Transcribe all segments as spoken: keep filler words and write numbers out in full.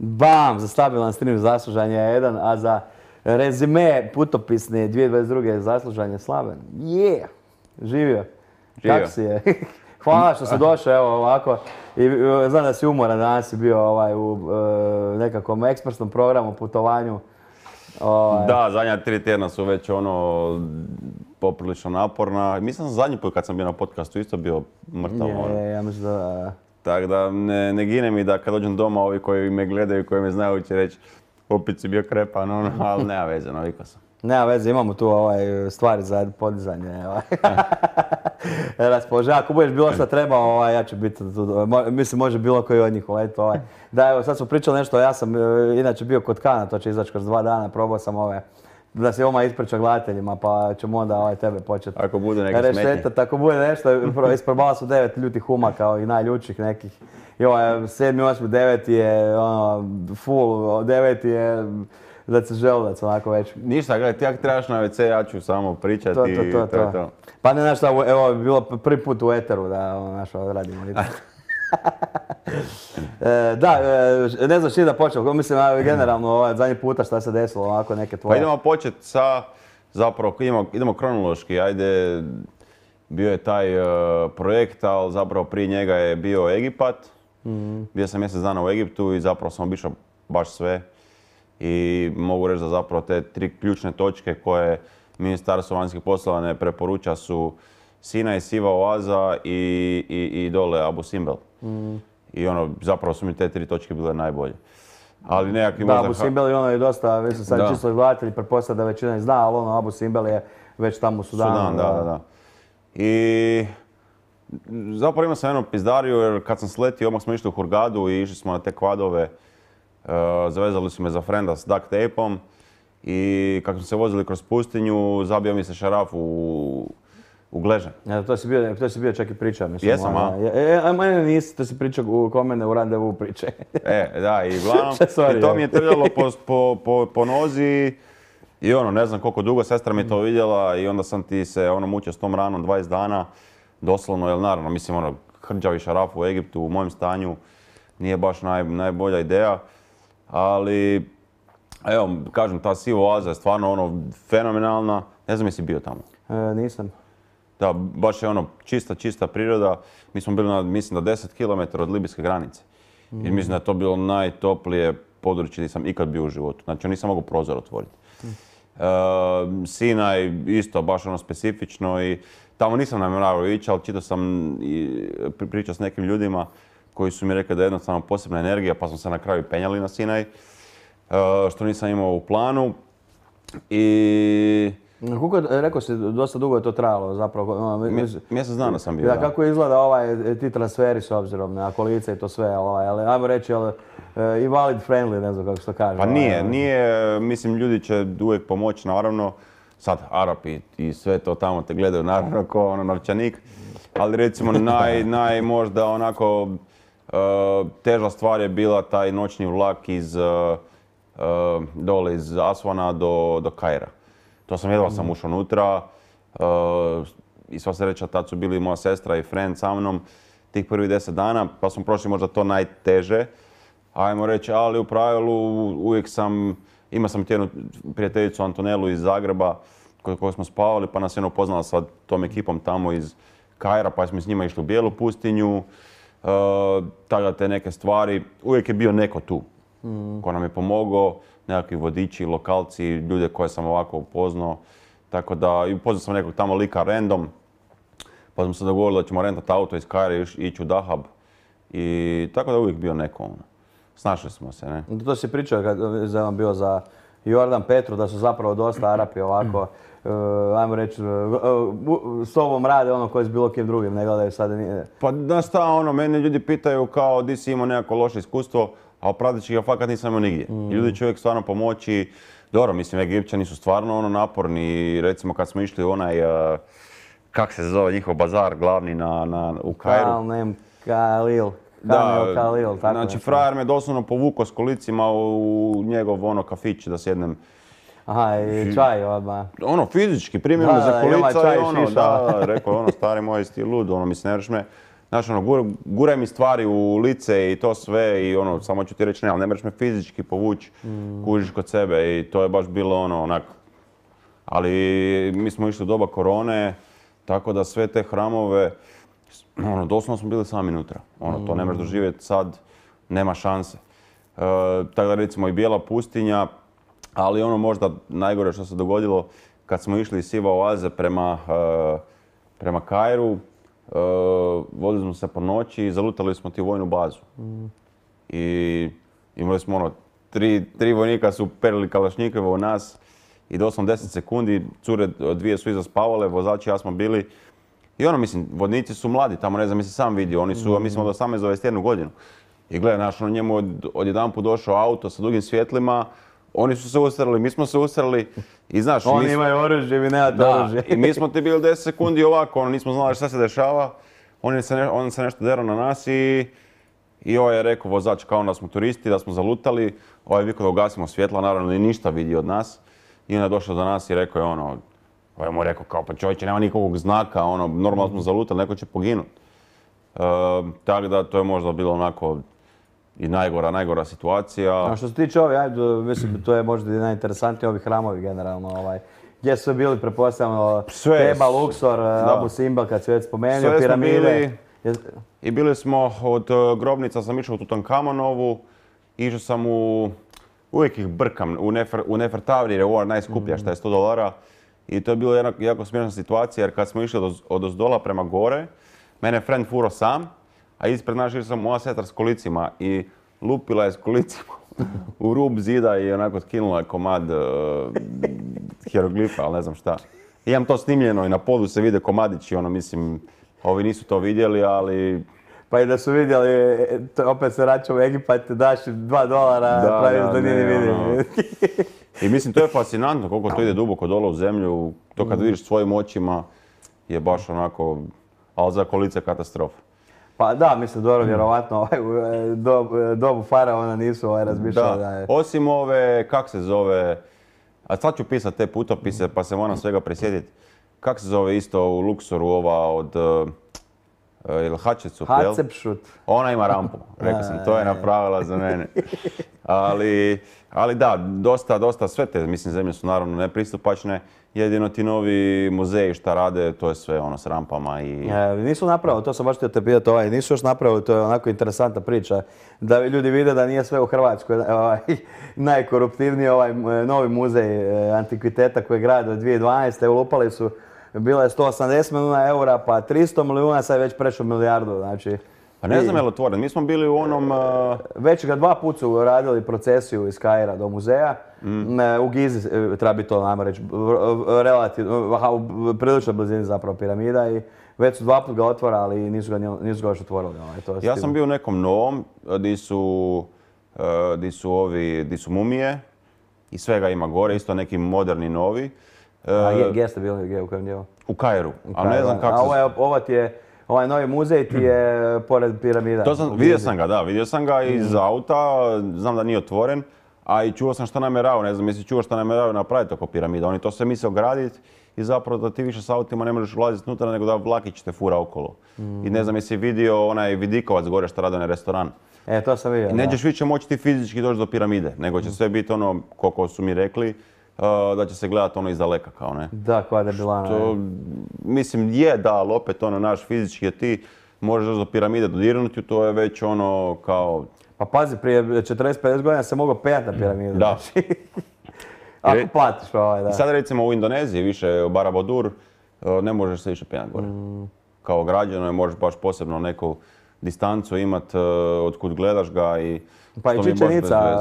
Bam, za stabilan stream zaslužan je jedan, a za rezime putopisne dvije tisuće dvadeset druge zaslužan je Slaven. Je, živio. Kako si je? Hvala što si došao, evo ovako. I, znam da si umoran, danas si bio ovaj, u e, nekakvom ekspresnom programu, putovanju. Ovaj. Da, zadnja tri tjedna su već ono poprilično naporna. Mislim da zadnji put kad sam bio na podcastu isto bio mrtav. Je, ono. ja mislim da... Tako da ne, ne gine mi da kad dođem doma ovi koji me gledaju, koji me znaju će reći opet si bio krepan, ono, ali nema veze, navikao sam. Nema veze, imamo tu ovaj, stvari za podizanje. Ovaj. Raspoloženje. Ako budeš bilo što treba, ovaj, ja ću biti tu. Mislim, može bilo koji od njih uleti. Ovaj. Da, evo, sad smo pričali nešto, ja sam inače bio kod Kana, to će izaći kroz dva dana, probao sam ove, da se oma ispriča gledateljima, pa ćemo onda ovaj, tebe početi. Ako bude neke smetnje. Ako bude nešto, isprobala su devet ljutih uma kao i najljučih nekih. I ovaj, sedmi, osmi, deveti je ono, full, deveti je da se želudac onako već. Ništa, gledaj, ti ako trebaš na ve ce, ja ću samo pričati to, i to, to, to je to. Pa ne znaš šta, evo, bilo prvi put u eteru da ono, naš radimo. e, da, e, ne znaš ti da počeo, mislim generalno ovaj, zadnji puta šta se desilo, ovako neke tvoje. Pa idemo početi sa, zapravo idemo, idemo kronološki, ajde, bio je taj uh, projekt, ali zapravo prije njega je bio Egipat. Mm-hmm. Bio sam mjesec dana u Egiptu i zapravo sam obišao baš sve. I mogu reći da zapravo te tri ključne točke koje Ministarstvo vanjskih poslova ne preporuča su Sinaj, Siva oaza i, i, i dole Abu Simbel. Mm. I ono, zapravo su mi te tri točke bile najbolje. Ali nekakvi da, možda... Abu Simbel je ono je dosta, mislim sad čisto gledatelji pretpostavljaju da većina ne zna, ali ono Abu Simbel je već tamo u Sudanu. Sudan, da, da, da. I zapravo imao sam jednu pizdariju jer kad sam sletio, odmah smo išli u Hurgadu i išli smo na te kvadove. Uh, zavezali su me za frenda s duct tapeom i kako smo se vozili kroz pustinju, zabio mi se šaraf u, u gležanj. Ja, to si bio, to si bio čak i pričao, mislim. Jesam, a? E, a mene nisi, to si pričao u kod mene u randevu priče. E, da, i uglavnom, i to mi je trljalo po, po, po, po nozi i ono, ne znam koliko dugo, sestra mi je to vidjela i onda sam ti se ono mučio s tom ranom dvadeset dana, doslovno, jer naravno, mislim, ono, hrđavi šaraf u Egiptu u mojem stanju nije baš naj, najbolja ideja. Ali, evo, kažem, ta Siva oaza je stvarno ono fenomenalna. Ne znam jesi bio tamo? E, nisam. Da, baš je ono čista, čista priroda. Mi smo bili na, mislim da deset kilometara od libijske granice. Mm. I mislim da je to bilo najtoplije područje gdje sam ikad bio u životu. Znači, nisam mogao prozor otvoriti. Mm. E, Sinaj isto baš ono specifično i tamo nisam namjeravao ići, ali čitao sam i pričao s nekim ljudima koji su mi rekli da je jednostavno posebna energija, pa smo se na kraju penjali na Sinaj, što nisam imao u planu. I... Kako rekao si, dosta dugo je to trajalo zapravo? Mjesec dana sam bio, da. Da. Kako izgleda ovaj, ti transferi s obzirom na kolice i to sve, ovaj, ali ajmo reći, ali, i valid friendly, ne znam kako se to kaže. Pa nije, nije, mislim ljudi će uvijek pomoći, naravno. Sad Arapi i sve to tamo te gledaju, naravno, ko ono novčanik. Ali recimo naj, naj možda onako Uh, teža stvar je bila taj noćni vlak iz uh, uh, dole iz Asvana do, do Kaira. To sam jedva sam ušao unutra uh, i sva sreća tad su bili moja sestra i friend sa mnom tih prvih deset dana, pa smo prošli možda to najteže. Ajmo reći, ali u pravilu uvijek sam, imao sam jednu prijateljicu Antonelu iz Zagreba kod kojoj smo spavali, pa nas je upoznala sa tom ekipom tamo iz Kaira, pa smo s njima išli u Bijelu pustinju. Uh, tada te neke stvari, uvijek je bio neko tu mm. ko nam je pomogao, nekakvi vodiči, lokalci, ljude koje sam ovako upoznao. Tako da, i upoznao sam nekog tamo lika random, pa smo se dogovorili da ćemo rentati auto iz Kaira i ići u Dahab. I tako da uvijek bio neko. Ono. Snašli smo se, ne? To si pričao kad je bio za Jordan Petru, da su zapravo dosta Arapi ovako, uh, ajmo reći, uh, s tobom rade ono koji s bilo kim drugim, ne gledaju sada nije. Pa da šta, ono, mene ljudi pitaju kao di si imao nekako loše iskustvo, a prateći ga fakat nisam imao nigdje. Mm. Ljudi će uvijek stvarno pomoći. Dobro, mislim, Egipćani su stvarno ono naporni. Recimo kad smo išli u onaj, uh, kak se zove njihov bazar glavni na, na, u Kairu. Kalnem Kalil. Da, Kalil, tako znači frajer me doslovno povukao s kolicima u njegov ono kafić da sjednem. Aha, i čaj odmah. Ono, fizički, primio me za kolica i ono, da, rekao ono, stari moj, si ti lud, ono, mislim, ne vreš me Znaš, ono, gur, guraj mi stvari u lice i to sve i ono, samo ću ti reći ne, ali ne možeš me fizički povući, mm. kužiš kod sebe i to je baš bilo ono, onak. Ali mi smo išli u doba korone, tako da sve te hramove, ono, doslovno smo bili sami unutra. Ono, mm. to ne možeš doživjeti sad, nema šanse. E, tako da recimo i Bijela pustinja, ali ono možda najgore što se dogodilo, kad smo išli iz Siva oaze prema, e, prema Kairu, Uh, vodili smo se po noći i zalutali smo ti vojnu bazu. Mm. I imali smo ono, tri, tri vojnika su perili kalašnjikove u nas i doslovno deset sekundi, cure dvije su iza spavale, vozači i ja smo bili. I ono, mislim, vodnici su mladi, tamo ne znam, mi se sam vidio, oni su, mm. mislim, od osamnaest do dvadeset jednu godinu. I gledaj, naš, ono, njemu od, odjedanput došao auto sa dugim svjetlima, oni su se usrali, mi smo se usrali i znaš... Oni mi... imaju oružje, vi nemate oružje. I mi smo ti bili deset sekundi ovako, ono, nismo znali šta se dešava. On se, ne, on se nešto derao na nas i, i ovaj je rekao vozač kao da smo turisti, da smo zalutali. Ovaj je vikao da ugasimo svjetla, naravno ni ništa vidi od nas. I onda je došao do nas i rekao je ono... Ovaj mu je rekao kao pa čovječe, nema nikakvog znaka, ono, normalno smo zalutali, neko će poginuti. E, tako da to je možda bilo onako... I najgora, najgora situacija. A što se tiče ovi, ajde, mislim, to je možda i najinteresantniji ovi hramovi generalno, ovaj. Gdje su bili, pretpostavljamo, Teba, Luxor, da. Abu Simbel, kad si već spomenuo, sve piramide. Bili, I bili smo od grobnica, sam išao u Tutankamonovu, išao sam u, uvijek ih brkam, u, Nefer, u Nefertavri, jer je ovo najskuplja, mm. šta je sto dolara. I to je bilo jedna jako smiješna situacija, jer kad smo išli od, od ozdola prema gore, mene je friend furo sam, a ispred nas išao sam moja sestra s kolicima i lupila je s kolicima u rub zida i onako skinula je komad uh, hieroglifa, ali ne znam šta. I imam to snimljeno i na podu se vide komadići, ono mislim, ovi nisu to vidjeli, ali... Pa i da su vidjeli, to opet se vraća u Egipat, daš dva dolara, da, praviš da, da nije vidim. Ono. I mislim, to je fascinantno koliko to ide duboko dole u zemlju, to kad vidiš svojim očima je baš onako, ali za kolice katastrofa. Pa da, mislim, dobro, vjerovatno ovaj, do, dobu faraona nisu ovaj, razmišljali da, da je... Osim ove, kak se zove, a sad ću pisati te putopise pa se moram svega prisjetiti. Kak se zove isto u Luxoru ova od... Ili Hatshepsut, jel? Hatshepsut. Ona ima rampu, rekao sam, to je napravila za mene. Ali, ali da, dosta, dosta, sve te, mislim, zemlje su naravno nepristupačne. Jedino ti novi muzeji šta rade, to je sve ono s rampama i... E, nisu napravili, to sam baš htio te pitati, ovaj, nisu još napravili, to je onako interesantna priča. Da ljudi vide da nije sve u Hrvatskoj ovaj, najkoruptivniji ovaj novi muzej antikviteta koji grade od dvije tisuće dvanaeste. Ulupali su, bilo je sto osamdeset milijuna eura, pa tristo milijuna, sad je već prešao milijardu, znači... Pa ne znam je li otvoren, mi smo bili u onom... Uh... Već ga dva puta su radili procesiju iz Kaira do muzeja. Mm. U Gizi treba biti to, najmo reći, relativno, prilično blizini zapravo piramida i već su dva puta ga otvorali i nisu ga, nisu ga još otvorili. To ja sam bio u nekom novom, di su, di su ovi, di su mumije i svega ima gore, isto neki moderni novi. A gdje ste bili, gdje, u kojem dijelu? U Kairu, ali ne znam kako se... A ovo, je, ovo ti je... Ovaj novi muzej ti je pored piramida. To sam, vidio sam ga, da, vidio sam ga iz auta, znam da nije otvoren, a i čuo sam što namjeravaju, ne znam, jesi čuo što namjeravaju napraviti oko piramida. Oni to sve misle ograditi i zapravo da ti više s autima ne možeš ulaziti unutra nego da vlakić te fura okolo. Mm. I ne znam, jesi vidio onaj vidikovac gore što radi onaj restoran. E, to sam vidio, I nećeš više moći ti fizički doći do piramide, nego će mm. sve biti ono, koliko su mi rekli, Uh, da će se gledati ono izdaleka kao ne. Da, koja je bila. Što, mislim, je da, ali opet ono naš fizički je ti možeš doći do piramide dodirnuti, to je već ono kao... Pa pazi, prije četrdeset pedeset godina se mogao pejati na piramidu. Da. Ako platiš ovaj, da. Sad recimo u Indoneziji, više u Barabudur, ne možeš se više pejati gore. Mm. Kao građano je, možeš baš posebno neku distancu imat od kud gledaš ga i... Pa i Čičenica,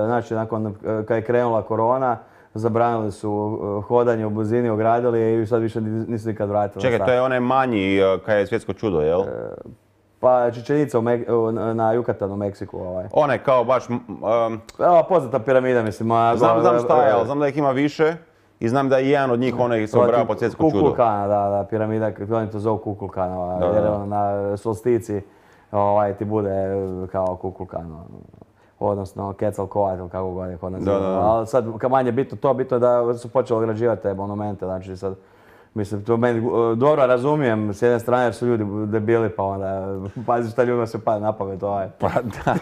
znači nakon kad je krenula korona, zabranili su hodanje u blizini, ogradili i sad više nisu nikad vratili. Čekaj, to je onaj manji kad je svjetsko čudo, jel? Pa Čičenica na Jukatanu u Meksiku. Ovaj. Onaj kao baš... Um, Evo, poznata piramida, mislim. Znam, znam šta je, ali znam da ih ima više i znam da je jedan od njih onaj se obrava pod svjetsko čudo. Kukulkana, da, da, piramida, oni to zovu Kukulkana, jer na solstici ovaj, ti bude kao Kukulkan. Odnosno Quetzalcoatl ili kako god je kod nas. Ali sad kad manje bitno to, bitno je da su počeli ograđivati te monumente, znači sad Mislim, to meni uh, dobro razumijem s jedne strane jer su ljudi debili pa onda pazi šta ljudima se pada na pamet ovaj. Pa da.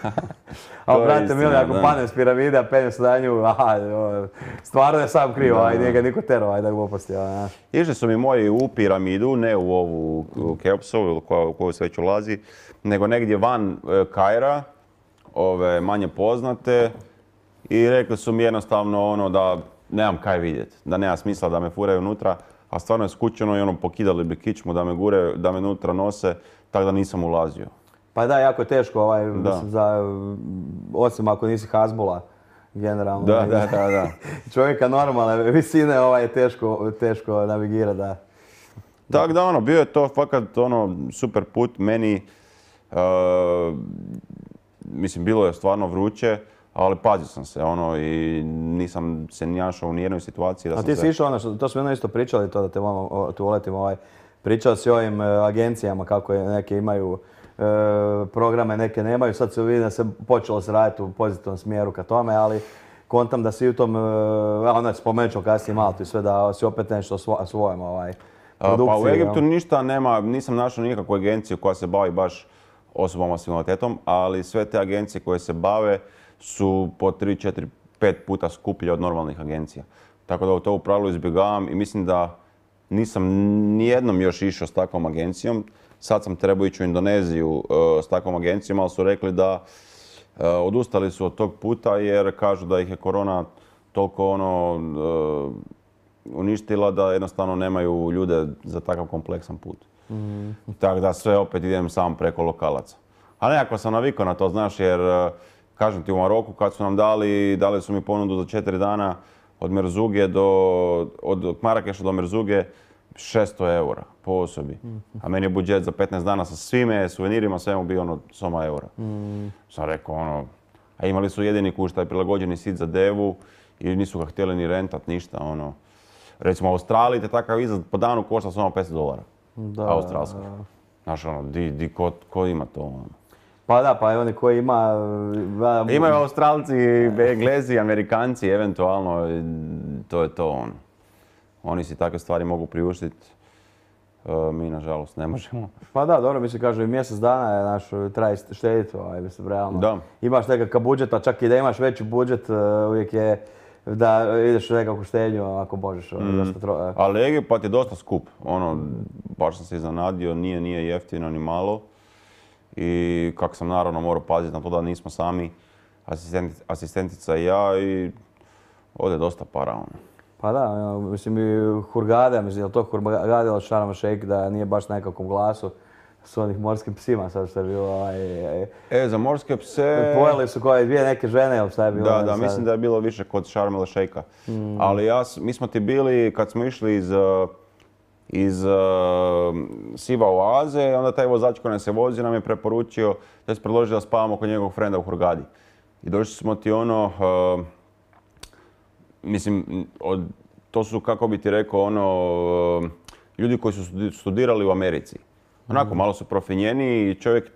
A To je brate istina, mili, ako da. padne s piramide, a penje se na nju, aha, o, stvarno je sam kriv, ovaj, nije ga niko tero, ovaj, da gluposti, ovaj, znaš. Išli su mi moji u piramidu, ne u ovu u Keopsovu u koju se već ulazi, nego negdje van e, Kaira, ove manje poznate, i rekli su mi jednostavno ono da nemam kaj vidjeti, da nema smisla da me furaju unutra, a stvarno je skučeno i ono pokidali bi kičmu da me gure, da me unutra nose, tako da nisam ulazio. Pa da, jako je teško, ovaj, Da. mislim, za, osim ako nisi Hazbula, generalno. Da, ovaj, da, da, da. Čovjeka normalne visine ovaj, je teško, teško navigirati, da. Tako da ono, bio je to fakat ono super put meni, uh, mislim bilo je stvarno vruće, ali pazio sam se ono i nisam se našao u nijednoj situaciji da A sam ti se... si išao ono, što, to smo jedno isto pričali, to da te moram, o, tu uletim, ovaj, pričao si o ovim e, agencijama kako je, neke imaju e, programe, neke nemaju, sad se vidi da se počelo se raditi u pozitivnom smjeru ka tome, ali kontam da si u tom, e, ono spomenut ću kasnije Maltu i sve, da si opet nešto svo, svojom ovaj, produkciji. Pa u Egiptu jel? ništa nema, nisam našao nikakvu agenciju koja se bavi baš osobama s invaliditetom, ali sve te agencije koje se bave su po tri, četiri, pet puta skuplje od normalnih agencija. Tako da to u pravilu izbjegavam i mislim da nisam nijednom još išao s takvom agencijom. Sad sam trebao ići u Indoneziju uh, s takvom agencijom, ali su rekli da uh, odustali su od tog puta jer kažu da ih je korona toliko ono, uh, uništila da jednostavno nemaju ljude za takav kompleksan put. Mm. Tako da sve opet idem sam preko lokalaca. Ali nekako sam navikao na to, znaš, jer uh, kažem ti u Maroku kad su nam dali, dali su mi ponudu za četiri dana od Merzuge do, od Marakeša do Merzuge šesto eura po osobi. A meni je budžet za petnaest dana sa svime, suvenirima, svemu bio ono soma eura. Mm. Sam rekao ono, a imali su jedini kuć taj prilagođeni sit za devu i nisu ga htjeli ni rentat, ništa ono. Recimo u Australiji te takav izlaz po danu košta samo pesto dolara. Da, Australska. da. Znaš ono, di, di, ko, ko ima to ono? Pa da, pa i oni koji ima... Da, Imaju Australci, Englezi, Amerikanci, eventualno, to je to ono. Oni si takve stvari mogu priuštiti, mi nažalost ne možemo. Pa da, dobro, mislim kažu i mjesec dana je naš, traje štediti, ovaj, mislim, realno. Da. Imaš nekakav budžet, a čak i da imaš veći budžet, uvijek je da ideš u nekakvu štednju ako možeš. Mm. Dosta tro... Ali Egipat je dosta skup, ono, baš sam se iznenadio, nije, nije jeftino ni malo. I kako sam naravno morao paziti na to da nismo sami, asistent, asistentica i ja, i ovdje je dosta para. Ono. Pa da, mislim i Hurgada, mislim, je li to Hurgada ili Sharm el Sheikh da nije baš na nekakvom glasu s onih morskim psima, sad što je bilo ovaj... E, za morske pse... Pojeli su koje dvije neke žene ili šta je bilo? Da, da, sad? mislim da je bilo više kod Sharm el Sheikha. Mm. Ali ja, mi smo ti bili, kad smo išli iz, iz uh, Siva oaze, onda taj vozač koji nas je vozio nam je preporučio, da je predložio da spavamo kod njegovog frenda u Hurgadi. I došli smo ti ono, uh, mislim, od, to su, kako bi ti rekao, ono, uh, ljudi koji su studirali u Americi. Onako, malo su profinjeni i čovjek,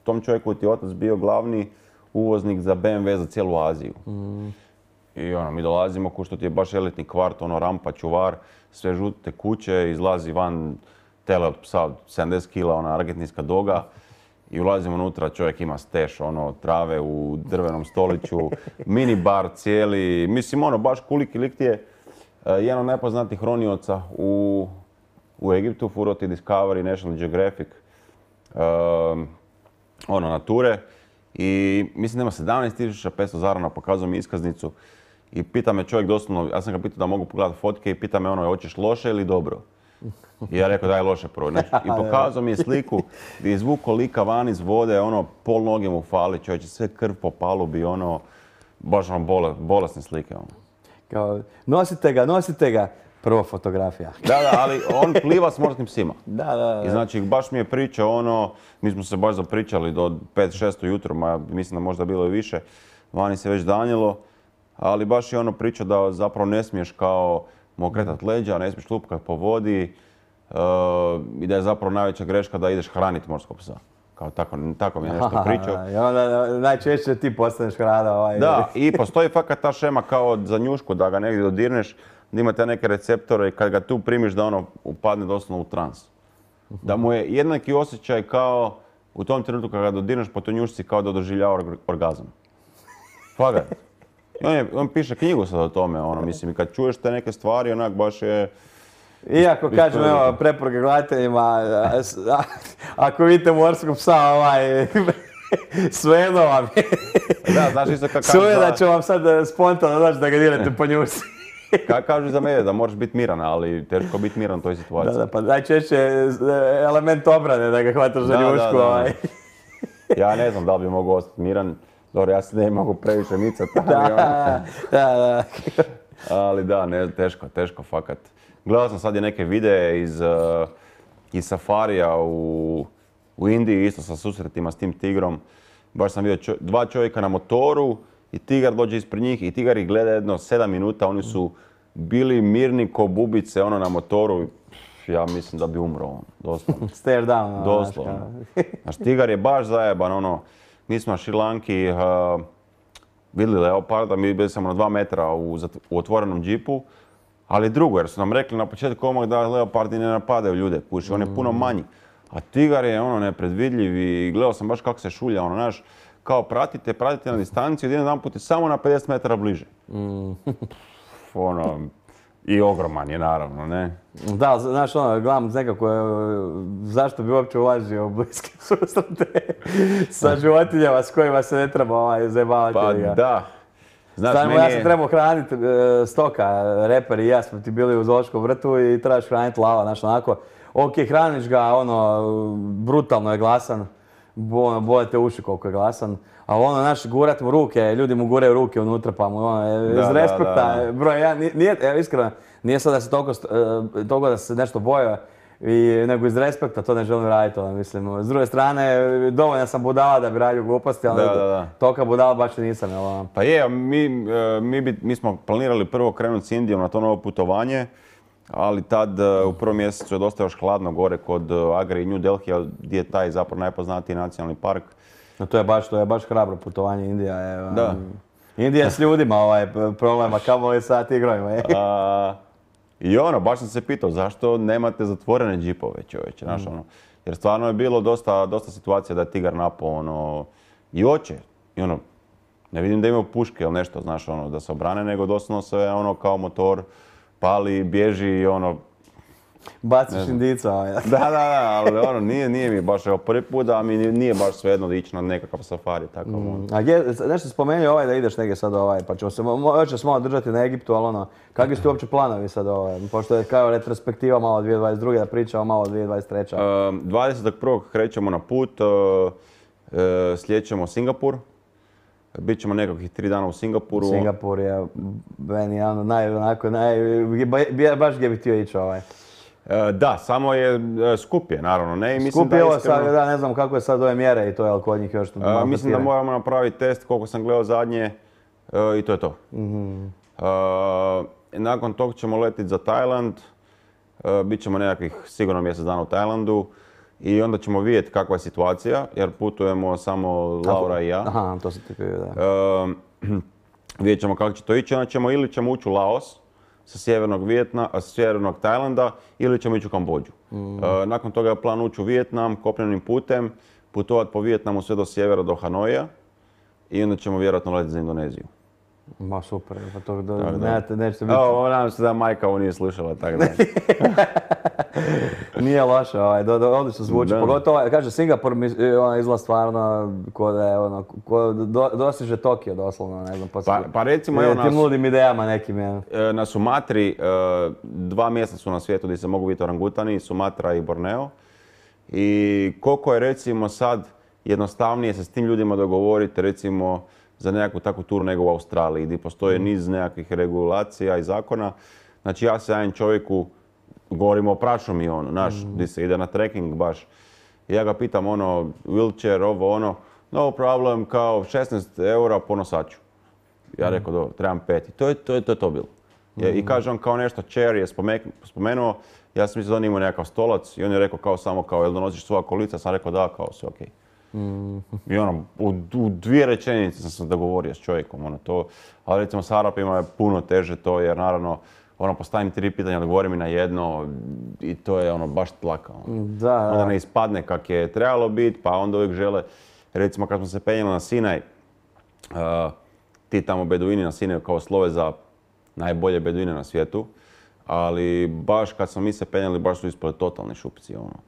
tom čovjeku ti je otac bio glavni uvoznik za be em ve za cijelu Aziju. Mm. I ono, mi dolazimo, ko što ti je baš elitni kvart, ono, rampa, čuvar, sve žute kuće, izlazi van tele od psa od sedamdeset kila, ona argentinska doga. I ulazimo unutra, čovjek ima steš, ono, trave u drvenom stoliću, mini bar cijeli, mislim, ono, baš kuliki lik ti je. Uh, jedan od najpoznatijih ronioca u u Egiptu, furo ti Discovery, National Geographic, um, ono, nature. I mislim da ima sedamnaest tisuća petsto zarana, pokazao mi iskaznicu. I pita me čovjek doslovno, ja sam ga pitao da mogu pogledati fotke i pita me ono, hoćeš loše ili dobro? I ja rekao daj loše prvo. Znači, i pokazao mi je sliku gdje je izvukao lika van iz vode, ono, pol noge mu fali, čovječe, sve krv po palubi, ono, baš ono, bole, bolesne slike. Ono. Kao, nosite ga, nosite ga. Prva fotografija. Da, da, ali on pliva s morskim psima. Da, da, da. I znači, baš mi je pričao ono, mi smo se baš zapričali do pet šest ujutro, ma mislim da možda bilo i više, vani se već danjelo, ali baš je ono pričao da zapravo ne smiješ kao mu okretat leđa, ne smiješ lupkat po vodi uh, i da je zapravo najveća greška da ideš hraniti morskog psa. Kao tako, tako mi je nešto pričao. I onda najčešće ti postaneš hrana. Ovaj. Da, i postoji fakat ta šema kao za njušku da ga negdje dodirneš, da ima te neke receptore i kad ga tu primiš da ono upadne doslovno u trans. Da mu je jednaki osjećaj kao u tom trenutku kad ga dodirneš po toj njušci kao da doživljava orgazam. Fakat. I on, je, on piše knjigu sad o tome, ono, mislim, i kad čuješ te neke stvari, onak baš je... Iako kažem, evo, preporuke gledateljima, ako vidite morskog psa, ovaj, svejedno vam je. Da, znaš isto kako kažu... Sve da ću vam sad spontano daći da ga dirate po njušci. Kako kažu za mene, da moraš biti miran, ali teško biti miran u toj situaciji. Da, da, pa najčešće element obrane da ga hvataš za njušku. Ovaj. Ja ne znam da li bi mogu ostati miran. Dobro, ja se ne mogu previše micati. Da, da, da. Ali da, ne, teško, teško, fakat. Gledao sam sad i neke videe iz, uh, iz safarija u, u Indiji, isto sa susretima s tim tigrom. Baš sam vidio čo, dva čovjeka na motoru i tigar dođe ispred njih i tigar ih gleda jedno sedam minuta. Oni su bili mirni ko bubice ono na motoru. Ja mislim da bi umro on, doslovno. Stare down. Doslovno. Znaš, tigar je baš zajeban, ono. Mi smo na Šri Lanki uh, vidjeli leoparda, mi bili smo na dva metra u, u otvorenom džipu, ali drugo, jer su nam rekli na početku odmah da leopardi ne napadaju ljude, puši, on je puno manji. A tigar je ono nepredvidljiv i gledao sam baš kako se šulja, ono, znaš, kao pratite, pratite na distanciju, jedan put je samo na pedeset metara bliže. Mm. ono, i ogroman je naravno, ne? Da, znaš ono, gledam nekako, zašto bi uopće ulazio u bliske susrete sa životinjama s kojima se ne treba ovaj, zajebavati. Pa da. Znaš, Stavimo, ja sam je... trebao hraniti uh, stoka, reper i ja smo ti bili u zoološkom vrtu i trebaš hraniti lava, znaš onako. Ok, hraniš ga, ono, brutalno je glasan, bo, boje te uši koliko je glasan. Ali ono, naš, gurat mu ruke, ljudi mu guraju ruke unutra pa mu ono, iz respekta, broj jedan, nije, evo iskreno, nije sad da se toliko, toliko da se nešto boja, I, nego iz respekta to ne želim raditi, ono, mislim. S druge strane, dovoljno sam budala da bi radio gluposti, ali da, da, da. toka budala baš i nisam. Jel? Pa je, mi, mi, bi, mi smo planirali prvo krenuti s Indijom na to novo putovanje, ali tad u prvom mjesecu je dosta još hladno gore kod Agra i New Delhi, gdje je taj zapravo najpoznatiji nacionalni park. No, to je baš, to je baš hrabro putovanje, Indija je... Da. Indija je s ljudima ovaj problema, kamo je sa tigrovima. A, I ono, baš sam se pitao zašto nemate zatvorene džipove, čovječe, znaš mm. ono. Jer stvarno je bilo dosta, dosta situacija da je tigar napao ono, i oče. I ono, ne vidim da imaju puške ili nešto, znaš ono, da se obrane, nego doslovno se ono kao motor pali, bježi i ono... Baciš indica. Da, da, da, ali ono, nije, nije mi baš evo, prvi put, a mi nije baš svejedno da ići na nekakav safari, tako mm. ono. A gdje, nešto spomenuo ovaj da ideš negdje sad ovaj, pa ćemo se još malo držati na Egiptu, ali ono, kakvi su ti uopće planovi sad ovaj, pošto je kao retrospektiva malo dvije tisuće dvadeset druge da pričamo malo dvije tisuće dvadeset treće. Uh, dvadesetog prvog krećemo na put, uh, uh, slijećemo Singapur. Bićemo nekakvih tri dana u Singapuru. Singapur je meni jedan od naj, onako, naj, baš gdje bih htio ići ovaj. E, da, samo je skup je, naravno, ne? I mislim skup je da ovo iskreno... sad, da, ne znam kako je sad ove mjere i to je, ali kod njih još tu malo Mislim da moramo napraviti test, koliko sam gledao zadnje, e, i to je to. Mm-hmm. e, nakon tog ćemo letiti za Tajland, e, bit ćemo nekakvih sigurno mjesec dana u Tajlandu. I onda ćemo vidjeti kakva je situacija, jer putujemo samo Laura i ja. Aha, to se ti pio, da. E, vidjet ćemo kako će to ići, onda ćemo ili ćemo ući u Laos sa sjevernog, Vijetna, sa sjevernog Tajlanda ili ćemo ići u Kambodžu. Mm. E, nakon toga je plan ući u Vijetnam kopnenim putem, putovati po Vijetnamu sve do sjevera, do Hanoja i onda ćemo vjerojatno letiti za Indoneziju. Ma super, pa to do, nemate, nećete biti... Ovo, nadam se da majka ovo nije slušala, tako da. Nije loše, ovaj, do, do, odlično zvuči. Da. Pogotovo, kaže, Singapur ona izgleda stvarno ko da je ono, ko do, dostiže Tokio doslovno, ne znam, pa, pa recimo, evo nas... Tim ludim idejama nekim, je. Na Sumatri, dva mjesta su na svijetu gdje se mogu vidjeti orangutani, Sumatra i Borneo. I koliko je recimo sad jednostavnije se s tim ljudima dogovoriti, recimo, za nekakvu takvu turu nego u Australiji, gdje postoje niz nekakvih regulacija i zakona. Znači ja se javim čovjeku, govorimo o prašumi ono, znaš, mm. gdje se ide na trekking baš. I ja ga pitam ono, wheelchair, ovo ono, no problem, kao šesnaest eura po nosaču. Ja rekao, dobro, trebam pet. I to je to, je, to, je to bilo. Mm. I kaže on kao nešto, chair je spomenuo, ja sam mislio da on imao nekakav stolac i on je rekao kao samo kao, jel donosiš svoja kolica? Sam rekao da, kao sve okej. Okay. Mm. I ono, u, u dvije rečenice sam se dogovorio s čovjekom, ono to, ali recimo s Arapima je puno teže to jer naravno ono, postavim tri pitanja, odgovori mi na jedno i to je ono baš tlaka. Ono. Da, da. Onda ne ispadne kak je trebalo biti, pa onda uvijek žele, recimo kad smo se penjeli na Sinaj, uh, ti tamo beduini na Sinaju kao slove za najbolje beduine na svijetu, ali baš kad smo mi se penjeli, baš su ispali totalni šupci. Ono.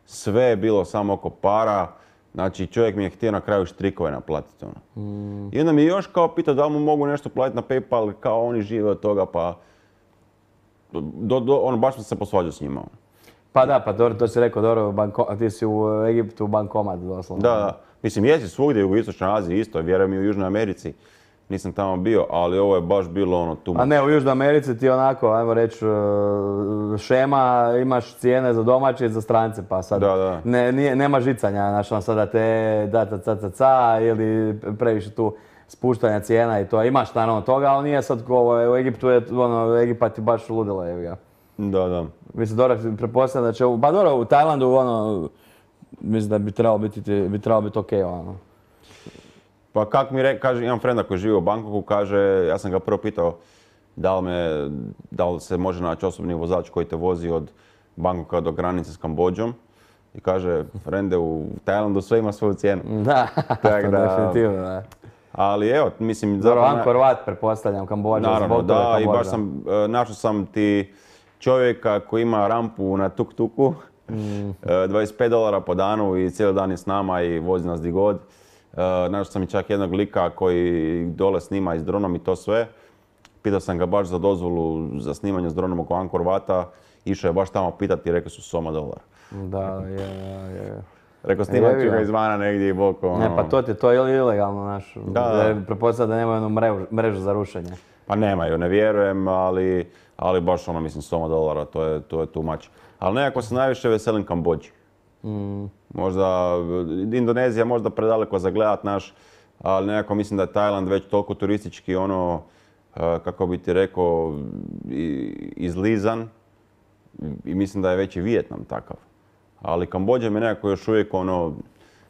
Sve je bilo samo oko para, znači čovjek mi je htio na kraju štrikove naplatiti. Ono. Mm. I onda mi je još kao pitao da li mu mogu nešto platiti na PayPal, kao oni žive od toga, pa do, do, ono, baš sam se posvađao s njima. Ono. Pa da, pa dobro, to si rekao, dobro, banko, ti si u Egiptu bankomat doslovno. Da, da. Mislim, jesi svugdje u Istočnoj Aziji isto, vjerujem i u Južnoj Americi. Nisam tamo bio, ali ovo je baš bilo ono tu. A ne, u Južnoj Americi ti onako, ajmo reći, šema, imaš cijene za domaće i za strance, pa sad da, da. Ne, nije, nema žicanja, znači on sada te da ta ca ca ca ili previše tu spuštanja cijena i to. Imaš naravno toga, ali nije sad ovo, u Egiptu je, ono, Egipat je baš ludilo, evo ga. Da, da. Mislim, dobro, pretpostavljam da će, pa dobro, u Tajlandu, ono, mislim da bi trebalo biti, bi trebalo biti okej, okay, ono. Pa kak mi re, kaže, imam frenda koji živi u Bangkoku, kaže, ja sam ga prvo pitao da li, me, da li se može naći osobni vozač koji te vozi od Bangkoka do granice s Kambodžom. I kaže, frende, u Tajlandu sve ima svoju cijenu. Da, tak da, definitivno, da. Ali evo, mislim... Dobro, Angkor Wat, pretpostavljam, Kambodža. Naravno, da, i baš sam, našao sam ti čovjeka koji ima rampu na tuk-tuku, mm. dvadeset pet dolara po danu i cijeli dan je s nama i vozi nas di god. Uh, našao sam i čak jednog lika koji dole snima i s dronom i to sve. Pitao sam ga baš za dozvolu za snimanje s dronom oko Angkor Wata. Išao je baš tamo pitati i rekao su Soma dolar. Da, je, je. Rekao snimat ću ga izvana negdje i boko. Ono. Ne, pa to ti to je ilegalno, naš. Da, da. Pretpostavljam da nemaju jednu mrežu, mrežu za rušenje. Pa nemaju, ne vjerujem, ali, ali baš ono, mislim, Soma dolara, to je, to je too much. Ali nekako se najviše veselim Kambodži. Mm. Možda, Indonezija možda predaleko za gledat naš, ali nekako mislim da je Tajland već toliko turistički ono, kako bi ti rekao, izlizan i mislim da je već i Vijetnam takav. Ali Kambodža mi nekako još uvijek ono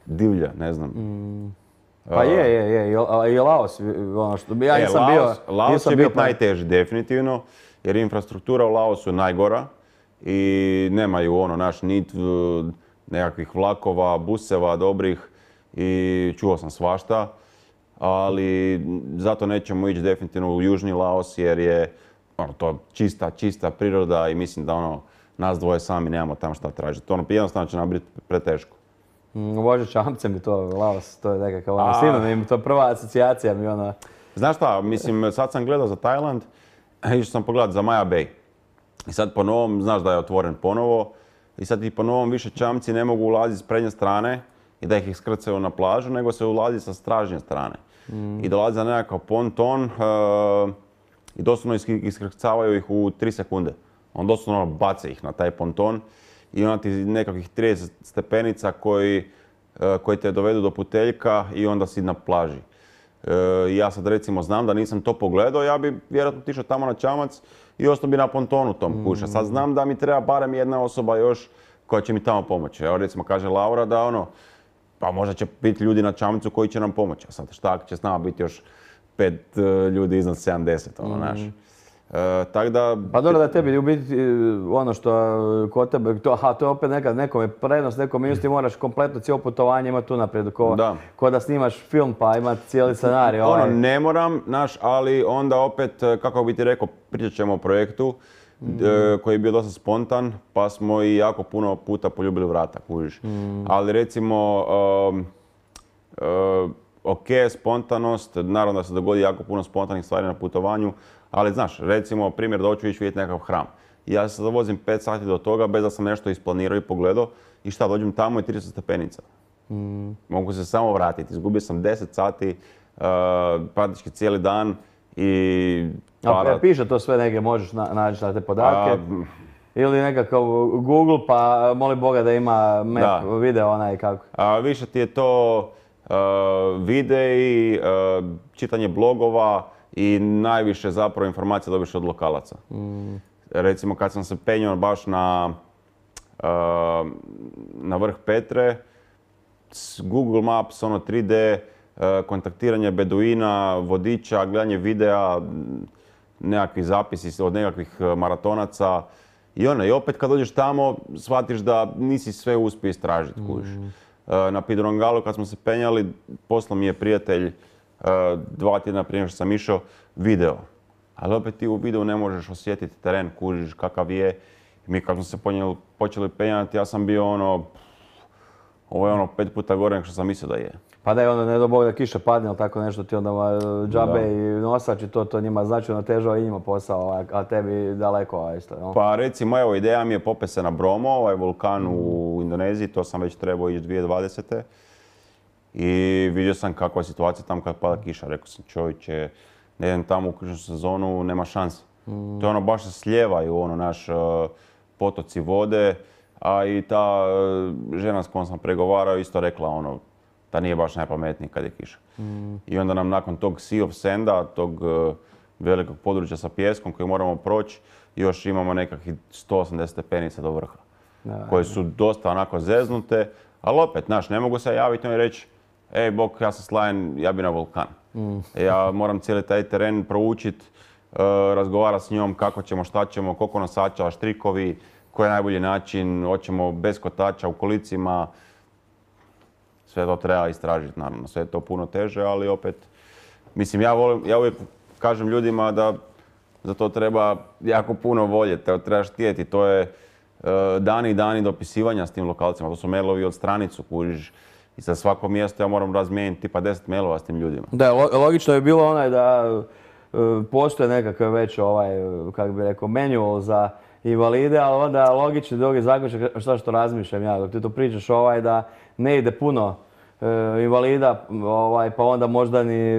divlja, ne znam. Mm. Pa je, je, je, i Laos, ono što bi ja nisam e, bio... Laos, Laos će biti najteži definitivno, jer infrastruktura u Laosu je najgora i nemaju ono naš nit nekakvih vlakova, buseva dobrih i čuo sam svašta, ali zato nećemo ići definitivno u južni Laos jer je ono, to čista, čista priroda i mislim da ono, nas dvoje sami nemamo tamo šta tražiti. Ono jednostavno će nam biti preteško. Mm, Bože, čamce mi to, Laos, to je nekakav ono, sinonim, to je prva asocijacija mi ona... Znaš šta, mislim, sad sam gledao za Tajland, išao sam pogledat za Maya Bay. I sad po novom, znaš da je otvoren ponovo, i sad i po novom više čamci ne mogu ulaziti s prednje strane i da ih iskrcaju na plažu, nego se ulazi sa stražnje strane. Mm. I dolazi za nekakav ponton uh, i doslovno iskrcavaju ih u tri sekunde. On doslovno bace ih na taj ponton i onda ti nekakvih trideset stepenica koji, uh, koji te dovedu do puteljka i onda si na plaži. Uh, ja sad recimo znam da nisam to pogledao, ja bi vjerojatno otišao tamo na čamac i ostao bi na pontonu tom kuća. Sad znam da mi treba barem jedna osoba još koja će mi tamo pomoći. Evo recimo kaže Laura da ono, pa možda će biti ljudi na čamcu koji će nam pomoći. A sad šta ako će s nama biti još pet uh, ljudi iznad sedamdeset, ono, znaš. Mm. Uh, tak da... Pa dobro da tebi u biti ono što kod tebe, to, aha, to je opet nekad nekome prednost, nekom minus, ti moraš kompletno cijelo putovanje imati tu naprijed, ko da. ko da snimaš film pa imati cijeli scenarij. Ono, ovaj. ne moram, znaš, ali onda opet, kako bi ti rekao, pričat ćemo o projektu mm. d- koji je bio dosta spontan, pa smo i jako puno puta poljubili vrata, kužiš. Mm. Ali recimo, um, uh, ok, spontanost, naravno da se dogodi jako puno spontanih stvari na putovanju, ali znaš, recimo primjer da hoću ići vidjeti nekakav hram. Ja se vozim pet sati do toga bez da sam nešto isplanirao i pogledao i šta, dođem tamo i trideset stepenica. Mm. Mogu se samo vratiti, izgubio sam deset sati, uh, praktički cijeli dan i... Para... A piše to sve negdje, možeš na, naći na te podatke? A, ili nekakav Google pa moli Boga da ima map, da. video onaj kako? A, više ti je to uh, videi, uh, čitanje blogova, i najviše zapravo informacija dobiš od lokalaca. Mm. Recimo kad sam se penjao baš na, uh, na vrh Petre, Google Maps, ono tri D, uh, kontaktiranje beduina, vodiča, gledanje videa, nekakvi zapisi od nekakvih maratonaca. I ono, i opet kad dođeš tamo, shvatiš da nisi sve uspio istražiti, kužiš. Na Pidrongalu kad smo se penjali, poslao mi je prijatelj dva tjedna prije što sam išao video. Ali opet ti u videu ne možeš osjetiti teren, kužiš kakav je. Mi kad smo se ponijeli, počeli penjati, ja sam bio ono, ovo je ono pet puta gore nego što sam mislio da je. Pa da je onda ne do Bog da kiša padne ili tako nešto ti onda džabe da. I nosač i to, to njima značajno težava i njima posao, a tebi daleko isto. No? Pa recimo evo ideja mi je popet se na Bromo, ovaj vulkan mm. u Indoneziji, to sam već trebao ići dvije tisuće dvadesete. I vidio sam kakva je situacija tamo kad pada kiša. Rekao sam čovječe, ne idem tamo u križnu sezonu, nema šanse. Mm. To je ono baš se slijevaju ono naš uh, potoci vode, a i ta uh, žena s kojom sam pregovarao isto rekla ono da nije baš najpametniji kad je kiša. Mm. I onda nam nakon tog Sea of Sanda, tog uh, velikog područja sa pijeskom koji moramo proći, još imamo nekakvih sto osamdeset stepenica do vrha. Da, koje su dosta onako zeznute, ali opet, znaš, ne mogu se javiti i reći ej, Bog, ja sam slajen, ja bi na vulkan. Mm. Ja moram cijeli taj teren proučiti, uh, razgovarati s njom kako ćemo, šta ćemo, koliko nosača, štrikovi, koji je najbolji način, hoćemo bez kotača u kolicima. Sve to treba istražiti, naravno, sve je to puno teže, ali opet, mislim, ja, volim, ja uvijek kažem ljudima da za to treba jako puno volje, te trebaš htjeti, to je uh, dani i dani dopisivanja s tim lokalcima, to su mailovi od stranicu, kužiš, i za svako mjesto ja moram razmijeniti tipa deset mailova s tim ljudima. Da, logično je bilo onaj da uh, postoje nekakav već ovaj, kako bi rekao, manual za invalide, ali onda logični drugi zaključak šta što razmišljam ja, dok ti to pričaš ovaj da ne ide puno e, invalida, ovaj, pa onda možda ni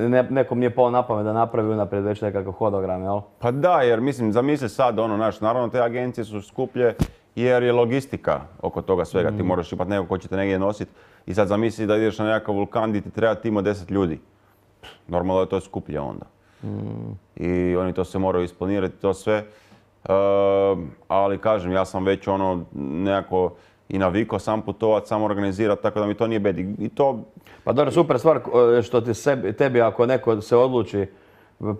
ne, nekom nije palo na pamet da napravi unaprijed već nekakav hodogram, jel? Pa da, jer mislim, zamisli sad ono, naš, naravno te agencije su skuplje jer je logistika oko toga svega. Mm. Ti moraš imati nekog ko će te negdje nositi i sad zamisli da ideš na nekakav vulkan gdje ti treba tim od deset ljudi. Normalno je to skuplje onda. Mm. I oni to se moraju isplanirati, to sve. Uh, ali kažem, ja sam već ono nekako i navikao sam putovat, sam organizirati, tako da mi to nije bed. I to... Pa dobro, super stvar što ti sebi, tebi ako neko se odluči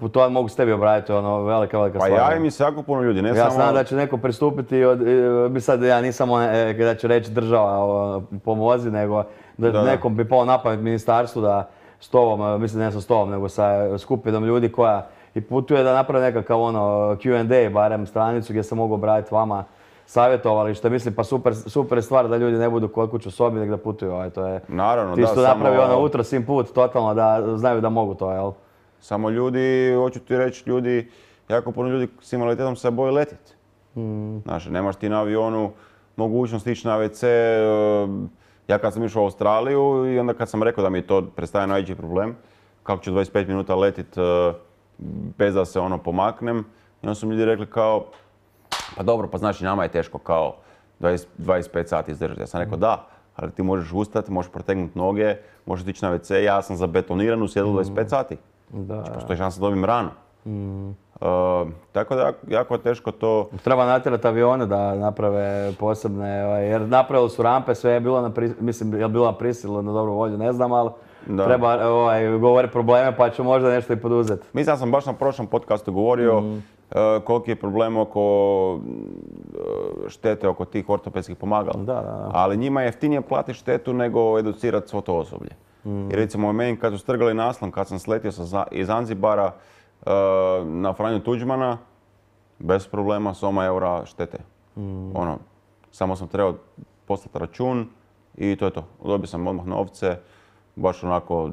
putovat, mogu s tebi obraditi, ono, velika, velika stvar. Pa javi mi se jako puno ljudi, ne ja samo... Ja znam da će neko pristupiti, od, bi sad ja nisam on, da će reći država pomozi, nego da, da nekom bi pao na pamet ministarstvu da s tobom, mislim ne sa s tobom, nego sa skupinom ljudi koja i putuje da napravi nekakav ono Q and A, barem stranicu gdje se mogu obratiti vama savjetovalište. Mislim pa super, super stvar da ljudi ne budu kod kuće u sobi nego da putuju. Ovaj, to je, naravno, ti da. Ti što napravi ono utro sim put totalno da znaju da mogu to, jel? Samo ljudi, hoću ti reći, ljudi, jako puno ljudi s invaliditetom se boje letiti. Mm. Znaš, nemaš ti na avionu mogućnost ići na ve ce. Ja kad sam išao u Australiju i onda kad sam rekao da mi to predstavlja najveći problem, kako ću dvadeset pet minuta letit bez da se ono pomaknem. I onda su mi ljudi rekli kao, pa dobro, pa znači nama je teško kao dvadeset, dvadeset pet sati izdržati. Ja sam rekao da, ali ti možeš ustati, možeš protegnuti noge, možeš ići na ve ce. Ja sam zabetoniran u sjedlu dvadeset pet sati. Da. Znači, postoji šansa da dobijem ranu. Mm. Uh, tako da jako je teško to... Treba natjerati avione da naprave posebne, jer napravili su rampe, sve je bilo na, mislim, je bilo na prisilu, na dobru volju, ne znam, ali da. Treba ovaj, govoriti probleme pa ću možda nešto i poduzeti. Mislim da sam baš na prošlom podcastu govorio mm. uh, koliki je problem oko uh, štete oko tih ortopedskih pomagala. Da, da, da. Ali njima je jeftinije platiti štetu nego educirati svo to osoblje. Mm. I recimo meni kad su strgali naslon, kad sam sletio sa, iz Zanzibara uh, na Franju Tuđmana, bez problema soma eura štete. Mm. Ono, samo sam trebao poslati račun i to je to. Dobio sam odmah novce, baš onako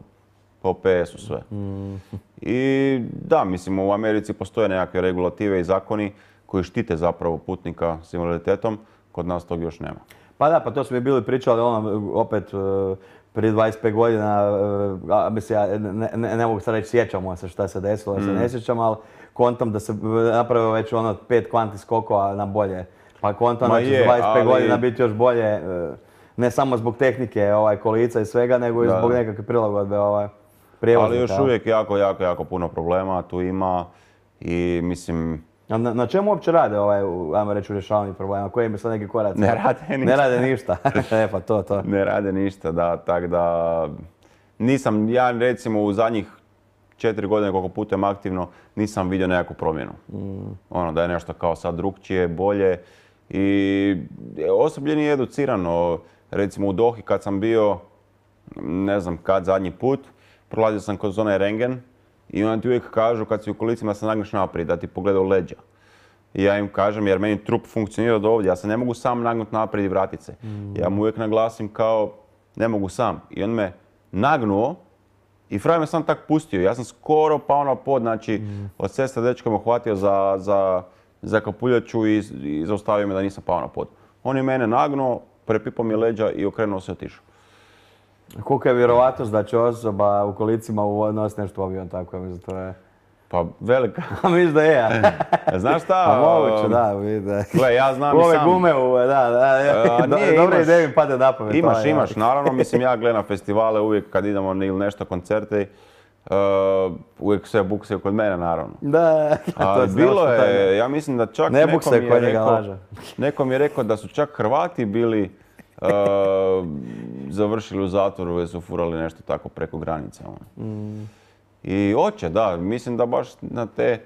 po pe esu sve. Mm. I da, mislim u Americi postoje nekakve regulative i zakoni koji štite zapravo putnika s invaliditetom, kod nas tog još nema. Pa da, pa to smo i bili pričali ono, opet uh, prije dvadeset pet godina, uh, mislim ja ne, ne, ne mogu sad reći sjećamo se šta se desilo, mm. se ne sjećam, ali kontam da se napravio već ono pet kvanti skokova na bolje. Pa kontam da će za dvadeset pet ali... godina biti još bolje. Uh, Ne samo zbog tehnike ovaj, kolica i svega, nego i da. Zbog nekakve prilagodbe ovaj, prijevoznika. Ali još uvijek jako, jako, jako puno problema tu ima i mislim... A na, na čemu uopće rade, ovaj, ajmo reći, u rješavanju problema? Koji im sad neki koraci? Ne rade ništa. Ne rade ništa. e pa to, to. Ne rade ništa, da, tako da... Nisam, ja recimo u zadnjih četiri godine koliko putujem aktivno, nisam vidio nekakvu promjenu. Mm. Ono, da je nešto kao sad drukčije, bolje. I osoblje nije educirano. Recimo u Dohi kad sam bio, ne znam kad zadnji put, prolazio sam kroz onaj rengen i oni ti uvijek kažu kad si u kolicima da se nagneš naprijed, da ti pogledaju leđa. I ja im kažem, jer meni trup funkcionira do ovdje, ja se ne mogu sam nagnuti naprijed i vratit se. Mm. Ja mu uvijek naglasim kao, ne mogu sam. I on me nagnuo i frajer me sam tak pustio. Ja sam skoro pao na pod, znači mm. od sestre dečka me uhvatio za, za, za kapuljaču i, i zaustavio me da nisam pao na pod. On je mene nagnuo, prepipao mi leđa i okrenuo se i otišao. Kolika je vjerovatnost da će osoba u kolicima nositi nešto u avion, tako je, to je... Pa velika. A misliš da je, ja? Znaš šta? A moguće, da, vidi. Gle, ja znam ove i sam... gume, u, da, da, A, do, nije, dobre imaš, ideje mi pade na pamet. Imaš, ovaj, imaš, ja. naravno, mislim ja gledam na festivale uvijek kad idemo ili nešto koncerte, uh, uvijek sve buksaju kod mene, naravno. Da, A, to bilo je, ja mislim da čak ne neko mi je rekao, laža. neko mi je rekao da su čak Hrvati bili uh, završili u zatvoru jer su furali nešto tako preko granice. Ono. Mm. I hoće, da, mislim da baš na te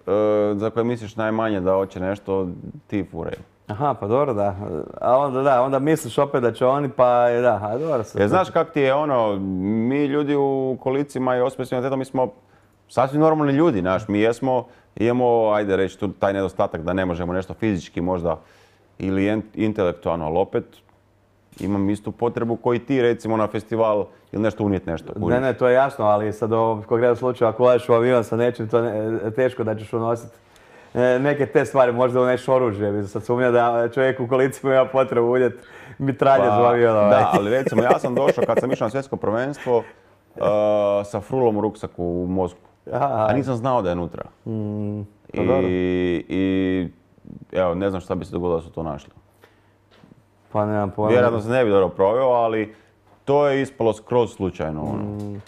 uh, za koje misliš najmanje da hoće nešto, ti furaju. Aha, pa dobro, da. A onda da, onda misliš opet da će oni, pa da, a dobro se. Jer znaš kak ti je ono, mi ljudi u kolicima i osobe s invaliditetom, mi smo sasvim normalni ljudi, znaš, mi jesmo, imamo, ajde reći, tu taj nedostatak da ne možemo nešto fizički možda ili intelektualno, ali opet imam istu potrebu koji ti recimo na festival ili nešto unijeti nešto. Ne, ne, to je jasno, ali sad u konkretnom slučaju ako ulaziš u avion sa nečim, to je teško da ćeš unositi neke te stvari, možda uneš oružje. Sad sumnja da čovjek u kolicima ima potrebu unijeti mitralje pa, u avion. Da, ali recimo ja sam došao kad sam išao na svjetsko prvenstvo uh, sa frulom u ruksaku u Moskvu. Aha. A nisam znao da je unutra. Mm, I, I evo, ne znam šta bi se dogodilo da su to našli. Pa nemam pojma. Vjerojatno se ne bi dobro proveo, ali to je ispalo skroz slučajno. Ono. Mm.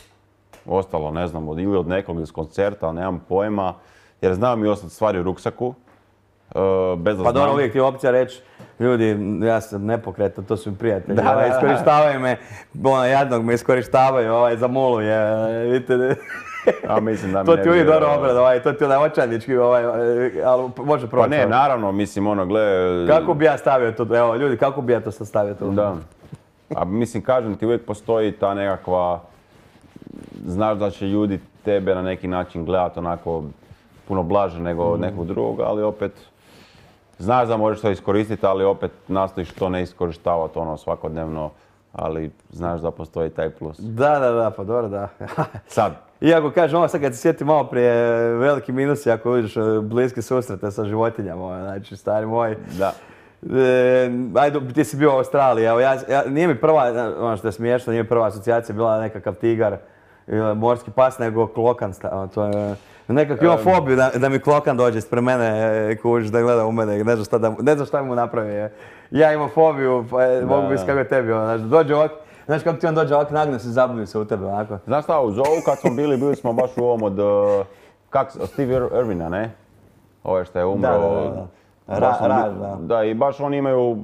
Ostalo, ne znam, od, ili od nekog iz koncerta, nemam pojma. Jer znam mi ostati stvari u ruksaku. Uh, bez da pa znam. dobro, uvijek ti je opcija reći, ljudi, ja sam nepokretan, to su mi prijatelji. Da, ovaj, da, iskorištavaju me, ono, jadnog me iskorištavaju, ovaj, za mulu je, vidite. A mislim da mi to ne ti uvijek bi, dobro obrad, ovaj, to ti onaj očajnički, ovaj, ali može proći. Pa ne, naravno, mislim, ono, gle... Kako bi ja stavio to, evo, ljudi, kako bi ja to sad stavio to? Da. A mislim, kažem ti, uvijek postoji ta nekakva... Znaš da će ljudi tebe na neki način gledati onako puno blaže nego mm. nekog drugog, ali opet... Znaš da možeš to iskoristiti, ali opet nastojiš to ne iskorištavati ono svakodnevno, ali znaš da postoji taj plus. Da, da, da, pa dobro, da. Sad. Iako kažem, ovo sad kad se sjetim malo prije, veliki minusi ako uđeš bliske susrete sa životinjama, znači stari moj. Da. E, ajde, ti si bio u Australiji, evo ja, ja, nije mi prva, ono što je smiješno, nije mi prva asocijacija bila nekakav tigar, morski pas, nego klokan, to je... Nekako imam fobiju da, da mi klokan dođe ispred mene, kužiš da gleda u mene, ne znam šta, da, ne znam šta mu napravi. Ja imam fobiju, pa da, mogu biti kako je tebi, znači dođe ovak, znaš kako ti on dođe ovak, nagne se, zabavim se u tebe, onako. Znaš šta, u Zoo kad smo bili, bili smo baš u ovom od, kak, Steve Irwina, ne? Ovo što je umro. Da, da, da. Ra, raž, da. Da, i baš oni imaju uh,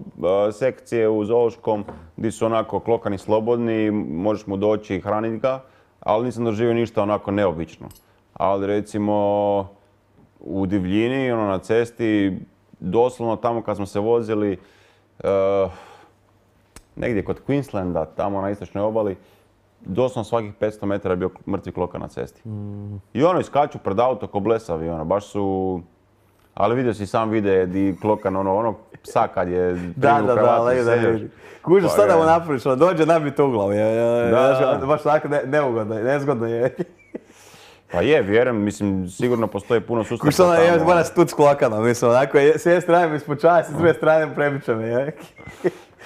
sekcije u zoološkom gdje su onako klokani slobodni, možeš mu doći i hraniti ga, ali nisam doživio ništa onako neobično. Ali recimo u divljini, ono na cesti, doslovno tamo kad smo se vozili, uh, negdje kod Queenslanda, tamo na istočnoj obali, doslovno svakih petsto metara je bio mrtvi klokan na cesti. Mm. I ono iskaču pred auto ko blesavi, ono, baš su... Ali vidio si sam vide di klokan ono, ono psa kad je da, da, da, da, da, kužiš šta da mu napraviš, ono dođe nabiti u glavu, da, baš tako ne, neugodno, nezgodno je. Pa je, vjerujem, mislim, sigurno postoji puno sustava tamo. Kužiš ono, ja mora stuc klokanom, mislim, onako, s jedne strane mi ispočava, s druge strane prebiće me, je.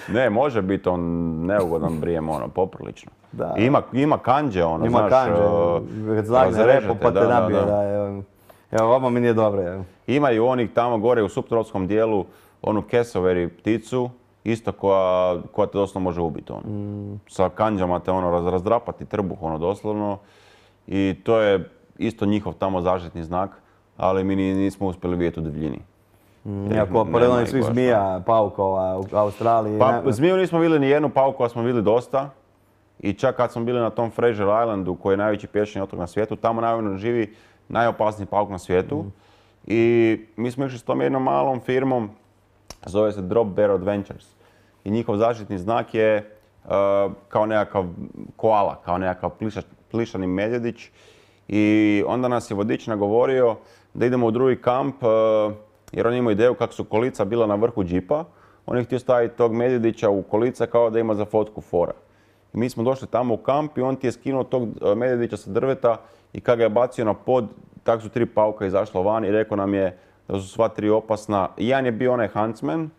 Ne, može biti on neugodan brijem, ono, poprilično. Da. Ima, ima kanđe, ono, ima znaš, kanđe, kad zlagne repo pa te da, nabije, da, da. da, evo. Evo, ovo mi nije dobro, evo. Imaju onih tamo gore u suptropskom dijelu, onu cassowary pticu, isto koja, koja te doslovno može ubiti, ono. Mm. Sa kanđama te ono raz, razdrapati trbuh, ono, doslovno. I to je isto njihov tamo zaštitni znak, ali mi nismo uspjeli vidjeti u divljini. Mm, Iako, pored onih svih zmija, paukova u Australiji... Pa, ne... zmiju nismo vidjeli ni jednu, paukova smo vidjeli dosta. I čak kad smo bili na tom Fraser Islandu, koji je najveći pješčani otok na svijetu, tamo naravno živi najopasniji pauk na svijetu. Mm. I mi smo išli s tom jednom malom firmom, zove se Drop Bear Adventures. I njihov zaštitni znak je uh, kao nekakav koala, kao nekakav pliša, plišani medvjedić. I onda nas je vodič nagovorio da idemo u drugi kamp, uh, jer on ima ideju kako su kolica bila na vrhu džipa. On je htio staviti tog medvjedića u kolica kao da ima za fotku fora. I mi smo došli tamo u kamp i on ti je skinuo tog medvjedića sa drveta i kad ga je bacio na pod, tako su tri pauka izašlo van i rekao nam je da su sva tri opasna. Jedan je bio onaj huntsman,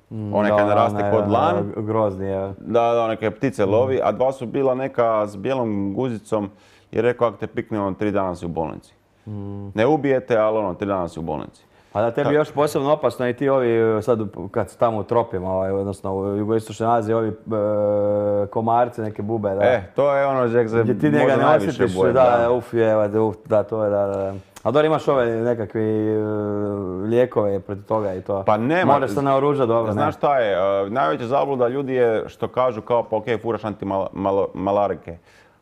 mm, onaj kad naraste kod lan. Grozni je. Da, da, neke ptice mm. lovi, a dva su bila neka s bijelom guzicom i rekao ako te pikne ono tri dana si u bolnici. Mm. Ne ubijete, ali ono tri dana si u bolnici. A da tebi još posebno opasno i ti ovi, sad kad su tamo u tropima, ovaj, odnosno u jugoistočnoj Aziji, ovi e, komarci, neke bube, da. E, to je ono že se gdje ti njega ne osjetiš, da, da, uf, je, uf, da, to je, da, da. A dobro imaš ove nekakve uh, lijekove protiv toga i to. Pa nema. Moraš se naoružati dobro. Znaš šta je, uh, najveća zabluda ljudi je što kažu kao pa okej, okay, furaš antimalarike.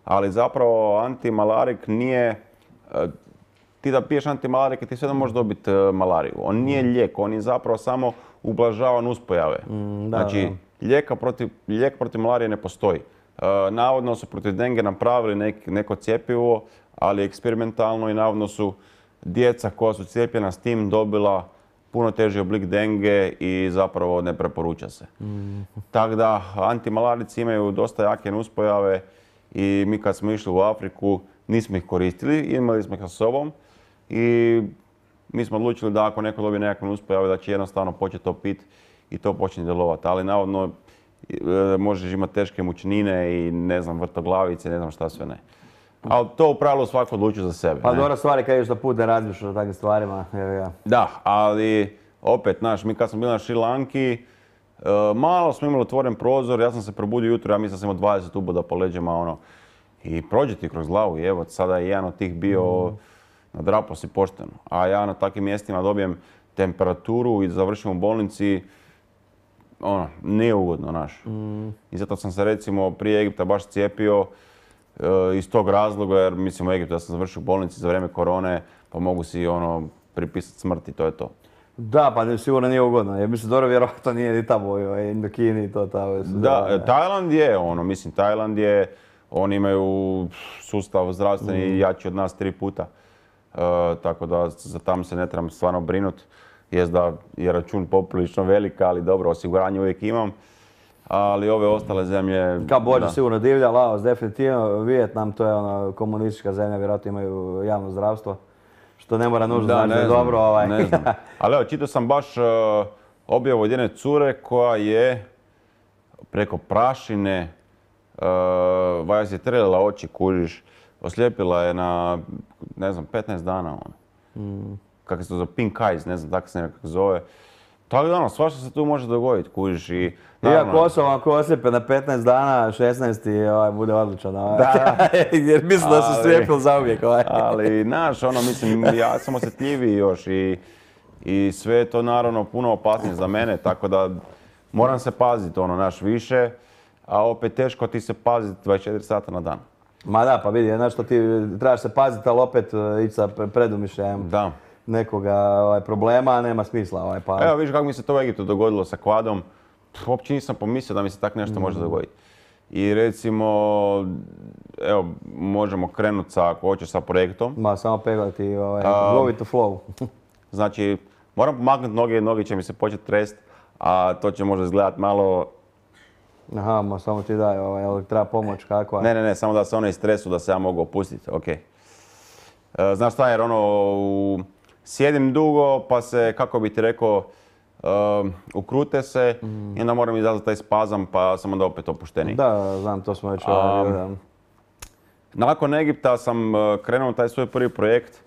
Ali zapravo antimalarik nije, uh, ti da piješ antimalarike ti sve da možeš dobiti uh, malariju. On nije lijek, on je zapravo samo ublažava nuspojave. Mm, da, znači, da. Lijeka protiv, lijek protiv malarije ne postoji. Uh, navodno su protiv denge napravili nek, neko cjepivo, ali eksperimentalno i navodno su djeca koja su cijepljena s tim dobila puno teži oblik denge i zapravo ne preporuča se. Mm. Tako da antimalarici imaju dosta jake nuspojave i mi kad smo išli u Afriku nismo ih koristili, imali smo ih sa sobom i mi smo odlučili da ako neko dobije nekakve nuspojave da će jednostavno početi to pit i to počne djelovati. Ali navodno e, možeš imati teške mučnine i ne znam vrtoglavice, ne znam šta sve ne. Ali to u pravilu svako odlučuje za sebe. Pa dobra stvar je kad ideš da put ne razmišljaš o takvim stvarima. Ja. Da, ali opet, znaš, mi kad smo bili na Šri Lanki, uh, malo smo imali otvoren prozor, ja sam se probudio jutro, ja mislim da sam imao dvadeset uboda po leđima, ono. I prođe ti kroz glavu i evo, sada je jedan od tih bio, mm. nadrapao si pošteno. A ja na takvim mjestima dobijem temperaturu i završim u bolnici, ono, nije ugodno, znaš. Mm. I zato sam se recimo prije Egipta baš cijepio, iz tog razloga, jer mislim u Egiptu da sam završio u bolnici za vrijeme korone, pa mogu si ono pripisati smrti, to je to. Da, pa sigurno nije ugodno, jer mislim dobro vjerojatno nije ni tamo u Indokini i to tamo. Da, Tajland je ono, mislim Tajland je, oni imaju sustav zdravstveni mm. jači od nas tri puta. Uh, tako da za tam se ne trebam stvarno brinuti. Jest da je račun poprilično velika, ali dobro, osiguranje uvijek imam. Ali ove ostale zemlje... Kambodža sigurno divlja, Laos definitivno, Vijetnam to je ono komunistička zemlja, vjerojatno imaju javno zdravstvo, što ne mora nužno znači da je dobro. Ovaj. Ne znam. Ali evo, čitao sam baš uh, objavu od jedne cure koja je preko prašine, uh, valjda si trelila oči, kužiš, oslijepila je na, ne znam, petnaest dana. Ono. Mm. Kako se to zove, pink eyes, ne znam, tako se nekako zove. Tako da ono, svašta se tu može dogoditi, kužiš i... Iako osoba ako oslijepe na petnaest dana, šesnaest ovaj, bude odličan. Ovaj. Da. Jer mislim da su slijepili zauvijek. Ovaj. Ali, znaš, ono, mislim, ja sam osjetljiviji još i, i sve je to naravno puno opasnije za mene, tako da moram se paziti, ono, naš više, a opet teško ti se paziti dvadeset četiri sata na dan. Ma da, pa vidi, znaš što ti trebaš se paziti, ali opet ići sa predumišljajem. Da. Nekoga ovaj, problema, nema smisla. Ovaj, pa... Evo vidiš kako mi se to u Egiptu dogodilo sa kvadom. Pff, uopće nisam pomislio da mi se tak nešto mm. može dogoditi. I recimo, evo, možemo krenuti sa, ako hoćeš, sa projektom. Ma, samo peglati, ovaj, go with the flow. Znači, moram pomaknuti noge, noge će mi se početi trest, a to će možda izgledati malo... Aha, ma samo ti daj, ovaj, treba pomoć kakva? Ne, ne, ne, samo da se one istresu, da se ja mogu opustiti, okej. Okay. Znaš šta, jer ono, u... sjedim dugo, pa se, kako bi ti rekao, uh, ukrute se mm. i onda moram izazvati taj spazam, pa sam onda opet opušteniji. Da, znam, to smo već... Um, nakon Egipta sam uh, krenuo taj svoj prvi projekt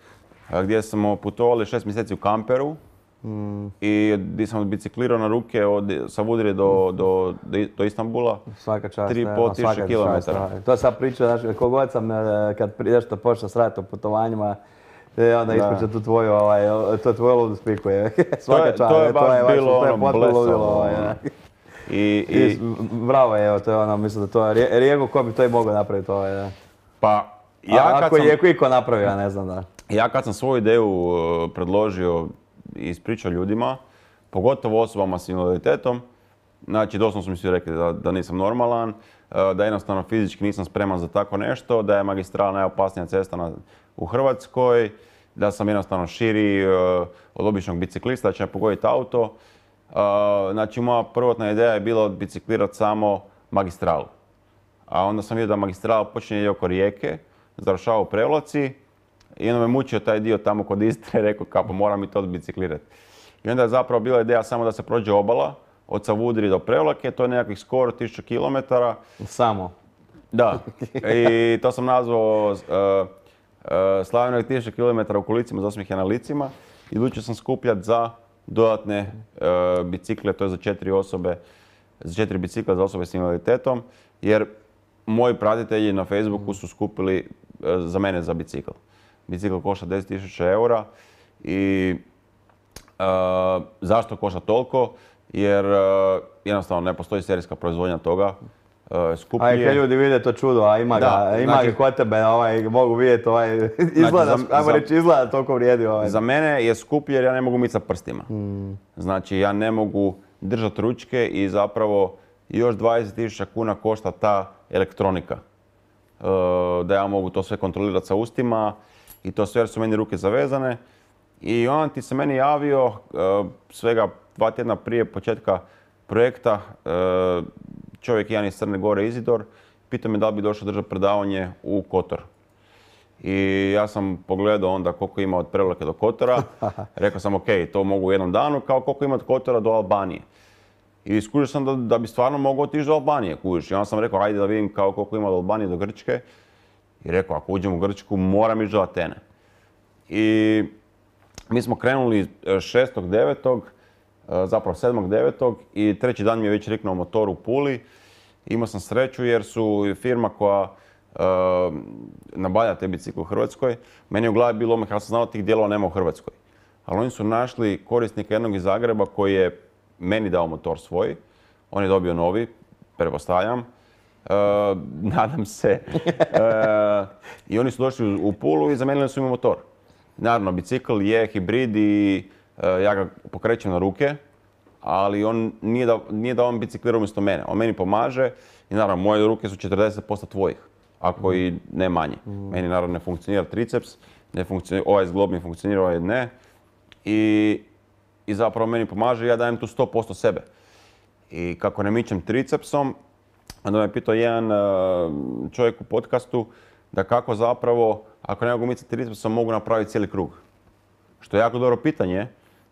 uh, gdje smo putovali šest mjeseci u kamperu mm. i gdje sam biciklirao na ruke od Savudrije do, do, do, do Istanbula. Svaka čast. tri i pol tisuće kilometara. To sam pričao, znači, kogod sam, kad nešto počeo s raditi o putovanjima, E, onda ispriča tu tvoju, ovaj, to tvoju ludu spiku je. Svaka čast. To je baš to je bilo ono blesavo. Ovaj, I, i... Bravo, evo, to je ono, mislim da to je Rijego ko bi to i mogao napraviti ovaj, da. Pa, ja A, kad ako sam... je iko napravio, ja ne znam da. Ja kad sam svoju ideju uh, predložio i ispričao ljudima, pogotovo osobama s invaliditetom, znači doslovno su mi svi rekli da, da nisam normalan, uh, da jednostavno fizički nisam spreman za tako nešto, da je magistrala najopasnija cesta na, u Hrvatskoj, da sam jednostavno širi uh, od običnog biciklista, da će me pogoditi auto. Uh, znači moja prvotna ideja je bila biciklirati samo magistralu. A onda sam vidio da magistrala počinje oko Rijeke, završava u Prevlaci i onda me mučio taj dio tamo kod Istre, rekao kako moram i to biciklirati. I onda je zapravo bila ideja samo da se prođe obala od Savudrije do Prevlake, to je nekakvih skoro tisuću kilometara. Samo? Da. I to sam nazvao uh, uh, Slavljeno tisuću kilometara u kolicima, za osmijeh na licima. I odlučio sam skupljati za dodatne uh, bicikle, to je za četiri osobe, za četiri bicikla za osobe s invaliditetom, jer moji pratitelji na Facebooku su skupili uh, za mene za bicikl. Bicikl košta deset tisuća eura i uh, zašto košta toliko? Jer uh, jednostavno ne postoji serijska proizvodnja toga. Uh, skuplje. A i kad ljudi vide to čudo, a ima Da, ga, ima znači- ga kod tebe, ovaj, mogu vidjeti, ovaj, izgleda, za- ajmo za- reći, izgleda toliko vrijedi. Ovaj. Za mene je skuplje jer ja ne mogu micati prstima. Znači ja ne mogu držati ručke i zapravo još dvadeset tisuća kuna košta ta elektronika. Uh, da ja mogu to sve kontrolirati sa ustima i to sve jer su meni ruke zavezane. I on ti se meni javio uh, svega dva tjedna prije početka projekta, uh, čovjek jedan iz Crne Gore, Izidor, pitao me da li bi došao držati predavanje u Kotor. I ja sam pogledao onda koliko ima od Prevlake do Kotora. Rekao sam ok, to mogu u jednom danu, kao koliko ima od Kotora do Albanije. I skužio sam da, da bi stvarno mogao otići do Albanije, kužiš. I onda sam rekao, ajde da vidim kao koliko ima od Albanije do Grčke. I rekao, ako uđem u Grčku, moram ići do Atene. I mi smo krenuli šestog devetog, zapravo sedmog devetog i treći dan mi je već riknuo motor u Puli. Imao sam sreću jer su firma koja uh, nabavlja te bicikle u Hrvatskoj. Meni je u glavi bilo, ja sam znao tih dijelova nema u Hrvatskoj. Ali oni su našli korisnika jednog iz Zagreba koji je meni dao motor svoj. On je dobio novi, pretpostavljam. Uh, nadam se. Uh, I oni su došli u, u Pulu i zamijenili su mi motor. Naravno, bicikl je hibrid i uh, ja ga pokrećem na ruke, ali on nije da, nije da on biciklira umjesto mene. On meni pomaže i naravno moje ruke su četrdeset posto tvojih, ako i ne manje. Meni naravno ne funkcionira triceps, ne funkcionira, ovaj zglob mi funkcionira, ovaj ne. I, I zapravo meni pomaže i ja dajem tu sto posto sebe. I kako ne mičem tricepsom, onda me pitao jedan uh, čovjek u podcastu da kako zapravo, ako ne mogu micati tricepsom, mogu napraviti cijeli krug. Što je jako dobro pitanje,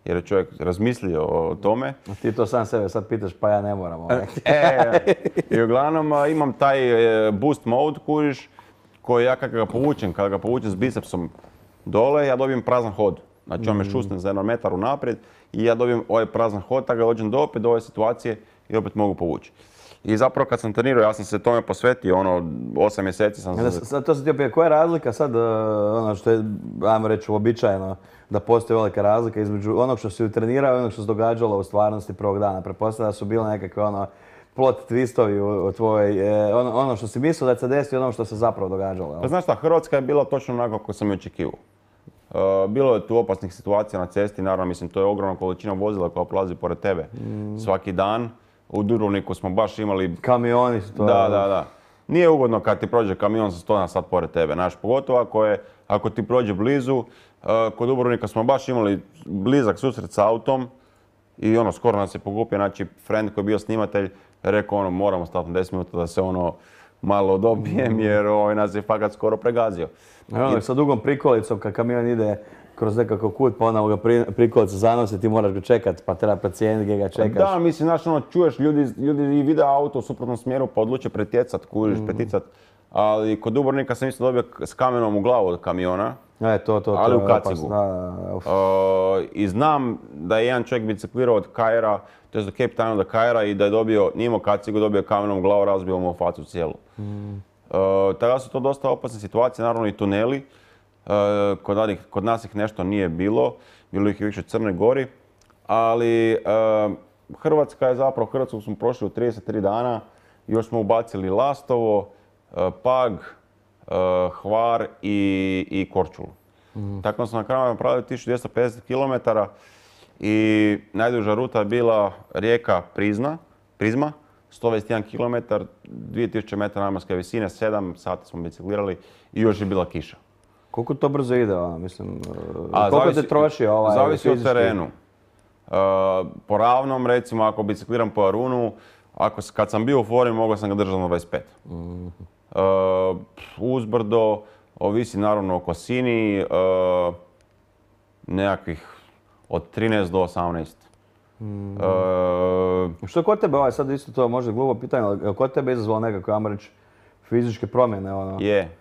jer je čovjek razmislio o tome. Ti to sam sebe sad pitaš, pa ja ne moram. Ovaj. E, i uglavnom a, imam taj e, boost mode, kužiš, koji ja kad ga povučem, kada ga povučem s bicepsom dole, ja dobijem prazan hod. Znači on me šusne za jedan metar unaprijed i ja dobijem ovaj prazan hod, tako ga dođem do opet do ove situacije i opet mogu povući. I zapravo kad sam trenirao, ja sam se tome posvetio, ono, osam mjeseci sam Ja, se... sad to se ti opet, koja je razlika sad, uh, ono što je, ajmo reći, uobičajeno, da postoji velika razlika između onog što si trenirao i onog što se događalo u stvarnosti prvog dana. Pretpostavljam da su bile nekakve ono, plot twistovi u, u tvojoj, e, ono, ono što si mislio da se desi i ono što se zapravo događalo. Jel? Pa znaš šta, Hrvatska je bila točno onako kako sam i očekivao. Uh, bilo je tu opasnih situacija na cesti, naravno, mislim, to je ogromna količina vozila koja prolazi pored tebe mm. svaki dan. U Dubrovniku smo baš imali... Kamioni su to... Da, da, da. Nije ugodno kad ti prođe kamion sa sto na sat pored tebe, znaš, pogotovo ako, je, ako ti prođe blizu. Uh, kod Dubrovnika smo baš imali blizak susret s autom i ono, skoro nas je pokupio, znači, friend koji je bio snimatelj, rekao ono, moramo stati na deset minuta da se ono malo dobijem jer ovaj nas je fakat skoro pregazio. Ono, I... sa dugom prikolicom, kad kamion ide kroz nekakav kut, pa onda ga pri, prikolica zanosi, ti moraš ga čekat, pa treba procijeniti gdje ga čekaš. Da, mislim, znaš, ono, čuješ ljudi, ljudi i vide auto u suprotnom smjeru, pa odluče pretjecat, kužiš, mm. preticat. Ali kod Dubrovnika sam isto dobio s kamenom u glavu od kamiona. E, to, to, ali to, u kacigu. Da, da, uh, I znam da je jedan čovjek biciklirao od Kaira, to je do Cape Towna do Kaira i da je dobio, nije imao kacigu, dobio kamenom u glavu, razbio mu facu cijelu. Mm. Uh, tada su to dosta opasne situacije, naravno i tuneli. Uh, kod, nadih, kod nas ih nešto nije bilo, bilo ih više u Crnoj Gori, ali uh, Hrvatska je zapravo, Hrvatsku smo prošli u trideset tri dana, još smo ubacili Lastovo, Pag, Hvar i, i Korčulu. Mm. Tako smo na kraju napravili tisuću dvjesto pedeset kilometara i najduža ruta je bila rijeka Prizna, Prizma, sto dvadeset jedan kilometar, dvije tisuće metara nadmorske visine, sedam sati smo biciklirali i još je bila kiša. Koliko to brzo ide, ono, mislim, a, koliko zavisi, te troši ovaj zavisi fizički? Od terenu. Uh, po ravnom, recimo, ako bicikliram po Arunu, ako, kad sam bio u formi, mogao sam ga držati na dvadeset pet. Mm-hmm. Uh, uzbrdo, ovisi naravno o kosini, uh, nekakvih od trinaest do osamnaest. Mm. Uh, Što kod tebe, ovaj, sad isto to može glupo pitanje, ali kod tebe izazvalo nekako, ajmo reći, fizičke promjene? Ono? Je.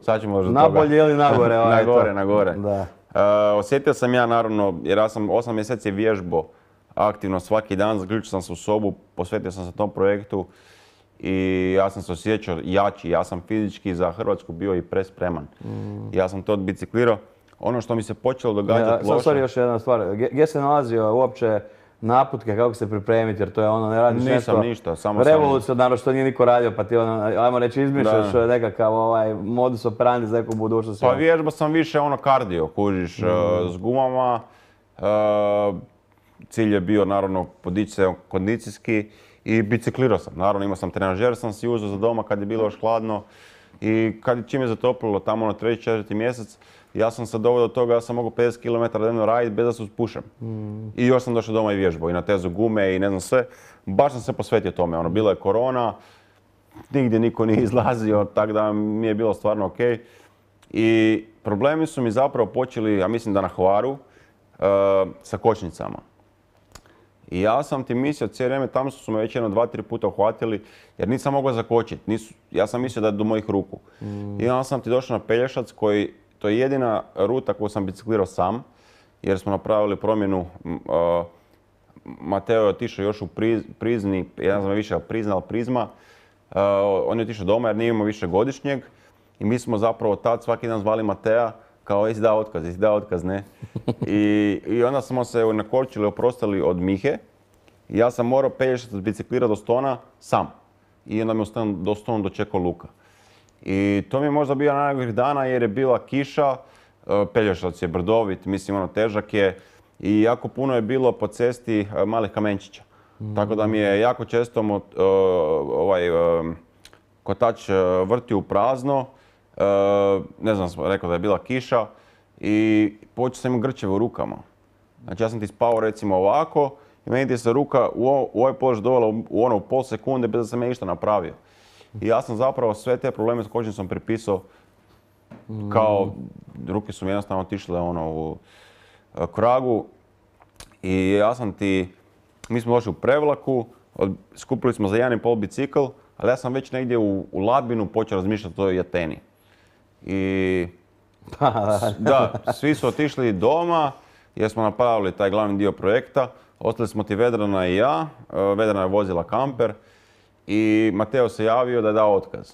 Sad ću možda toga. Nabolje ili nagore? Ovaj, nagore, nagore. Da. Uh, osjetio sam ja naravno, jer ja sam osam mjeseci vježbo aktivno svaki dan, zaključio sam se u sobu, posvetio sam se tom projektu i ja sam se osjećao jači, ja sam fizički za Hrvatsku bio i prespreman. Mm. Ja sam to odbiciklirao. Ono što mi se počelo događati ja, loše... Sorry, još jedna stvar. Gdje se nalazio uopće naputke kako se pripremiti, jer to je ono, ne radiš Nisam nešto ništa, samo revolucionarno što nije niko radio, pa ti ono, ajmo reći, izmišljaš da. nekakav ovaj modus operandi za neku budućnost. Pa vježba sam više ono kardio, kužiš, mm. uh, s gumama. Uh, cilj je bio naravno podići se kondicijski i biciklirao sam. Naravno imao sam trenažer, sam si uzeo za doma kad je bilo još hladno i kad čim je zatoplilo tamo na treći, četvrti mjesec, ja sam se doveo do toga, ja sam mogu pedeset kilometara dnevno raditi bez da se uspušem. Mm. I još sam došao doma i vježbao i na tezu gume i ne znam sve. Baš sam se posvetio tome. Ono, bila je korona, nigdje niko nije izlazio, tako da mi je bilo stvarno ok. I problemi su mi zapravo počeli, ja mislim da na Hvaru, uh, sa kočnicama. I ja sam ti mislio cijelo vrijeme, tamo su me već jedno dva, tri puta uhvatili jer nisam mogao zakočiti. Nisu, ja sam mislio da je do mojih ruku. Mm. I onda sam ti došao na Pelješac koji, to je jedina ruta koju sam biciklirao sam jer smo napravili promjenu. Uh, Mateo je otišao još u priz, Prizni, ja znam više Prizna, ali Prizma. Uh, on je otišao doma jer nije imao više godišnjeg i mi smo zapravo tad svaki dan zvali Matea kao jesi dao otkaz, jesi dao otkaz, ne. I, i onda smo se na Korčuli oprostali od Mihe i ja sam morao Pelješac biciklirati do Stona sam. I onda me do Stona dočekao Luka. I to mi je možda bio najgorih dana jer je bila kiša, Pelješac je brdovit, mislim ono težak je i jako puno je bilo po cesti malih kamenčića. Mm. Tako da mi je jako često uh, ovaj, uh, kotač vrtio u prazno. Uh, ne znam, rekao da je bila kiša i počeo sam imati grčeve u rukama. Znači ja sam ti spao recimo ovako i meni ti se ruka u, o, u ovaj položaj dovela u, u ono u pol sekunde bez da sam ja ništa napravio. I ja sam zapravo sve te probleme s kočnicom pripisao kao ruke su mi jednostavno otišle ono u kragu i ja sam ti, mi smo došli u Prevlaku, od, skupili smo za jedan i pol bicikl, ali ja sam već negdje u, u Labinu počeo razmišljati o toj Ateni. I da, svi su otišli doma jer smo napravili taj glavni dio projekta. Ostali smo ti Vedrana i ja, Vedrana je vozila kamper i Mateo se javio da je dao otkaz.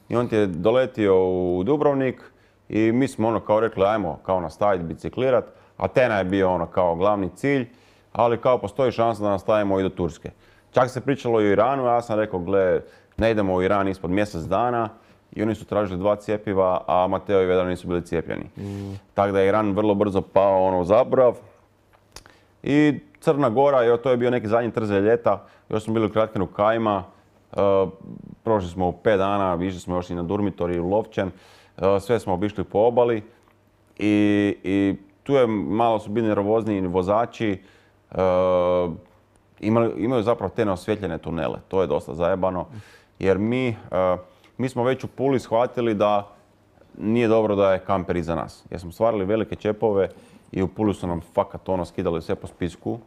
I on ti je doletio u Dubrovnik i mi smo ono kao rekli ajmo kao nastaviti biciklirat. Atena je bio ono kao glavni cilj, ali kao postoji šansa da nastavimo i do Turske. Čak se pričalo i o Iranu, ja sam rekao gle, ne idemo u Iran ispod mjesec dana. I oni su tražili dva cjepiva, a Mateo i Vedran nisu bili cijepljeni. Mm. Tako da je Iran vrlo brzo pao ono u zaborav. I Crna Gora, jo, to je bio neki zadnji trze ljeta, još smo bili u Kratkinu Kajma. Uh, prošli smo u pet dana, išli smo još i na Durmitor i u Lovćen. Uh, sve smo obišli po obali. I, i tu je malo su bili nervozniji vozači. Uh, imali, imaju zapravo te neosvjetljene tunele, to je dosta zajebano. Jer mi... Uh, Mi smo već u Puli shvatili da nije dobro da je kamper iza nas. Jer smo stvarali velike čepove i u Puli su nam fakat ono skidali sve po spisku.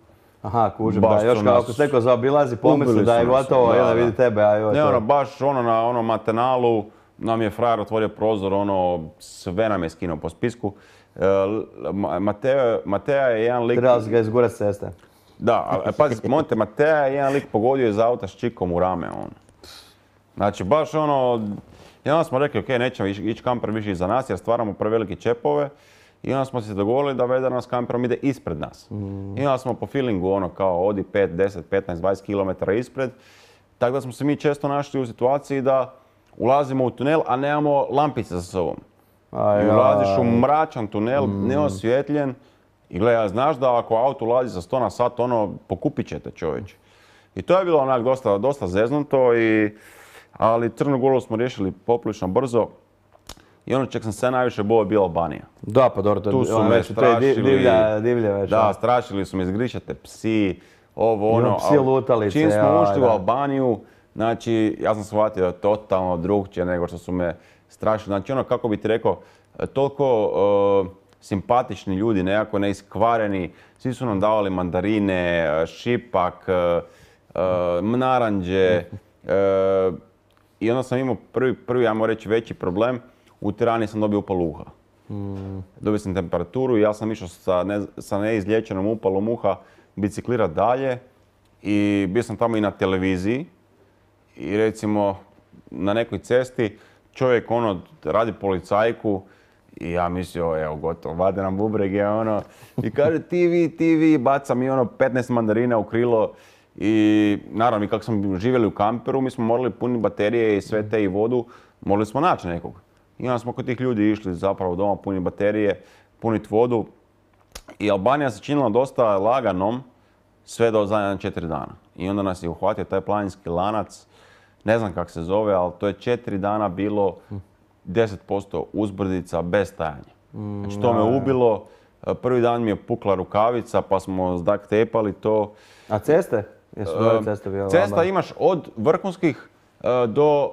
Aha, kužim, da, još kao ako se neko zaobilazi pomisli da je gotovo, da, jedan vidi tebe, a joj ne, ono, baš ono na onom Matenalu nam je frajer otvorio prozor, ono, sve nam je skinuo po spisku. E, Mateo, Matea je jedan lik... Trebali si ga izgurat s ceste. Da, ali pazi, Monte Matea je jedan lik pogodio iz auta s čikom u rame, ono. Znači, baš ono, i onda smo rekli, ok, nećemo ići kamper više iza nas jer stvaramo prevelike čepove I onda smo se dogovorili da Vedar nas kamperom ide ispred nas. Mm. I onda smo po feelingu ono kao odi pet, deset, petnaest, dvadeset kilometara ispred. Tako da smo se mi često našli u situaciji da ulazimo u tunel, a nemamo lampice za sobom. I ulaziš u mračan tunel, mm. neosvjetljen. I gledaj, znaš da ako auto ulazi za sto na sat, ono, pokupit ćete čovječe. I to je bilo onak dosta, dosta zeznuto, i, ali Crnu Goru smo riješili poprilično brzo. I ono čeg sam se najviše bojao je bila Albanija. Da, pa dobro, to, tu su me strašili, divlja, divlja već. Da, strašili su me, izgrišate psi, ovo ono. Psi lutalice. Čim smo ušli u Albaniju, znači ja sam shvatio da je totalno drugčije nego što su me strašili. Znači ono, kako bi ti rekao, toliko uh, simpatični ljudi, nekako neiskvareni, svi su nam davali mandarine, šipak, uh, uh, naranđe. Uh, I onda sam imao prvi, prvi, ajmo reći, veći problem. U Tirani sam dobio upal uha. Mm. Dobio sam temperaturu i ja sam išao sa, ne, sa neizliječenom upalom uha biciklirat dalje. I bio sam tamo i na televiziji. I recimo na nekoj cesti čovjek ono radi policajku i ja mislio, evo gotovo, vade nam bubrege, ono. I kaže ti vi, ti vi, baca mi ono petnaest mandarina u krilo. I naravno, mi kako smo živjeli u kamperu, mi smo morali puniti baterije i sve te i vodu, morali smo naći nekog. I onda smo kod tih ljudi išli zapravo doma puniti baterije, puniti vodu. I Albanija se činila dosta laganom sve do zadnja četiri dana. I onda nas je uhvatio taj planinski lanac, ne znam kako se zove, ali to je četiri dana bilo deset posto uzbrdica bez stajanja. Znači to me ubilo, prvi dan mi je pukla rukavica pa smo zdak tepali to. A ceste? Jesu dobre ceste bile? Cesta imaš od vrhunskih uh, do,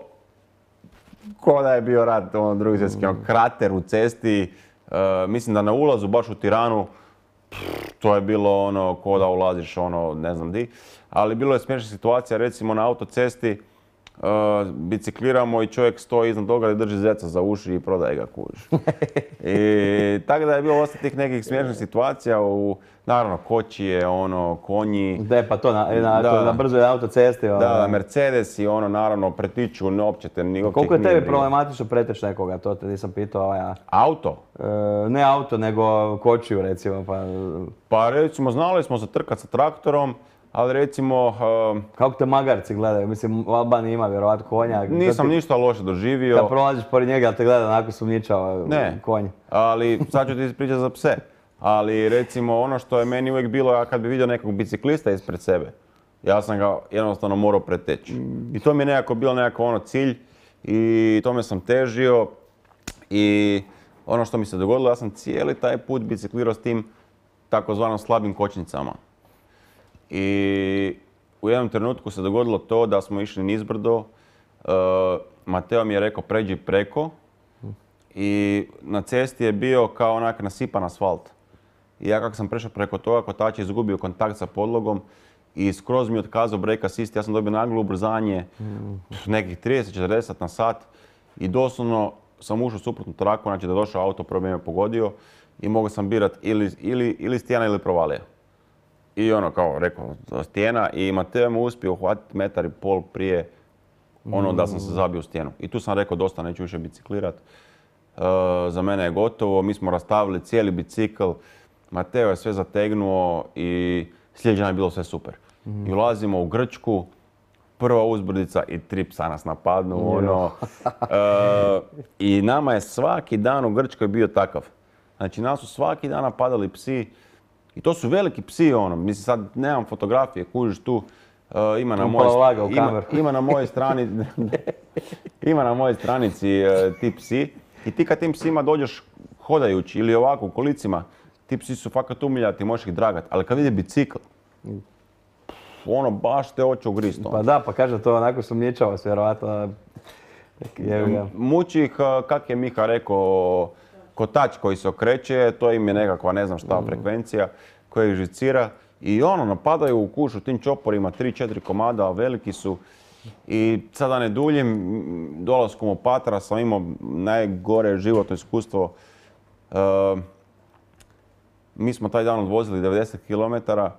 ko da je bio rat, ono drugi svjetski, ono, krater u cesti. Uh, mislim da na ulazu baš u Tiranu, pff, to je bilo ono, ko da ulaziš ono, ne znam di. Ali bilo je smiješna situacija, recimo na autocesti, uh, bicikliramo i čovjek stoji iznad toga i drži zeca za uši i prodaje ga, kužiš. I tako da je bilo dosta tih nekih smiješnih situacija u, naravno, kočije, ono, konji. De, pa to na, na, da, na brzoj autocesti. Ono. Da, Mercedes i ono, naravno, pretiču, ne uopće te ni uopće. Koliko je tebi problematično preteći nekoga, to te nisam pitao. Ja. Auto? E, ne auto, nego kočiju, recimo. Pa, pa recimo, znali smo se trkat sa traktorom, ali recimo... Uh, kako te magarci gledaju? Mislim, u Albaniji ima vjerovatno konja. Nisam ti, ništa loše doživio. Kad prolaziš pored njega, ali te gleda onako sumnjičava konj. Ne, ali sad ću ti ispričati za pse. Ali recimo ono što je meni uvijek bilo, ja kad bi vidio nekog biciklista ispred sebe, ja sam ga jednostavno morao preteći. I to mi je nekako bilo nekako ono cilj i tome sam težio. I ono što mi se dogodilo, ja sam cijeli taj put biciklirao s tim takozvanom slabim kočnicama. I u jednom trenutku se dogodilo to da smo išli nizbrdo, uh, Mateo mi je rekao pređi preko i na cesti je bio kao onak nasipan asfalt. I ja kako sam prešao preko toga, kotač je izgubio kontakt sa podlogom i skroz mi je otkazao brake assist. Ja sam dobio naglo ubrzanje, nekih trideset do četrdeset na sat i doslovno sam ušao u suprotnu traku, znači da je došao auto, prvo me pogodio i mogao sam birat ili, ili, ili stijena ili provalija. I ono kao rekao stijena i Mateo me uspio uhvatiti metar i pol prije ono da sam se zabio u stijenu. I tu sam rekao dosta, neću više biciklirat. Uh, za mene je gotovo, mi smo rastavili cijeli bicikl. Mateo je sve zategnuo i sljedeće je bilo sve super. Mm. I ulazimo u Grčku, prva uzbrdica i tri psa nas napadnu. Mm. Ono, uh, I nama je svaki dan u Grčkoj bio takav. Znači nas su svaki dan napadali psi. I to su veliki psi, ono, mislim sad nemam fotografije, kužiš tu, uh, ima, na moj, ima, ima na mojoj strani, ima na mojoj stranici uh, ti psi. I ti kad tim psima dođeš hodajući ili ovako u kolicima, ti psi su fakat umiljati, možeš ih dragat, ali kad vidi bicikl, ono baš te oči ugrist. Pa da, pa kaže to onako sumnjičava se vjerovatno. Muči ih, kak je Miha rekao, kotač koji se okreće, to im je nekakva ne znam šta mm. frekvencija koja ih žicira. I ono, napadaju u kušu tim čoporima, tri četiri komada, veliki su. I sad da ne duljim, dolaskom u Patra sam imao najgore životno iskustvo. Uh, mi smo taj dan odvozili devedeset kilometara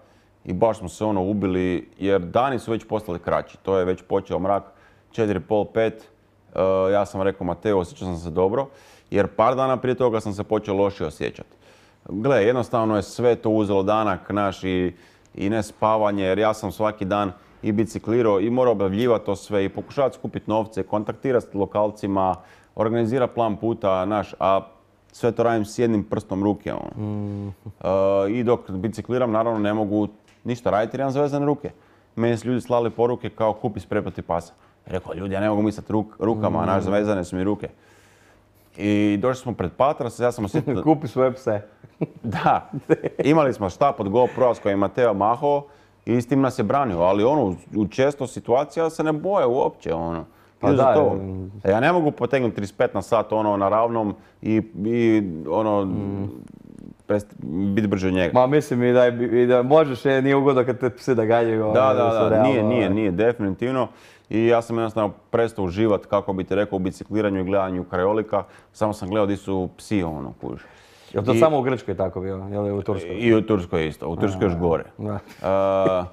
i baš smo se ono ubili jer dani su već postali kraći. To je već počeo mrak, četiri i pol, pet. Uh, ja sam rekao Mateo, osjećao sam se dobro jer par dana prije toga sam se počeo loše osjećati. gle, jednostavno je sve to uzelo danak naš i, i ne spavanje, jer ja sam svaki dan i biciklirao i morao objavljivati to sve i pokušavati skupiti novce, kontaktirati s lokalcima, organizirati plan puta, naš, a sve to radim s jednim prstom ruke. Ono. Mm. Uh, I dok bicikliram, naravno ne mogu ništa raditi jer imam zvezane ruke. Meni su ljudi slali poruke kao kupi sprej protiv pasa. Rekao, ljudi, ja ne mogu misliti ruk, rukama, mm. naš, zvezane su mi ruke. I došli smo pred Patras, ja sam osjetio... Kupi svoje pse. Da, imali smo štap od GoPro s kojim je Mateo mahao i s tim nas je branio, ali ono, u često situacija se ne boje uopće, ono. Pa da, to. Ja ne mogu potegnuti trideset pet na sat ono na ravnom i, i ono, mm. biti brže od njega. Ma mislim i da, i da možeš, nije ugodno kad te psi da ganjaju. Da, da, da, da, nije, nije, nije, definitivno. I ja sam jednostavno prestao uživati, kako bi ti rekao, u bicikliranju i gledanju krajolika. Samo sam gledao di su psi, ono, kužiš. Je li to I, samo u Grčkoj tako bilo, je li u Turskoj? I u Turskoj isto, u Turskoj još gore. Da. Uh,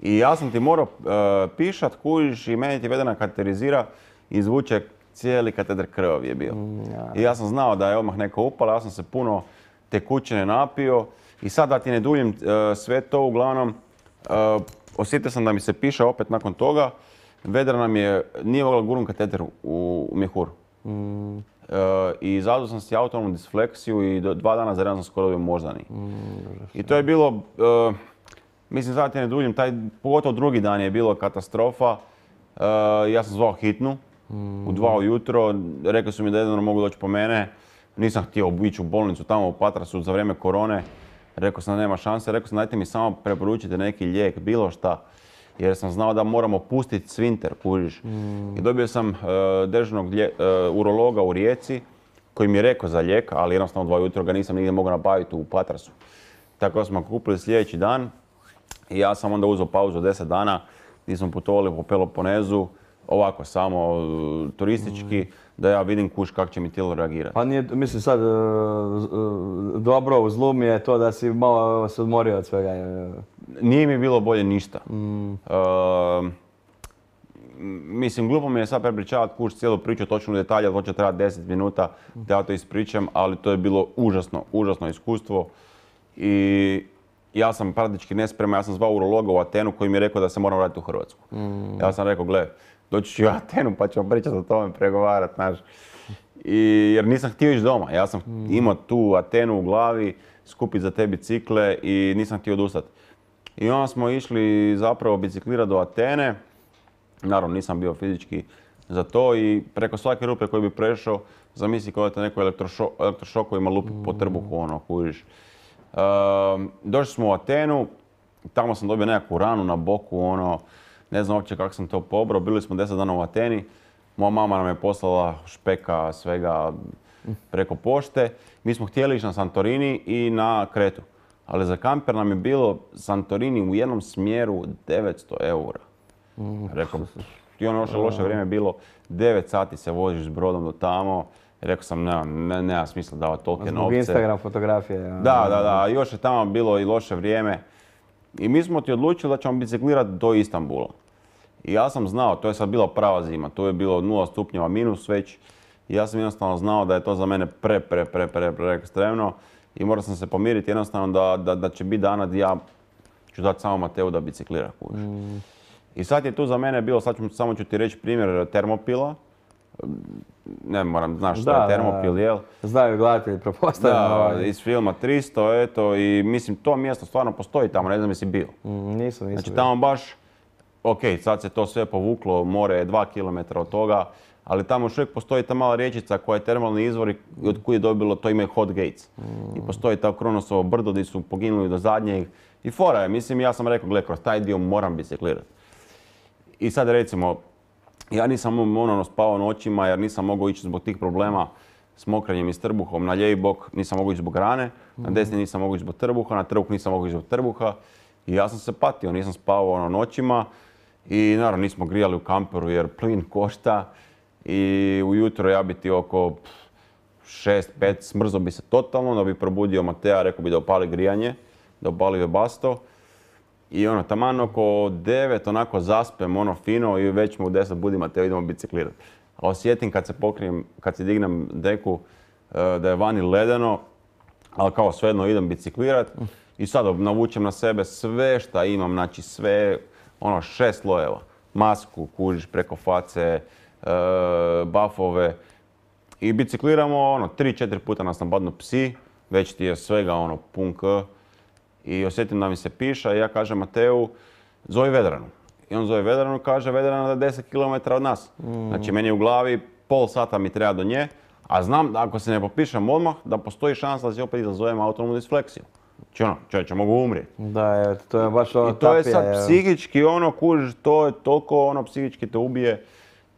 I ja sam ti morao uh, pišat, kužiš, i meni ti vedena kateterizira i izvuče cijeli katedar krvavi je bio. Mm, ja. I ja sam znao da je odmah neko upala, ja sam se puno tekućine napio i sad da ti ne duljim uh, sve to, uglavnom, uh, osjetio sam da mi se piše opet nakon toga. Vedra nam je, nije mogla gurnut kateter u, u mjehur. Mm. Uh, I zadao sam si autonomnu disfleksiju i do, dva dana za redom sam skoro dobio moždani. Mm, I to je bilo, uh, mislim sad ti ne duljim, taj, pogotovo drugi dan je bilo katastrofa. Uh, ja sam zvao hitnu mm. u dva ujutro, rekli su mi da jedino mogu doći po mene. Nisam htio ići u bolnicu tamo u Patrasu za vrijeme korone. Rekao sam da nema šanse, rekao sam dajte mi samo preporučite neki lijek, bilo šta. Jer sam znao da moramo pustiti svinter, kužiš. Mm. I dobio sam uh, dežurnog uh, urologa u Rijeci koji mi je rekao za lijek, ali jednostavno dva jutro ga nisam nigdje mogao nabaviti u Patrasu. Tako da smo kupili sljedeći dan i ja sam onda uzeo pauzu deset dana gdje smo putovali po Peloponezu, ovako samo uh, turistički, mm. da ja vidim kuš kako će mi tijelo reagirati. Pa nije, mislim sad, uh, uh, dobro u zlu mi je to da si malo se odmorio od svega. Nije mi bilo bolje ništa. Mm. Uh, mislim, glupo mi je sad prepričavati kuš cijelu priču, točno u detalje, to će trebati deset minuta da ja to ispričam, ali to je bilo užasno, užasno iskustvo. I ja sam praktički nespreman, ja sam zvao urologa u Atenu koji mi je rekao da se moram vratiti u Hrvatsku. Mm. Ja sam rekao, gle, doći ću u Atenu pa ćemo pričati o tome, pregovarati, znaš. I, jer nisam htio ići doma, ja sam mm. imao tu Atenu u glavi, skupiti za te bicikle i nisam htio odustati. I onda smo išli zapravo biciklirati do Atene, naravno nisam bio fizički za to i preko svake rupe koju bi prešao, zamisli kao da te neko elektrošo, elektrošokovima lupi mm. po trbuhu, ono, kužiš. Uh, došli smo u Atenu, tamo sam dobio nekakvu ranu na boku, ono, ne znam uopće kako sam to pobrao, bili smo deset dana u Ateni, moja mama nam je poslala špeka svega preko pošte. Mi smo htjeli ići na Santorini i na Kretu, ali za kamper nam je bilo Santorini u jednom smjeru devetsto eura. Rekao, i ono loše, loše vrijeme bilo, devet sati se voziš s brodom do tamo. Rekao sam, nema, ne, nema smisla davati tolike novce. Zbog Instagram fotografije. Ja. Da, da, da. Još je tamo bilo i loše vrijeme. I mi smo ti odlučili da ćemo biciklirati do Istanbula. I ja sam znao, to je sad bila prava zima, to je bilo nula stupnjeva minus već. I ja sam jednostavno znao da je to za mene pre, pre, pre, pre, pre ekstremno. I morao sam se pomiriti jednostavno da, da, da će biti dana gdje ja ću dati samo Mateu da biciklira. Mm. I sad je tu za mene bilo, sad ću, samo ću ti reći primjer Termopila. Ne moram, znaš šta je Termopil, jel? Znaju gledatelji, pretpostavljam. Da, ovaj. Iz filma tristo, eto, i mislim to mjesto stvarno postoji tamo, ne znam jesi bio. Mm, nisam, nisam Znači bio. Tamo baš, ok, sad se to sve povuklo, more je dva kilometra od toga, ali tamo još uvijek postoji ta mala riječica koja je termalni izvor i od kuda je dobilo, to ime Hot Gates. Mm. I postoji ta Kronosovo brdo gdje su poginuli do zadnjeg. I fora je, mislim, ja sam rekao, gle, kroz taj dio moram biciklirati. I sad recimo, ja nisam ono spavao noćima jer nisam mogao ići zbog tih problema s mokrenjem i s trbuhom. Na lijevi bok nisam mogao ići zbog rane, na desni nisam mogao ići zbog trbuha, na trbuh nisam mogao ići zbog trbuha. I ja sam se patio, nisam spavao ono noćima i naravno nismo grijali u kamperu jer plin košta. I ujutro ja bi ti oko šest pet smrzo bi se totalno, da bi probudio Matea, rekao bi da opali grijanje, da opali webasto. I ono, taman oko devet onako zaspem, ono fino i već mu u deset budi Mateo, idemo biciklirati. A osjetim kad se pokrijem, kad se dignem deku da je vani ledeno, ali kao svejedno idem biciklirat i sad navučem na sebe sve šta imam, znači sve, ono šest slojeva, masku, kužiš preko face, e, bafove i bicikliramo ono tri četiri puta nas napadnu psi, već ti je svega ono pun k i osjetim da mi se piša i ja kažem Mateu, zovi Vedranu. I on zove Vedranu, kaže Vedrana da je deset kilometara od nas. Mm. Znači meni u glavi pol sata mi treba do nje, a znam da ako se ne popišem odmah, da postoji šansa da se opet izazovem autonomnu disfleksiju. Znači ono, čovječe, mogu umrijeti. Da, je, to je baš ono I to je tapija, sad je. psihički ono, kužiš, to je toliko ono, psihički te ubije.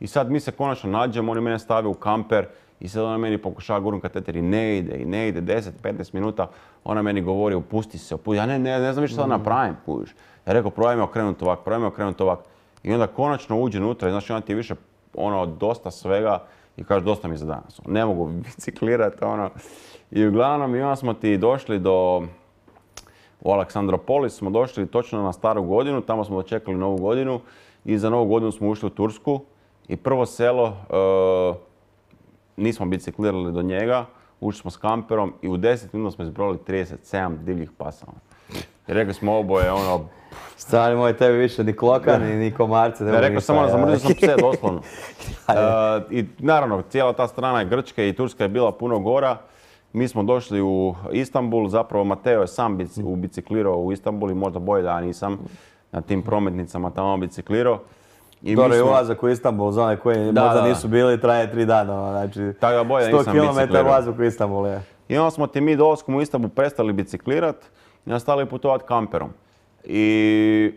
I sad mi se konačno nađemo, oni mene stave u kamper i sad ona meni pokušava gurnut kateter i ne ide, i ne ide, deset do petnaest minuta. Ona meni govori, opusti se, opusti. Ja ne, ne, ne znam više šta napravim, kužiš. Ja rekao, probaj me okrenuti ovak, probaj me okrenuti ovak. I onda konačno uđe unutra i znači ona ti je više ono, dosta svega i kaže dosta mi za danas. Ne mogu biciklirati ono. I uglavnom i onda smo ti došli do, u Aleksandropolis smo došli točno na staru godinu, tamo smo dočekali novu godinu i za novu godinu smo ušli u Tursku i prvo selo, e, nismo biciklirali do njega, ušli smo s kamperom i u deset minuta smo izbrojali trideset sedam divljih pasa. I rekli smo oboje ono, Stvari moj, tebi više ni klokani, ni komarce. Ne, rekao sam ono, zamrzio sam pse doslovno. uh, I naravno, cijela ta strana je Grčke i Turska je bila puno gora. Mi smo došli u Istanbul, zapravo Mateo je sam bici, biciklirao u Istanbul i možda bolje da ja nisam na tim prometnicama tamo biciklirao. Dobro, smo... ulazak u Istanbul, za one koji da, možda da. nisu bili, traje tri dana, znači sto kilometara ulazak u Istanbul je. I onda smo ti mi dolaskom u Istanbul prestali biciklirat i nastavili putovati kamperom. I,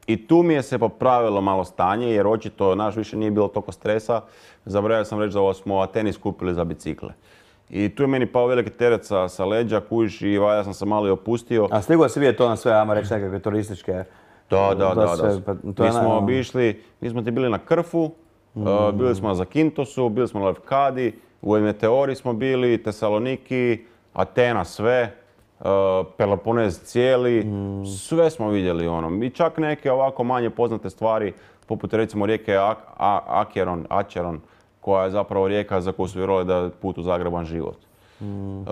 I tu mi je se popravilo malo stanje jer očito naš više nije bilo toliko stresa. Zaboravio sam reći da smo Ateni skupili za bicikle. I tu je meni pao veliki teret sa, sa leđa, kužiš i ja sam se malo i opustio. A stigao si vidjeti to na sve, ajmo reći nekakve turističke... Da, da, da. Sve, da. Pa, mi smo obišli, mi smo ti bili na Krfu, mm. uh, bili smo na Zakintosu, bili smo na Lefkadi, u Meteori smo bili, Tesaloniki, Atena sve. Uh, Peloponez cijeli, mm. sve smo vidjeli ono. I čak neke ovako manje poznate stvari, poput recimo rijeke Ak A Acheron, Acheron, koja je zapravo rijeka za koju su vjerovali da je put u zagreban život. Mm. Uh,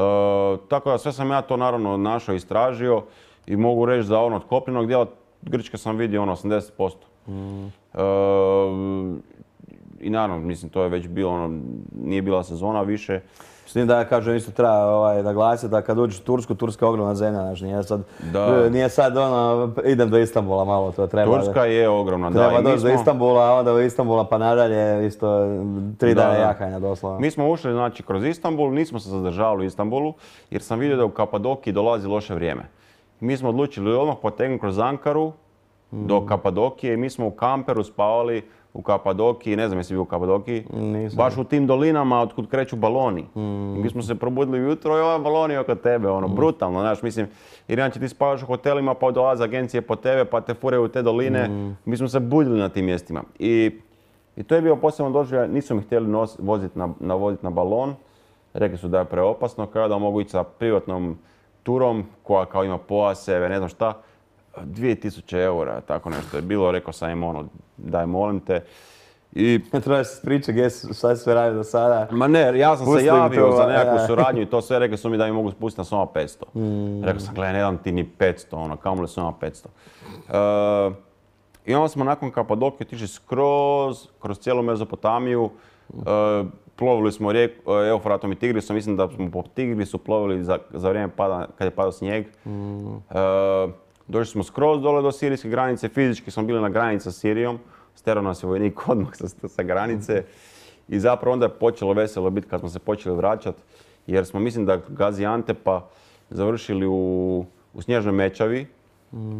tako da sve sam ja to naravno našao i istražio i mogu reći da ono od kopnenog dijela Grčke sam vidio ono osamdeset posto. Mm. Uh, I naravno, mislim, to je već bilo ono, nije bila sezona više. S tim da ja kažem, isto treba ovaj, naglasiti da kad uđeš u Tursku, Turska je ogromna zemlja, znači nije sad, nije sad ono, idem do Istanbula malo, to treba. Turska je ogromna, da. Treba doći do Istanbula, a onda do Istanbula pa nadalje, isto tri dana jahanja doslovno. Mi smo ušli znači kroz Istanbul, nismo se zadržavali u Istanbulu, jer sam vidio da u Kapadokiji dolazi loše vrijeme. Mi smo odlučili odmah potegnuti kroz Ankaru mm. do Kapadokije i mi smo u kamperu spavali u Kapadokiji, ne znam jesi bio u Kapadokiji, Nisam. baš u tim dolinama otkud kreću baloni. Mm. I mi smo se probudili ujutro i ovaj balon je oko tebe, ono, mm. brutalno, znaš, mislim, jer inače ti spavaš u hotelima pa dolaze agencije po tebe pa te furaju u te doline, mm. mi smo se budili na tim mjestima. I, i to je bio posebno doživljaj, nisu mi htjeli voziti na, na, vozit na balon, rekli su da je preopasno, kao da mogu ići sa privatnom turom koja kao ima pojaseve, ne znam šta, dvije tisuće eura, tako nešto je bilo, rekao sam im ono, daj molim te. I... Treba se spričati gdje šta sve radi do sada. Ma ne, ja sam Pustim se javio to, za nekakvu suradnju i to sve, rekli su mi da mi mogu spustiti na soma petsto. Mm. Rekao sam, gledaj, ne dam ti ni petsto, ono, kamo li soma petsto. Uh, I onda smo nakon Kapadokije otišli skroz, kroz cijelu Mezopotamiju. Uh, plovili smo rijeku, Eufratom i Tigrisom, mislim da smo po Tigrisu plovili za, za vrijeme pada, kad je padao snijeg. Mm. Uh, došli smo skroz dole do sirijske granice, fizički smo bili na granici sa Sirijom. Sterao nas je vojnik odmah sa, sa granice. I zapravo onda je počelo veselo biti kad smo se počeli vraćati. Jer smo, mislim da Gaziantepa završili u, u Snježnoj Mečavi. Mm. Uh,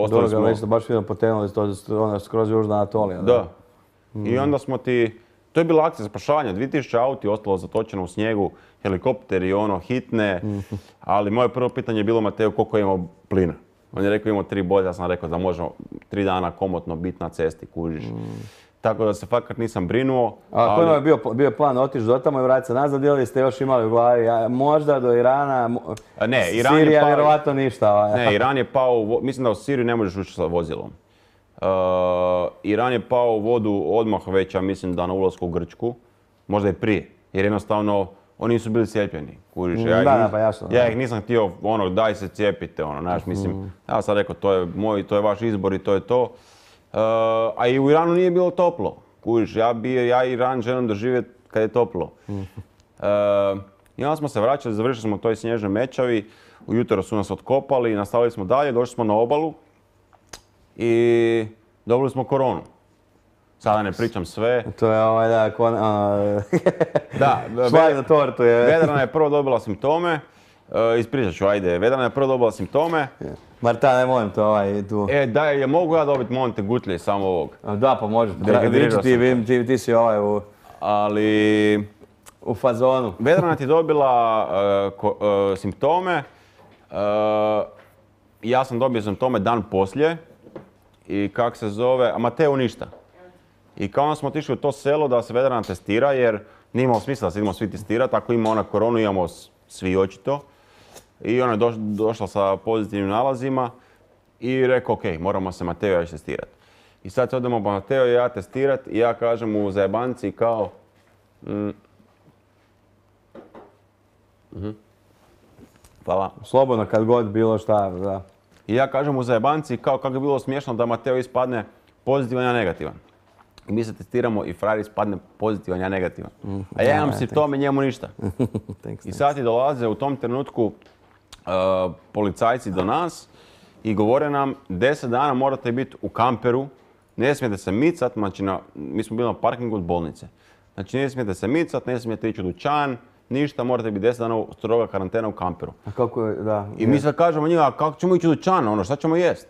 Dobro smo... ga već baš vidimo potenuli to skroz Južna Anatolija. Da. da. Mm. I onda smo ti... To je bila akcija spašavanja. dvije tisuće auti ostalo zatočeno u snijegu, helikopteri, ono, hitne. Mm. Ali moje prvo pitanje je bilo, Mateo, koliko imamo plina? On je rekao imamo tri boje, ja sam rekao da možemo tri dana komotno biti na cesti, kužiš. Mm. Tako da se fakat nisam brinuo. A ali... koji je bio, bio plan otići do tamo i vratiti se nazad ili ste još imali u glavi? Ja, možda do Irana, ne, Iran Sirija, je pao... vjerovatno ništa. Ne, Iran je pao, mislim da u Siriju ne možeš ući sa vozilom. Uh, Iran je pao u vodu odmah već, ja mislim da na ulasku u Grčku, možda i prije. Jer jednostavno oni nisu bili cijepljeni, kužiš. Mm, Ja, ih da, nis- da, pa jasno, ja da. ih nisam htio, ono, daj se cijepite, ono, znaš, mislim, ja sam rekao, to je moj, to je vaš izbor i to je to. Uh, a i u Iranu nije bilo toplo, kužiš, ja, bi, ja Iran želim doživjeti kad je toplo. Uh, I onda smo se vraćali, završili smo u toj snježnoj Mečavi, ujutro su nas otkopali, nastavili smo dalje, došli smo na obalu i dobili smo koronu. Sada ne pričam sve. To je ovaj, da, kon, a, Da, šlag na tortu je. Vedrana je prvo dobila simptome, uh, ispričat ću, ajde, Vedrana je prvo dobila simptome. Marta, ne molim te ovaj tu. E, daj, je mogu ja dobiti Monte Gutlje samo ovog? Da, pa može. Dehidratirao Viči ti, sam. vidim, ti, ti si ovaj u, Ali, u fazonu. Vedrana ti je dobila uh, ko, uh, simptome, uh, ja sam dobio simptome dan poslije i kak se zove, a Mateo ništa. I kao onda smo otišli u to selo da se Vedrana testira jer nije imalo smisla da se idemo svi testirati, ako ima ona koronu imamo s- svi očito. I ona je doš, došla sa pozitivnim nalazima i rekao ok, moramo se Mateo i ja testirati. I sad se odemo Mateo i ja testirati i ja kažem mu zajebanci kao mm, mhm. Hvala. Slobodno kad god bilo šta, da. I ja kažem u zajebanci kao kako bi bilo smiješno da Mateo ispadne pozitivan, ja negativan. I mi se testiramo i frajer ispadne pozitivan, ja negativan. A ja imam ja, simptome, njemu ništa. Thanks, I sad ti dolaze u tom trenutku uh, policajci do nas i govore nam deset dana morate biti u kamperu, ne smijete se micat, znači na, mi smo bili na parkingu od bolnice. Znači ne smijete se micat, ne smijete ići u dućan, ništa, morate biti deset dana u- stroga karantena u kamperu. A kako je, da. I mi sad kažemo njima, kako ćemo ići u dućan, ono, šta ćemo jest?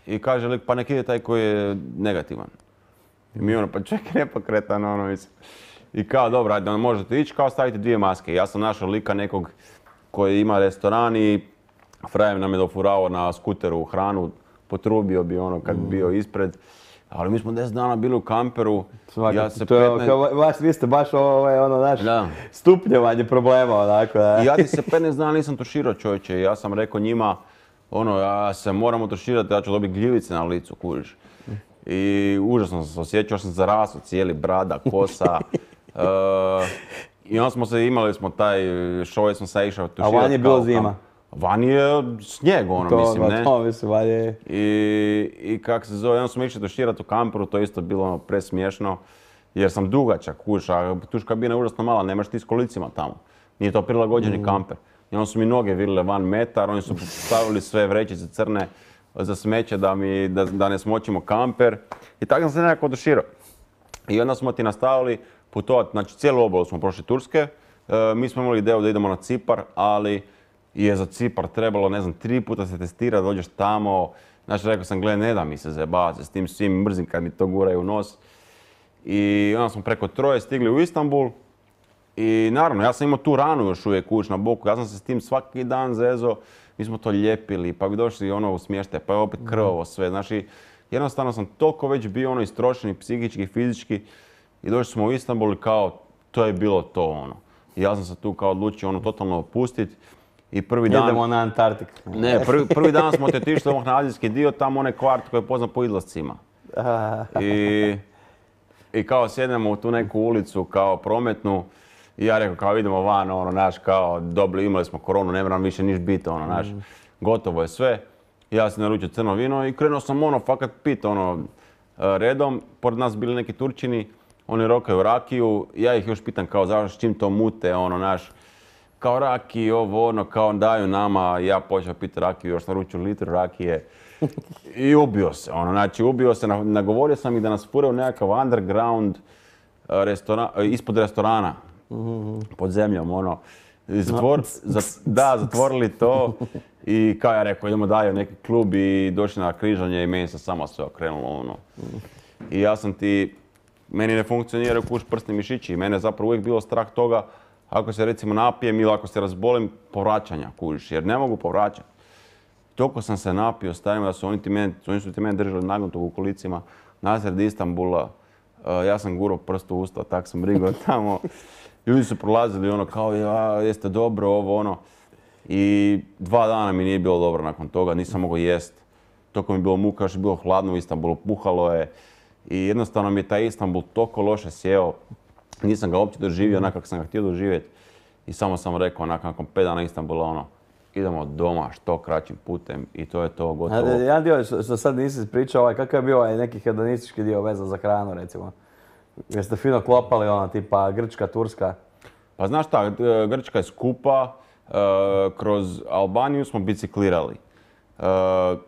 I kaže lik, pa nek ide taj koji je negativan. I mi ono, pa čekaj, nepokretan, ono, mislim. I kao, dobro, ajde, onda možete ići, kao stavite dvije maske. Ja sam našao lika nekog koji ima restoran i frajer nam je dofurao na skuteru hranu, potrubio bi ono kad bi bio ispred. Ali mi smo deset dana bili u kamperu, ja se to je, petnaest kao, vas, vi ste baš ovaj, ono, naš Da. stupnjevanje problema, onako, da. I ja ti se petnaest dana nisam tuširao, čovječe. Ja sam rekao njima, ono, ja se moramo tuširati, ja ću dobiti gljivice na licu, kužiš. I užasno sam se osjećao, sam zarasao, cijeli brada, kosa. E, I onda smo se, imali smo taj show, smo se išao tuširati. A van je bilo kao- zima. Van je snijeg, ono, To, mislim, ma, ne? to mislim, valje. I, i kak se zove, onda smo išli tuširati u kamperu, to je isto bilo ono presmiješno. Jer sam dugačak, kužiš, a tuš kabina je užasno mala, nemaš ti s kolicima tamo. Nije to prilagođeni kamper. I onda su mi noge virile van metar, oni su stavili sve vrećice crne za smeće da, mi, da, da ne smočimo kamper. I tako sam se nekako oduširao. I onda smo ti nastavili putovati, znači cijelu obalu smo prošli Turske. E, mi smo imali ideju da idemo na Cipar, ali je za Cipar trebalo, ne znam, tri puta se testirati, dođeš tamo. Znači rekao sam, gle, ne da mi se zajebavati s tim svim, mrzim kad mi to guraju u nos. I onda smo preko Troje stigli u Istanbul. I naravno, ja sam imao tu ranu još uvijek kuć na boku, ja sam se s tim svaki dan zezo, mi smo to ljepili, pa bi došli ono u smještaj, pa je opet krvavo sve, znači jednostavno sam toliko već bio ono istrošen i psihički i fizički i došli smo u Istanbul i kao, to je bilo to ono. I ja sam se tu kao odlučio ono totalno opustiti i prvi dan... Idemo na Antarktik. Ne, prvi, prvi dan smo te otišli ovog na azijski dio, tamo onaj kvart koji je poznat po izlascima. I, I kao sjednemo u tu neku ulicu kao prometnu i ja rekao kao idemo van, ono, naš, kao dobili, imali smo koronu, ne moram više niš biti, ono, naš, gotovo je sve. Ja sam naručio crno vino i krenuo sam, ono, fakat pit, ono, redom. Pored nas bili neki Turčini, oni rokaju rakiju, ja ih još pitam kao zašto, s čim to mute, ono, naš, kao rakiju, ovo, ono, kao daju nama, ja počeo piti rakiju, još naručio litru rakije. I ubio se, ono, znači ubio se, na- nagovorio sam ih da nas fure u nekakav underground restoran, ispod restorana, pod zemljom, ono. I zatvor, za- da, zatvorili to i kao ja rekao, idemo dalje u neki klub i došli na križanje i meni se samo sve okrenulo, ono. I ja sam ti, meni ne funkcioniraju kuš prsni mišići i mene je zapravo uvijek bilo strah toga ako se recimo napijem ili ako se razbolim, povraćanja kužiš, jer ne mogu povraćati. Toliko sam se napio, stavimo da su oni, ti mene, oni su ti mene držali nagnutog u kolicima nasred Istanbula. Uh, ja sam gurao prst u usta, tak sam brigao tamo. Ljudi su prolazili ono kao, ja, jeste dobro, ovo ono. I dva dana mi nije bilo dobro nakon toga, nisam mogao jest. Toliko mi je bilo muka, još je bilo hladno u Istanbulu, puhalo je. I jednostavno mi je taj Istanbul toliko loše sjeo. nisam ga uopće doživio onak kako sam ga htio doživjeti. I samo sam rekao, onak, nakon pet dana Istanbula, ono, idemo doma što kraćim putem i to je to gotovo. A, jedan dio što, što sad nisi pričao, ovaj, kakav je bio ovaj neki hedonistički dio vezan za hranu, recimo? Jeste fino klopali, ono, tipa Grčka, Turska? Pa znaš šta, Grčka je skupa, uh, kroz Albaniju smo biciklirali. Uh,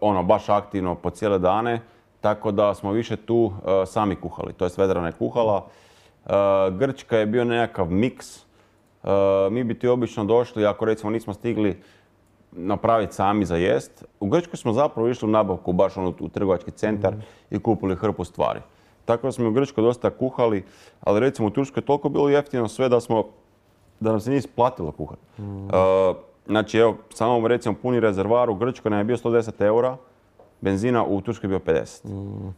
ono, baš aktivno po cijele dane, tako da smo više tu uh, sami kuhali, to jest Vedrana je kuhala. Uh, Grčka je bio nekakav miks. Uh, mi bi ti obično došli, ako recimo nismo stigli napraviti sami za jest. U Grčkoj smo zapravo išli u nabavku, baš ono, u trgovački centar mm. i kupili hrpu stvari. Tako da smo u Grčkoj dosta kuhali, ali recimo u Turskoj je toliko bilo jeftino sve da smo, da nam se nije isplatilo kuhati. Mm. Uh, znači evo, samo recimo puni rezervar u Grčkoj nam je bio sto deset eura, benzina u Turskoj je bio pedeset. Mm. Uh,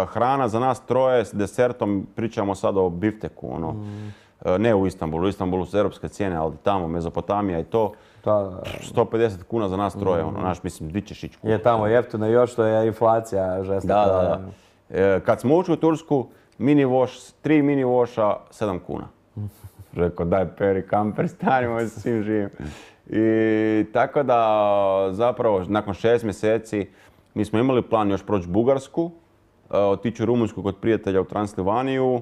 hrana za nas troje s desertom, pričamo sad o bifteku, ono. Mm. Uh, ne u Istanbulu, u Istanbulu su europske cijene, ali tamo Mezopotamija i to. Da, da. sto pedeset kuna za nas troje, mm. ono, naš, mislim, di ćeš ići kuhati. Je tamo jeftino, još što je inflacija žestoka. Da, da, da. E, kad smo ušli u Tursku, mini voš, tri mini voša, sedam kuna. Rekao, daj peri kamper, stanimo se svim živim. I tako da, zapravo, nakon šest mjeseci, mi smo imali plan još proći Bugarsku, otići u Rumunjsku kod prijatelja u Transilvaniju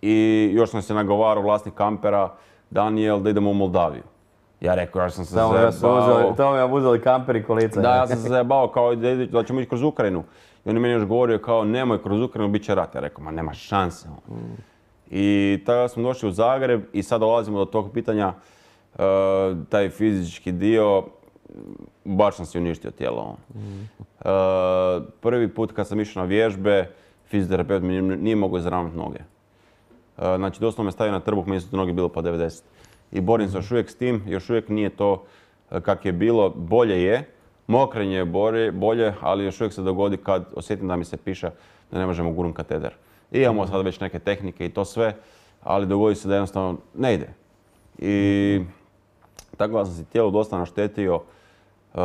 i još sam se nagovarao vlasnik kampera, Daniel, da idemo u Moldaviju. Ja rekao, ja sam se zajebao. Tamo mi vam uzeli kamper i kolica. Da, ja sam se zajebao kao da, da ćemo ići kroz Ukrajinu. I on je meni još govorio kao, nemoj kroz Ukrajinu, bit će rat. Ja rekao, ma nema šanse. Mm. I tada smo došli u Zagreb i sad dolazimo do tog pitanja, uh, taj fizički dio, baš sam si uništio tijelo. Mm. Uh, prvi put kad sam išao na vježbe, fizioterapeut mi nije mogao izravnati noge. Uh, znači, doslovno me stavio na trbuh, meni su noge bilo po devedeset. I borim se još uvijek s tim, još uvijek nije to kak je bilo, bolje je. Mokrenje je bolje, bolje, ali još uvijek se dogodi kad osjetim da mi se piše da ne možemo gurnuti kateder. I imamo sad već neke tehnike i to sve, ali dogodi se da jednostavno ne ide. I tako da sam si tijelo dosta naštetio. Uh,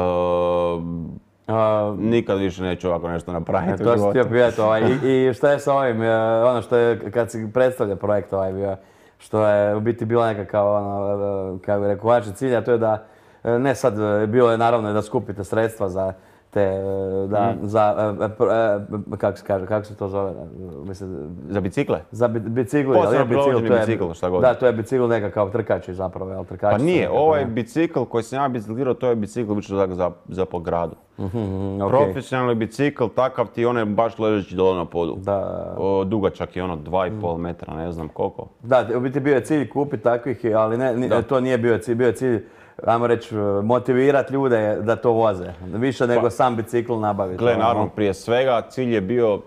uh, nikad više neću ovako nešto napraviti. To sam htio pitati, ovaj, i, i šta je sa ovim, ono što je kad si predstavlja projekt ovaj bio, što je u biti bila nekakav, ono, kako bih rekao, konačni cilj, a to je da, ne sad, bilo je naravno da skupite sredstva za te, da, mm. za, kako se kaže, kako se to zove? Mislim, za bicikle? Za bi, bicikli, ali je bicikl, to je, bicikl, šta god. Da, to je bicikl nekakav trkači zapravo, jel, trkači. Pa nije, ovaj bicikl koji sam ja biciklirao, to je bicikl za, za, za po gradu. Mm-hmm, okay. Profesionalni bicikl, takav ti on je baš ležeći dole na podu. Da. O, dugačak je ono dva i pol metra, ne znam koliko. Da, u biti bio je cilj kupiti takvih, ali ne, ne, to nije bio cilj, bio je cilj, ajmo reći, motivirati ljude da to voze. Više nego pa, sam bicikl nabaviti. Gle, naravno, prije svega cilj je bio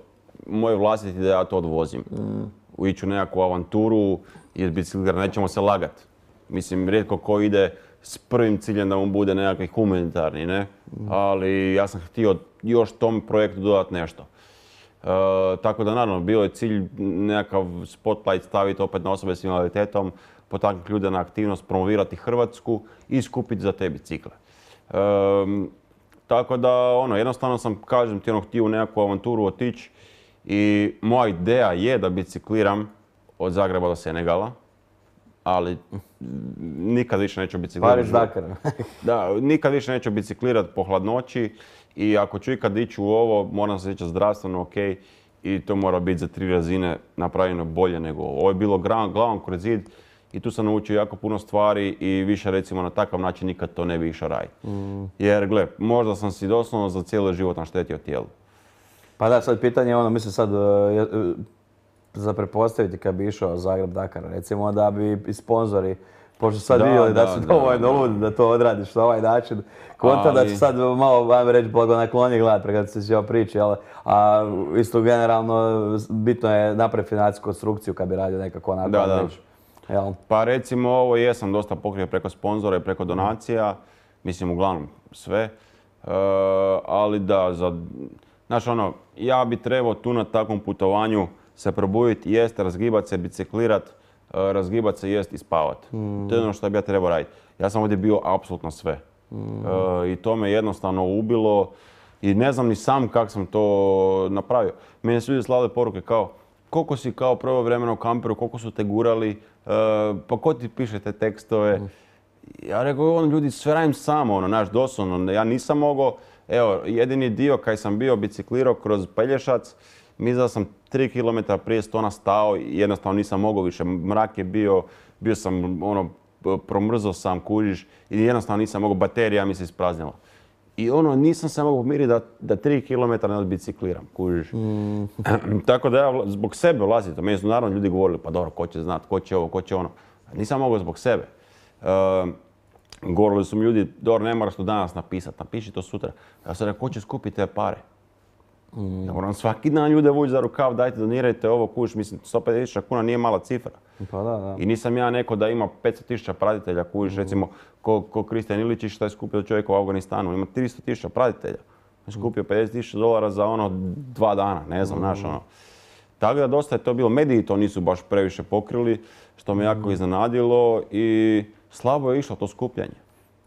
moj vlastiti da ja to odvozim. Mm. Ići u nekakvu avanturu i biciklir, nećemo se lagati. Mislim, rijetko ko ide s prvim ciljem da mu bude nekakvi humanitarni, ne? Mm. Ali ja sam htio još tom projektu dodati nešto. E, tako da, naravno, bio je cilj nekakav spotlight staviti opet na osobe s invaliditetom, potaknuti ljude na aktivnost, promovirati Hrvatsku i skupiti za te bicikle. E, tako da, ono, jednostavno sam, kažem ti, ono, htio u nekakvu avanturu otići i moja ideja je da bicikliram od Zagreba do Senegala, ali nikad više neću biciklirati. Pariz Dakar. Da, nikad više neću biciklirati po hladnoći i ako ću ikad ići u ovo, moram se reći zdravstveno ok i to mora biti za tri razine napravljeno bolje nego ovo. Ovo je bilo glavom kroz zid i tu sam naučio jako puno stvari i više recimo na takav način nikad to ne bi išao raditi. Mm. Jer gle, možda sam si doslovno za cijeli život naštetio tijelu. Pa da, sad pitanje je ono, mislim sad, za pretpostaviti kad bi išao Zagreb-Dakar, recimo da bi i sponzori, pošto sad vidjeli da, da su dovoljno ludi da to odradiš na ovaj način, konta da će sad malo, ajme reći, blagonaklonije gledati prekad se sve priči, ali, a isto generalno bitno je napraviti financijsku konstrukciju kad bi radio nekako onako da, da. reći. Jel? Pa recimo ovo jesam dosta pokrio preko sponzora i preko donacija, mislim uglavnom sve, e, ali da, za, znaš ono, ja bi trebao tu na takvom putovanju se probuditi, jest, razgibat se, biciklirat, razgibat se, jest i spavat. Mm. To je ono što bi ja trebao raditi. Ja sam ovdje bio apsolutno sve. Mm. E, I to me jednostavno ubilo i ne znam ni sam kako sam to napravio. Meni su ljudi slali poruke kao, koliko si kao prvo vremena u kamperu, koliko su te gurali, uh, pa ko ti piše te tekstove. Mm. Ja rekao, on ljudi sve radim samo, ono, naš doslovno, ja nisam mogao, evo, jedini dio kaj sam bio biciklirao kroz Pelješac, mislim da sam tri kilometra prije Stona stao i jednostavno nisam mogao više, mrak je bio, bio sam, ono, promrzao sam, kužiš, i jednostavno nisam mogao, baterija mi se ispraznila. I ono, nisam se mogao pomiriti da, da tri kilometra ne odbicikliram, kužiš. Mm. Tako da ja zbog sebe ulazim, to meni su naravno ljudi govorili, pa dobro, ko će znat, ko će ovo, ko će ono. Nisam mogao zbog sebe. Uh, govorili su mi ljudi, dobro, ne moraš to danas napisati, napiši to sutra. Ja sam rekao, ko će skupiti te pare? Mm. Ja moram svaki dan ljude vući za rukav, dajte, donirajte ovo, kužiš, mislim, sto pedeset tisuća kuna nije mala cifra. Pa da, da. I nisam ja neko da ima petsto tisuća pratitelja, kužiš, mm. recimo, ko, ko Kristijan Iličić što je skupio čovjek u Afganistanu, ima tristo tisuća pratitelja. Je skupio pedeset tisuća dolara za ono dva dana, ne znam, mm. znaš ono. Tako da dosta je to bilo, mediji to nisu baš previše pokrili, što me jako iznenadilo i slabo je išlo to skupljanje.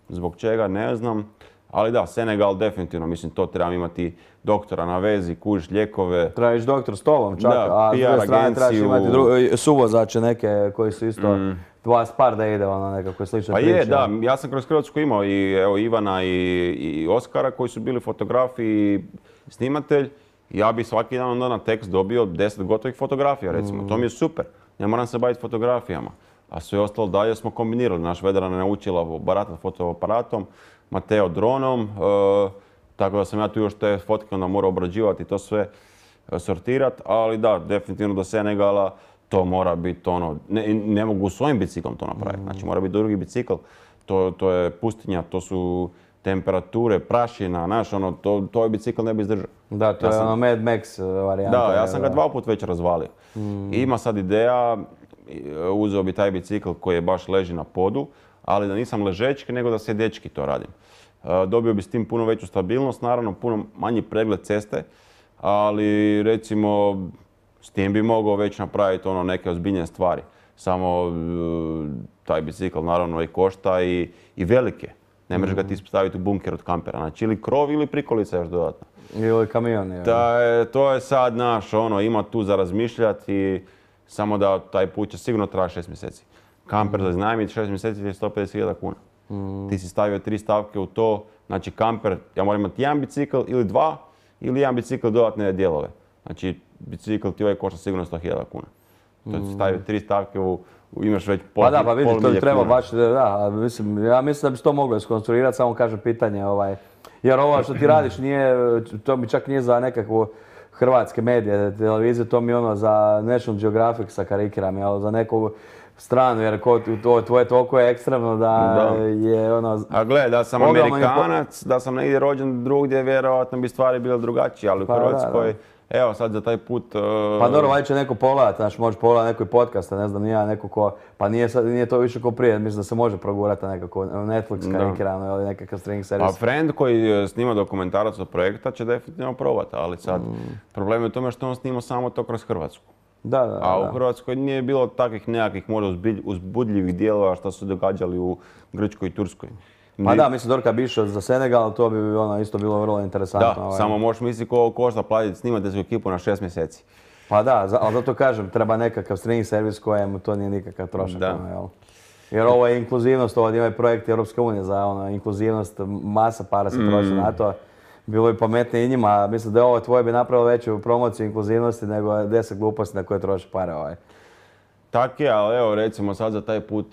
Zbog čega, ne znam. Ali da, Senegal definitivno, mislim, to trebam imati doktora na vezi, kužiš, lijekove. Treba ići doktor s tobom čak, da, a s P R druge strane trebaš agenciju. imati dru- suvozače neke koji su isto mm. dva spar da ide, ono nekako slične pa priče. Pa je, da, ja sam kroz Hrvatsku imao i evo, Ivana i, i Oskara koji su bili fotografi i snimatelj. Ja bi svaki dan onda na tekst dobio deset gotovih fotografija, recimo. Mm. To mi je super. Ne moram se baviti fotografijama. A sve ostalo dalje smo kombinirali. Naš Vedrana je naučila baratati fotoaparatom, Mateo dronom, e, tako da sam ja tu još te fotke onda morao obrađivati i to sve e, sortirati, ali da, definitivno do Senegala to mora biti ono, ne, ne mogu svojim biciklom to napraviti, znači mora biti drugi bicikl, to, to je pustinja, to su temperature, prašina, znaš, ono, to, to je bicikl ne bi izdržao. Da, to ja je sam, ono Mad Max varijanta. Da, ja sam ga dva put već razvalio. Mm. Ima sad ideja, uzeo bi taj bicikl koji je baš leži na podu, ali da nisam ležečki, nego da se dečki to radim. Dobio bi s tim puno veću stabilnost, naravno puno manji pregled ceste, ali recimo s tim bi mogao već napraviti ono neke ozbiljne stvari. Samo taj bicikl naravno i košta i, i velike. Ne možeš ga ti staviti u bunker od kampera, znači ili krov ili prikolica još dodatno. Ili kamion. Je. Da, to je sad naš, ono, ima tu za razmišljati i samo da taj put će sigurno trajati šest mjeseci. Kamper za iznajmiti šest mjeseci je sto pedeset hiljada kuna. Mm. Ti si stavio tri stavke u to, znači kamper, ja moram imati jedan bicikl ili dva, ili jedan bicikl dodatne dijelove. Znači bicikl ti ovaj košta sigurno sto hiljada kuna. To ti stavio tri stavke u, u imaš već pol, pa da, pa vidi, to treba kuna. baš, da, mislim, ja mislim da bi se to moglo iskonstruirati, samo kažem pitanje, ovaj, jer ovo što ti radiš nije, to mi čak nije za nekakvu hrvatske medije, televizije, to mi ono za National Geographic sa karikiram, jel, za neku stranu, jer ko, to, tvoje toliko je ekstremno da, da. je ono... A gle, da sam Amerikanac, da sam negdje rođen drugdje, vjerojatno bi stvari bile drugačije, ali u pa, Hrvatskoj, da, da. Evo sad za taj put... Uh... Pa dobro, valjda će neko pogledati, znaš, možeš pogledati nekoj podcast, ne znam, nije neko ko... Pa nije, sad, nije to više ko prije, mislim da se može progurati nekako Netflix karikirano ili nekakav streaming servis. A friend koji snima dokumentarac od projekta će definitivno probati, ali sad mm. problem je u tome što on snima samo to kroz Hrvatsku. Da, da, A u da. Hrvatskoj nije bilo takvih nekakvih možda uzbudljivih dijelova što su događali u Grčkoj i Turskoj. Pa da, mislim, Dorka bi išao za Senegal, to bi ono isto bilo vrlo interesantno. Da, ovaj. samo možeš misliti koliko košta platiti snimati svoju ekipu na šest mjeseci. Pa da, ali zato kažem, treba nekakav streaming servis kojemu to nije nikakav trošak. Da. Ono, jel? Jer ovo je inkluzivnost, ovo ima projekt Europske unije za ono, inkluzivnost, masa para se troši mm. na to. Bilo bi pametnije i njima, mislim da je ovo tvoje bi napravilo veću promociju inkluzivnosti nego deset gluposti na koje troši pare ovaj. Tak je, ali evo recimo sad za taj put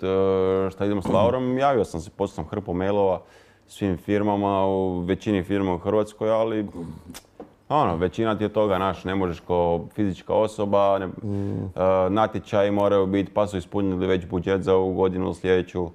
što idemo s Laurom, javio sam se, poslao sam hrpu mailova svim firmama, u većini firma u Hrvatskoj, ali ono, većina ti je toga, naš, ne možeš kao fizička osoba, ne, mm. uh, natječaji moraju biti, pa su ispunili već budžet za ovu godinu sljedeću.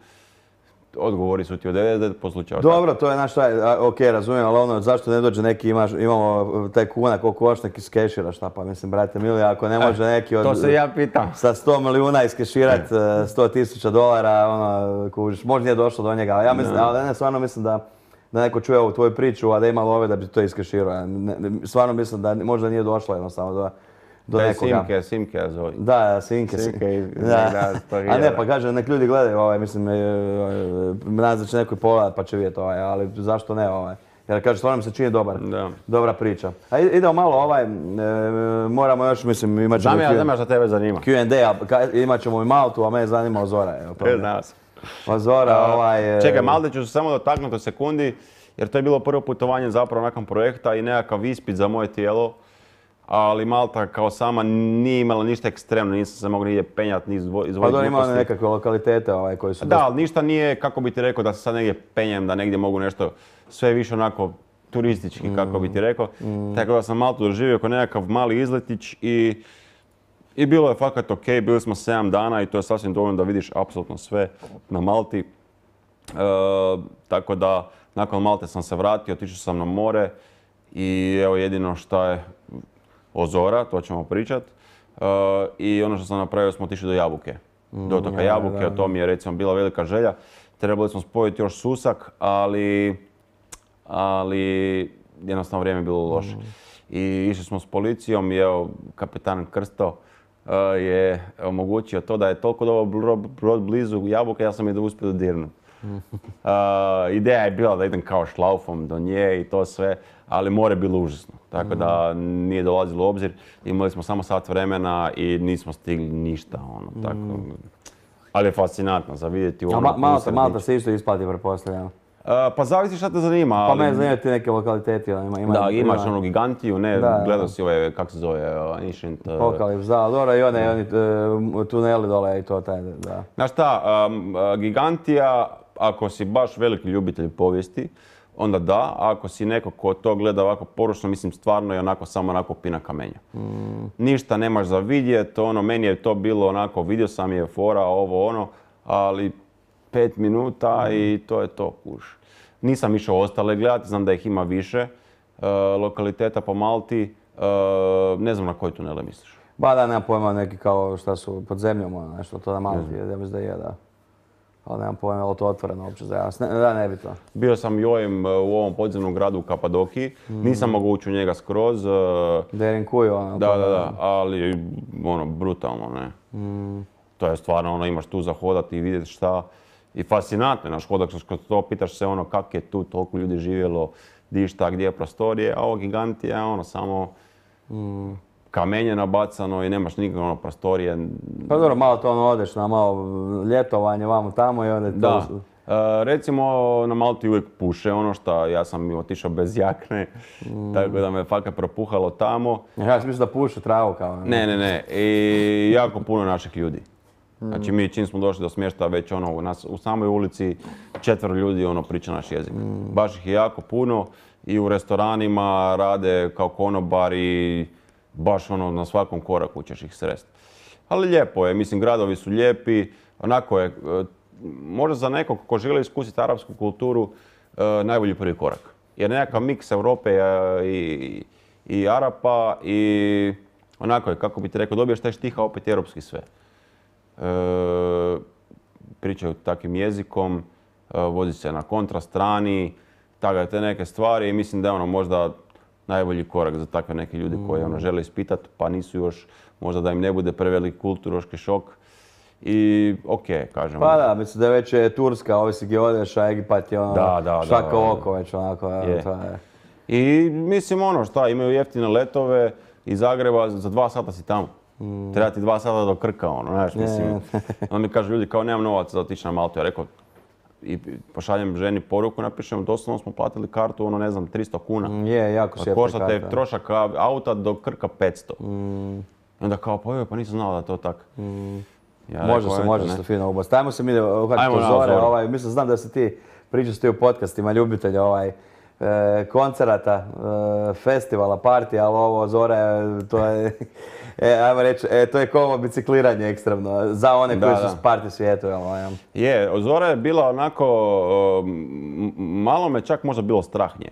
Odgovori su ti od devedeset devet posto slučajeva. Dobro, to je naš taj, ok, razumijem, ali ono, zašto ne dođe neki, imaš, imamo taj kuna koliko košta neki skešira, šta pa, mislim, brate mili, ako ne može neki od... To se ja pitam. Sa sto milijuna iskeširat sto tisuća dolara, ono, kužiš, možda nije došlo do njega, ali ja mislim, ali ne, stvarno mislim da, da neko čuje ovu tvoju priču, a da ima love da bi to iskeširao. Stvarno mislim da možda nije došlo jednostavno do... do da je nekoga. Simke, Simke ja zove. Da, Simke. Simke i... Da. A ne, pa kaže, nek ljudi gledaju, ovaj, mislim, nadam se da će neko i pogledat pa će vidjeti ovaj, ali zašto ne ovaj. Jer kaže, stvarno mi se čini dobar, Da. dobra priča. A i- idemo malo ovaj, e, moramo još, mislim, imat ćemo Znam ja, Q- znam ja šta tebe zanima. Q and A, a ka- imat ćemo i Maltu, a mene zanima Ozora. Evo, pa E, onda. znao sam. Ozora, ovaj... e, Čekaj, Malte ću se samo dotaknuti u sekundi, jer to je bilo prvo putovanje zapravo nakon projekta i nekakav ispit za moje tijelo. Ali Malta kao sama nije imala ništa ekstremno, nisam se mogao nigdje penjati, ni izvo- Pa izvojiti dobro, ima one gluposti. nekakve lokalitete ovaj, koji su... Da, ali ništa nije, kako bi ti rekao, da se sad negdje penjem, da negdje mogu nešto, sve više onako turistički, kako bi ti rekao. Tako da sam Maltu doživio kao nekakav mali izletić i, i bilo je fakat ok, bili smo sedam dana i to je sasvim dovoljno da vidiš apsolutno sve na Malti. E, tako da, nakon Malte sam se vratio, otišao sam na more i evo jedino što je Ozora, to ćemo pričat. E, I ono što sam napravio, smo otišli do Jabuke. Do otoka da, Jabuke, da. to mi je recimo bila velika želja. Trebali smo spojiti još Susak, ali, ali jednostavno vrijeme je bilo loše. I išli smo s policijom i evo, kapetan Krsto e, je omogućio to da je toliko dobro bro- brod blizu Jabuke, ja sam je uspio dirnuti. Uh, ideja je bila da idem kao šlaufom do nje i to sve, ali more je bilo užasno. Tako da nije dolazilo u obzir. Imali smo samo sat vremena i nismo stigli ništa. Ono, tako. Ali je fascinantno za vidjeti u A ono Ma- Malta, usred Malta ničega. se isto isplati, pretpostavljam. Uh, pa zavisi šta te zanima. Pa ali- mene zanimaju ti neke lokaliteti, ono, ima, ima, Da, imaš ima onu gigantiju, ne, Da, da. gledao si ove, kako se zove, uh, Ancient... uh, Pokalips, da, dobro, i one, oni e, tuneli dole i to, taj, da. Znaš šta, um, uh, Gigantija, ako si baš veliki ljubitelj povijesti, onda da, a ako si neko ko to gleda ovako poručno, mislim stvarno je onako samo onako pina kamenja. Ništa nemaš za vidjet, ono, meni je to bilo onako, vidio sam je fora, ovo ono, ali pet minuta i to je to, kuš. Nisam išao ostale gledati, znam da ih ima više uh, lokaliteta po Malti, uh, ne znam na koje tunele misliš. Ba da, nemam pojma, neki kao šta su pod zemljom, ono, nešto, to na Malti, ja mislim da je, da. Ali nemam pojma, je li to otvoreno uopće za javnost, ne, da, nebitno. Bio sam jojem uh, u ovom podzemnom gradu u Kapadokiji, nisam mogao ući u njega skroz. uh, Derin kuju, ono. Da, to, da, da, ali ono, brutalno, ne. To je stvarno, ono, imaš tu za hodati i vidjeti šta. I fascinantno je naš hodak, kad to pitaš se ono kak je tu toliko ljudi živjelo, di šta, gdje je prostorije, a ovo Gigantija je ono samo kamenje nabacano i nemaš nikakve ono prostorije. Pa dobro, malo to ono odeš na malo ljetovanje, vamo tamo i onda je to... Da. E, recimo na Malti uvijek puše ono što ja sam otišao bez jakne, tako da me fakat propuhalo tamo. Ja sam mislio da pušu travu kao... Ne, ne, ne. I jako puno naših ljudi. Znači mi čim smo došli do smještaja već ono, u, nas, u samoj ulici četvero ljudi ono priča naš jezik. Baš ih je jako puno i u restoranima rade kao konobari, baš ono na svakom koraku ćeš ih sresti. Ali lijepo je, mislim gradovi su lijepi, onako je, e, možda za nekog ko želi iskusiti arapsku kulturu e, najbolji prvi korak. Jer nekakav miks Europe e, i, i Arapa i onako je, kako bi ti rekao, dobiješ taj štiha opet europski sve. E, pričaju takvim jezikom, e, vozi se na kontra strani, tako da te neke stvari i mislim da je ono možda najbolji korak za takve neke ljudi koji ono žele ispitati pa nisu još, možda da im ne bude prevelik kulturološki šok. I ok, kažem. Pa da, mislim da je već je Turska, ovisi gdje odeš, a Egipat je ono Da, da, šaka da. oko već onako. Je. To je. I mislim ono šta, imaju jeftine letove iz Zagreba, za dva sata si tamo. Treba ti dva sata do Krka, ono, znaš, mislim. Onda mi kažu ljudi kao nemam novaca za otići na Maltu. Ja rekao, i pošaljem ženi poruku, napišem, doslovno smo platili kartu, ono ne znam, tristo kuna. Mm, Je, jako sjepna Košta te karta. trošak auta do Krka petsto. I onda kao, pa joj, pa nisam znala da je to tako. Ja Može rekao, se, eto, može ne. se to fino ubaciti. Ajmo se mi uhvatiti Ajmo na Ozore, Ozore. ovaj, mislim znam da si ti pričao ti u podcastima ljubitelja ovaj, e, koncerata, e, festivala, partija, ali ovo Ozore, to je, e, ajmo reći, e, to je kao bicikliranje ekstremno, za one Da, koji su da. s party svijetu, jel, ovaj, Je, Ozora je bila onako, um, malo me čak možda bilo strah nje.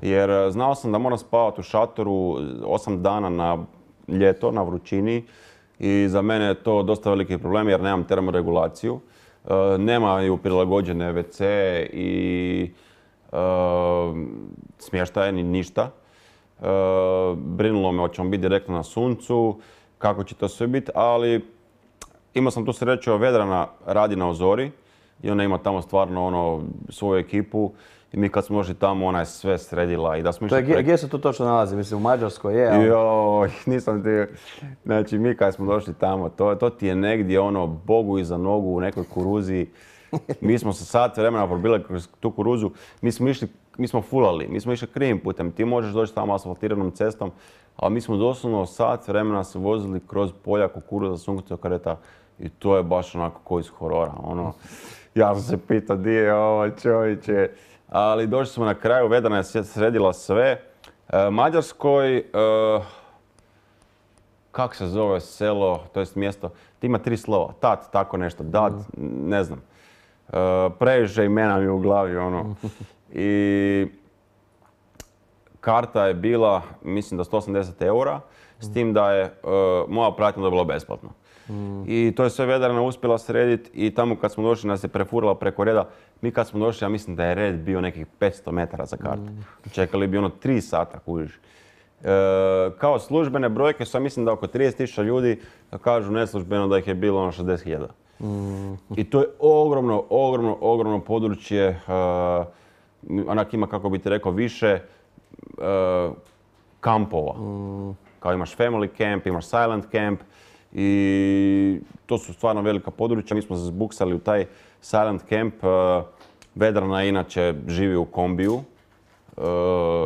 Jer uh, znao sam da moram spavati u šatoru osam dana na ljeto, na vrućini. I za mene je to dosta veliki problem jer nemam termoregulaciju. Uh, nemaju prilagođene ve ce i uh, smještaje ni ništa. Uh, brinulo me hoćemo biti direktno na suncu, kako će to sve biti, ali imao sam tu sreću, Vedrana radi na Ozori i ona ima tamo stvarno ono svoju ekipu. I mi kad smo došli tamo, ona je sve sredila i da smo To je, išli... gdje se to točno nalazi? Mislim, u Mađarskoj je, ali... Joj, nisam ti... Znači, mi kad smo došli tamo, to, to ti je negdje ono, Bogu iza nogu u nekoj kuruzi. Mi smo se sat vremena probili kroz tu kuruzu. Mi smo išli, mi smo fulali, mi smo išli krivim putem. Ti možeš doći tamo asfaltiranom cestom, ali mi smo doslovno sat vremena se vozili kroz polja kukuruza, sunkovca, kareta. I to je baš onako ko iz horora. Ono, ja sam se pitao di je ovo čovječe. Ali došli smo na kraju, Vedrana je sredila sve. E, Mađarskoj, e, kako se zove selo, to jest mjesto, ti ima tri slova, tat, tako nešto, dat, mm. ne znam. E, previše imena mi u glavi, ono. I karta je bila, mislim da sto osamdeset eura, s tim da je e, moja pratnja dobila besplatno. Mm. I to je sve Vedrana uspjela srediti i tamo kad smo došli nas je prefurala preko reda. Mi kad smo došli, ja mislim da je red bio nekih petsto metara za karte. Mm. Čekali bi ono tri sata, kužiš. E, kao službene brojke su, ja mislim da oko trideset tisuća ljudi, kažu neslužbeno da ih je bilo ono šezdeset hiljada. Mm. I to je ogromno, ogromno, ogromno područje. E, onak ima, kako bi ti rekao, više e, kampova. Mm. Kao imaš family camp, imaš silent camp. I to su stvarno velika područja. Mi smo se zbuksali u taj silent camp. Vedrana inače živi u kombiju.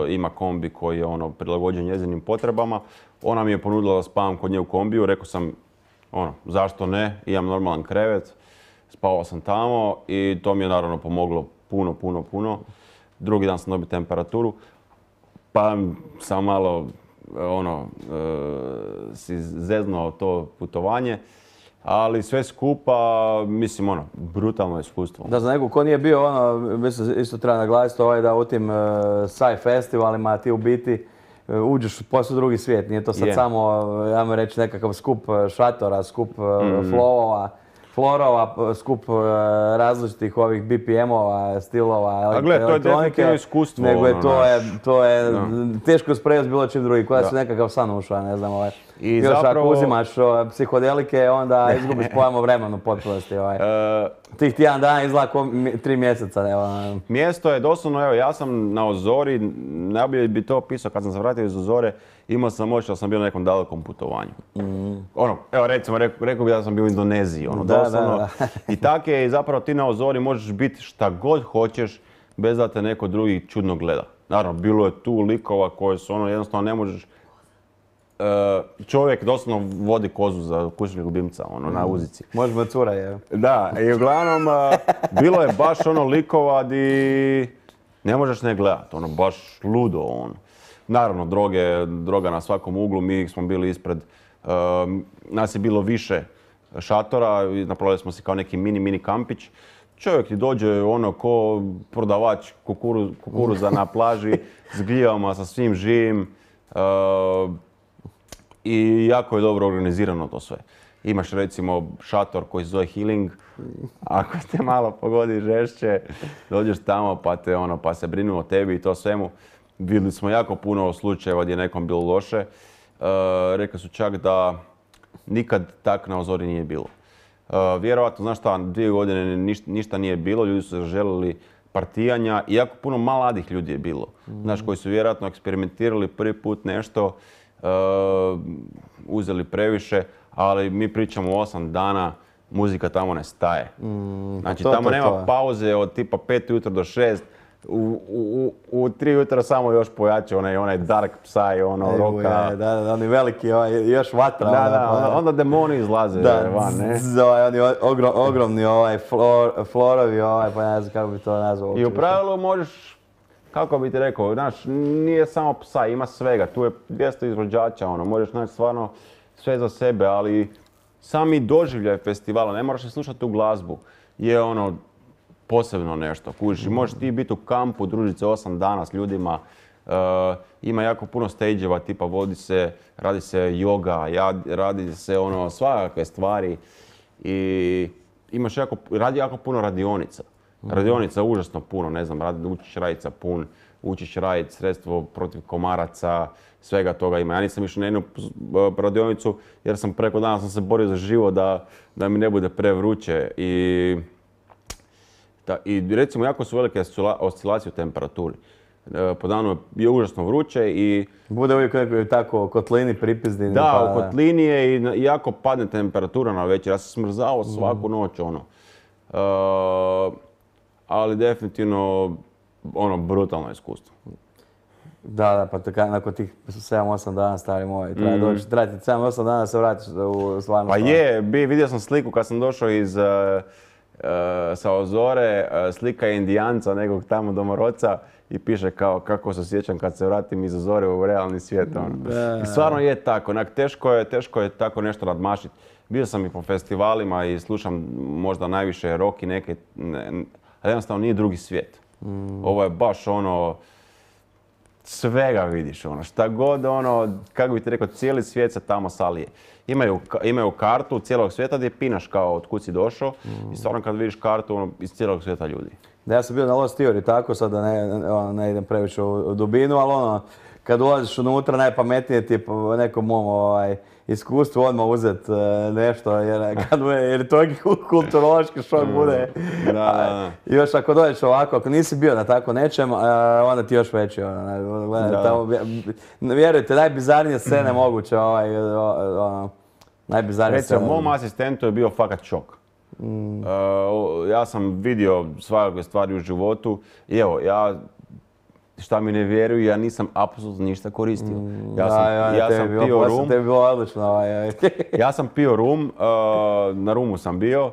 Ima kombi koji je ono prilagođen njezinim potrebama. Ona mi je ponudila da spavam kod nje u kombiju. Rekao sam, ono, zašto ne? Imam normalan krevet. Spavao sam tamo i to mi je naravno pomoglo puno, puno, puno. Drugi dan sam dobio temperaturu. Pa sam malo ono, e, si zeznuo to putovanje, ali sve skupa, mislim, ono, brutalno iskustvo. Da, za nekog ko nije bio, ono, mislim, isto treba naglasiti ovaj da u tim uh, sci festivalima ti u biti uh, uđeš u posve drugi svijet. Nije to sad yeah. samo, ajmo reći, nekakav skup šatora, skup uh, mm. flowova, florova, skup različitih ovih B P M-ova, stilova, a gled, to je definitivno iskustvo. Nego je to je, to je no. teško usporediti s bilo čim drugim, koja su nekakav san ušao, ne znam, ovaj. I još zapravo... ako uzimaš o, psihodelike, onda izgubiš pojam o vremenu potpunosti. Ovaj. Uh, Tih tjedan dana izgleda ko tri mjeseca. Evo. Mjesto je doslovno, evo, ja sam na Ozori, najbolje bi to opisao kad sam se vratio iz Ozore, imao sam moć da sam bio na nekom dalekom putovanju. Mm. Ono, evo recimo, rekao, rekao bi da sam bio u Indoneziji, ono, da, doslovno. Da, da. I tako je, zapravo ti na Ozori možeš biti šta god hoćeš, bez da te neko drugi čudno gleda. Naravno, bilo je tu likova koje su, ono, jednostavno ne možeš. Uh, čovjek doslovno vodi kozu za kućnog ljubimca, ono, mm. na uzici. Možemo cura, je. Da, i uglavnom, uh, bilo je baš ono likova di ne možeš ne gledat, ono, baš ludo, ono. Naravno, droge, droga na svakom uglu, mi smo bili ispred, uh, nas je bilo više šatora, napravili smo si kao neki mini, mini kampić. Čovjek ti dođe ono ko prodavač kukuru, kukuruza na plaži, s gljivama, sa svim živim. Uh, I jako je dobro organizirano to sve. Imaš recimo šator koji se zove Healing. Ako te malo pogodi žešće, dođeš tamo pa, te, ono, pa se brinu o tebi i to svemu. Vidjeli smo jako puno slučajeva gdje je nekom bilo loše. Uh, rekli su čak da nikad tak na Ozori nije bilo. Uh, vjerovatno, znaš šta, dvije godine ništa, ništa nije bilo, ljudi su želili partijanja i jako puno mladih ljudi je bilo. Mm. Znaš, koji su vjerojatno eksperimentirali prvi put nešto, Uh, uzeli previše, ali mi pričamo o osam dana, muzika tamo ne staje. Mm, znači to, tamo to, nema to. pauze od tipa pet ujutro do šest, u, u, u tri jutra samo još pojače onaj, onaj dark psy, ono Eju, roka. Je, da, da, oni veliki, ovaj, još vatra. Da, da, onda, onda demoni izlaze da, van, ne? Z, ovaj, oni ogrom, ogromni ovaj, flor, florovi, ovaj, pa ne znam kako bi to nazvao. I u pravilu možeš, kako bi ti rekao, znaš, nije samo psa, ima svega, tu je dvjesto izvođača, ono, možeš naći stvarno sve za sebe, ali sami doživljaj festivala, ne moraš slušati tu glazbu, je ono posebno nešto, kužiš, mm. možeš ti biti u kampu, družiti se osam dana s ljudima, uh, ima jako puno stage-eva, tipa vodi se, radi se yoga, radi se ono, svakakve stvari i imaš jako, radi jako puno radionica. Radionica užasno puno, ne znam, radi, učiš raditi sapun, učiš raditi sredstvo protiv komaraca, svega toga ima. Ja nisam išao na jednu radionicu jer sam preko dana sam se borio za život da, da mi ne bude prevruće. I Ta, I recimo jako su velike oscilacije u temperaturi. E, po danu je užasno vruće i... Bude uvijek nekoj tako kotlini pripizdini. Da, pa, u kotlini je i, i jako padne temperatura na večer. Ja sam smrzao svaku noć, ono. E, ali definitivno, ono, brutalno iskustvo. Da, da, pa tako, nakon tih sedam osam dana, stari moj, treba mm. doći, treba ti sedam osam dana da se vratiš u stvarno. Pa je, bi, vidio sam sliku kad sam došao iz, uh, uh, sa Ozore, uh, slika je Indijanca, nekog tamo domorodca i piše kao kako se sjećam kad se vratim iz Ozore u realni svijet. Ono. I stvarno je tako, onak, teško je, teško je tako nešto nadmašiti. Bio sam i po festivalima i slušam možda najviše rock i neke, ne, ali jednostavno nije drugi svijet. Mm. Ovo je baš ono, svega vidiš, ono, šta god, ono, kako bi ti rekao, cijeli svijet se tamo salije. Imaju, imaju kartu cijelog svijeta gdje pinaš kao od kud si došao mm. i stvarno kad vidiš kartu, ono, iz cijelog svijeta ljudi. Da, ja sam bio na Lost Theory, tako sad da ne, ono, ne idem previše u dubinu, ali ono, kad ulaziš unutra, najpametnije ti je po nekom mom ovaj, iskustvu odmah uzeti uh, nešto, jer, kad bude, jer to je kulturološki šok bude. Da, da, da. I još ako dođeš ovako, ako nisi bio na tako nečem, uh, onda ti još veći. Ono, gledaj, da. Tamo, vjerujte, najbizarnije scene moguće. Ovaj, ono, najbizarnije scene. Recimo, mom asistentu je bio fakat šok. Mm. Uh, ja sam vidio svakakve stvari u životu i evo, ja šta mi ne vjeruju, ja nisam apsolutno ništa koristio. Ja sam, da, ja, ja sam bilo, pio rum. Tebi bilo odlično. Ovaj. Ja sam pio rum, uh, na rumu sam bio, uh,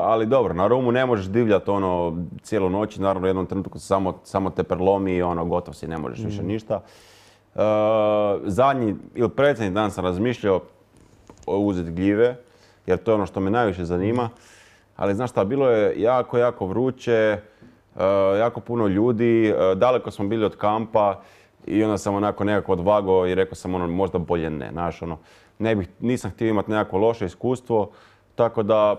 ali dobro, na rumu ne možeš divljati ono cijelu noć, naravno u jednom trenutku samo, samo te perlomi i ono gotov si, ne možeš mm. više ništa. Uh, zadnji ili predsjednji dan sam razmišljao uzeti gljive, jer to je ono što me najviše zanima, ali znaš šta, bilo je jako, jako vruće. Uh, jako puno ljudi, uh, daleko smo bili od kampa i onda sam onako nekako odvagao i rekao sam ono možda bolje ne, znaš ono, ne bih, nisam htio imati nekako loše iskustvo, tako da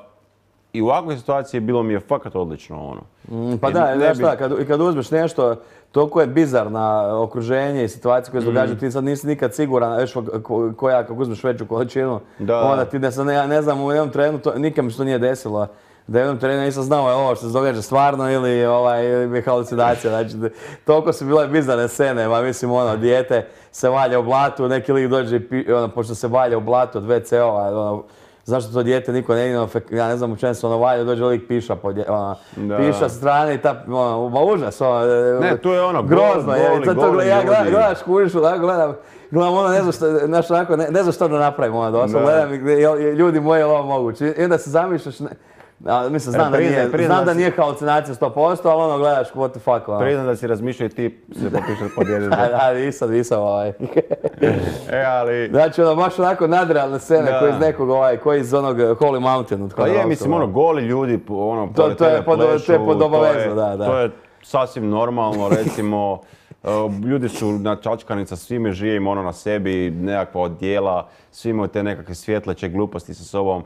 i u ovakvoj situaciji bilo mi je fakat odlično ono. Mm, pa I da, znaš šta, kad, kad uzmeš nešto, toliko je bizarna okruženje i situacije koje se događaju, mm. ti sad nisi nikad siguran, već koja, kako uzmeš veću količinu, da. Onda ti ne, ne, ne znam, u jednom trenu, to, nikad mi što nije desilo. Da jednom terenu nisam znao je ovo što se događa stvarno ili ovaj, ili halucinacija. Znači, toliko su bile bizarne scene, ma mislim ono, dijete se valja u blatu, neki lik dođe i pi, ono, pošto se valja u blatu od ve ce ova, ono, zašto to dijete niko ne ide, ja ne znam u čem se ono valja, dođe lik piša po dje, ono, piša sa strane i ta, ono, ma užas, ono, ne, tu je ono, grozno, goli, je, goli, to, to, goli ja ljudi. gledaš kužišu, tako gledam, gledam ono, ne znam što, znaš, onako, ne, ne znam što da napravim, ono, doslovno, gledam i ljudi moji, je li ovo moguće, i onda se zamišljaš, ne, a, mislim, znam, e, priznaj, da nije, znam da nije halucinacija sto posto, ali ono gledaš what the fuck. Ono. Priznam da si razmišljao i ti se popišeš pod jednom. Da, da, nisam, nisam ovaj. E, ali... Znači, ono, baš onako nadrealne scene koji iz nekog, ovaj, koji iz onog Holy Mountain. Pa je, mislim, ono, goli ljudi, ono, to, to je pod, plešu, to je pod obavezno, da, da. To je sasvim normalno, recimo, ljudi su načačkani sa svime živim ono na sebi, nekakva odjela, svi imaju te nekakve svjetleće gluposti sa sobom,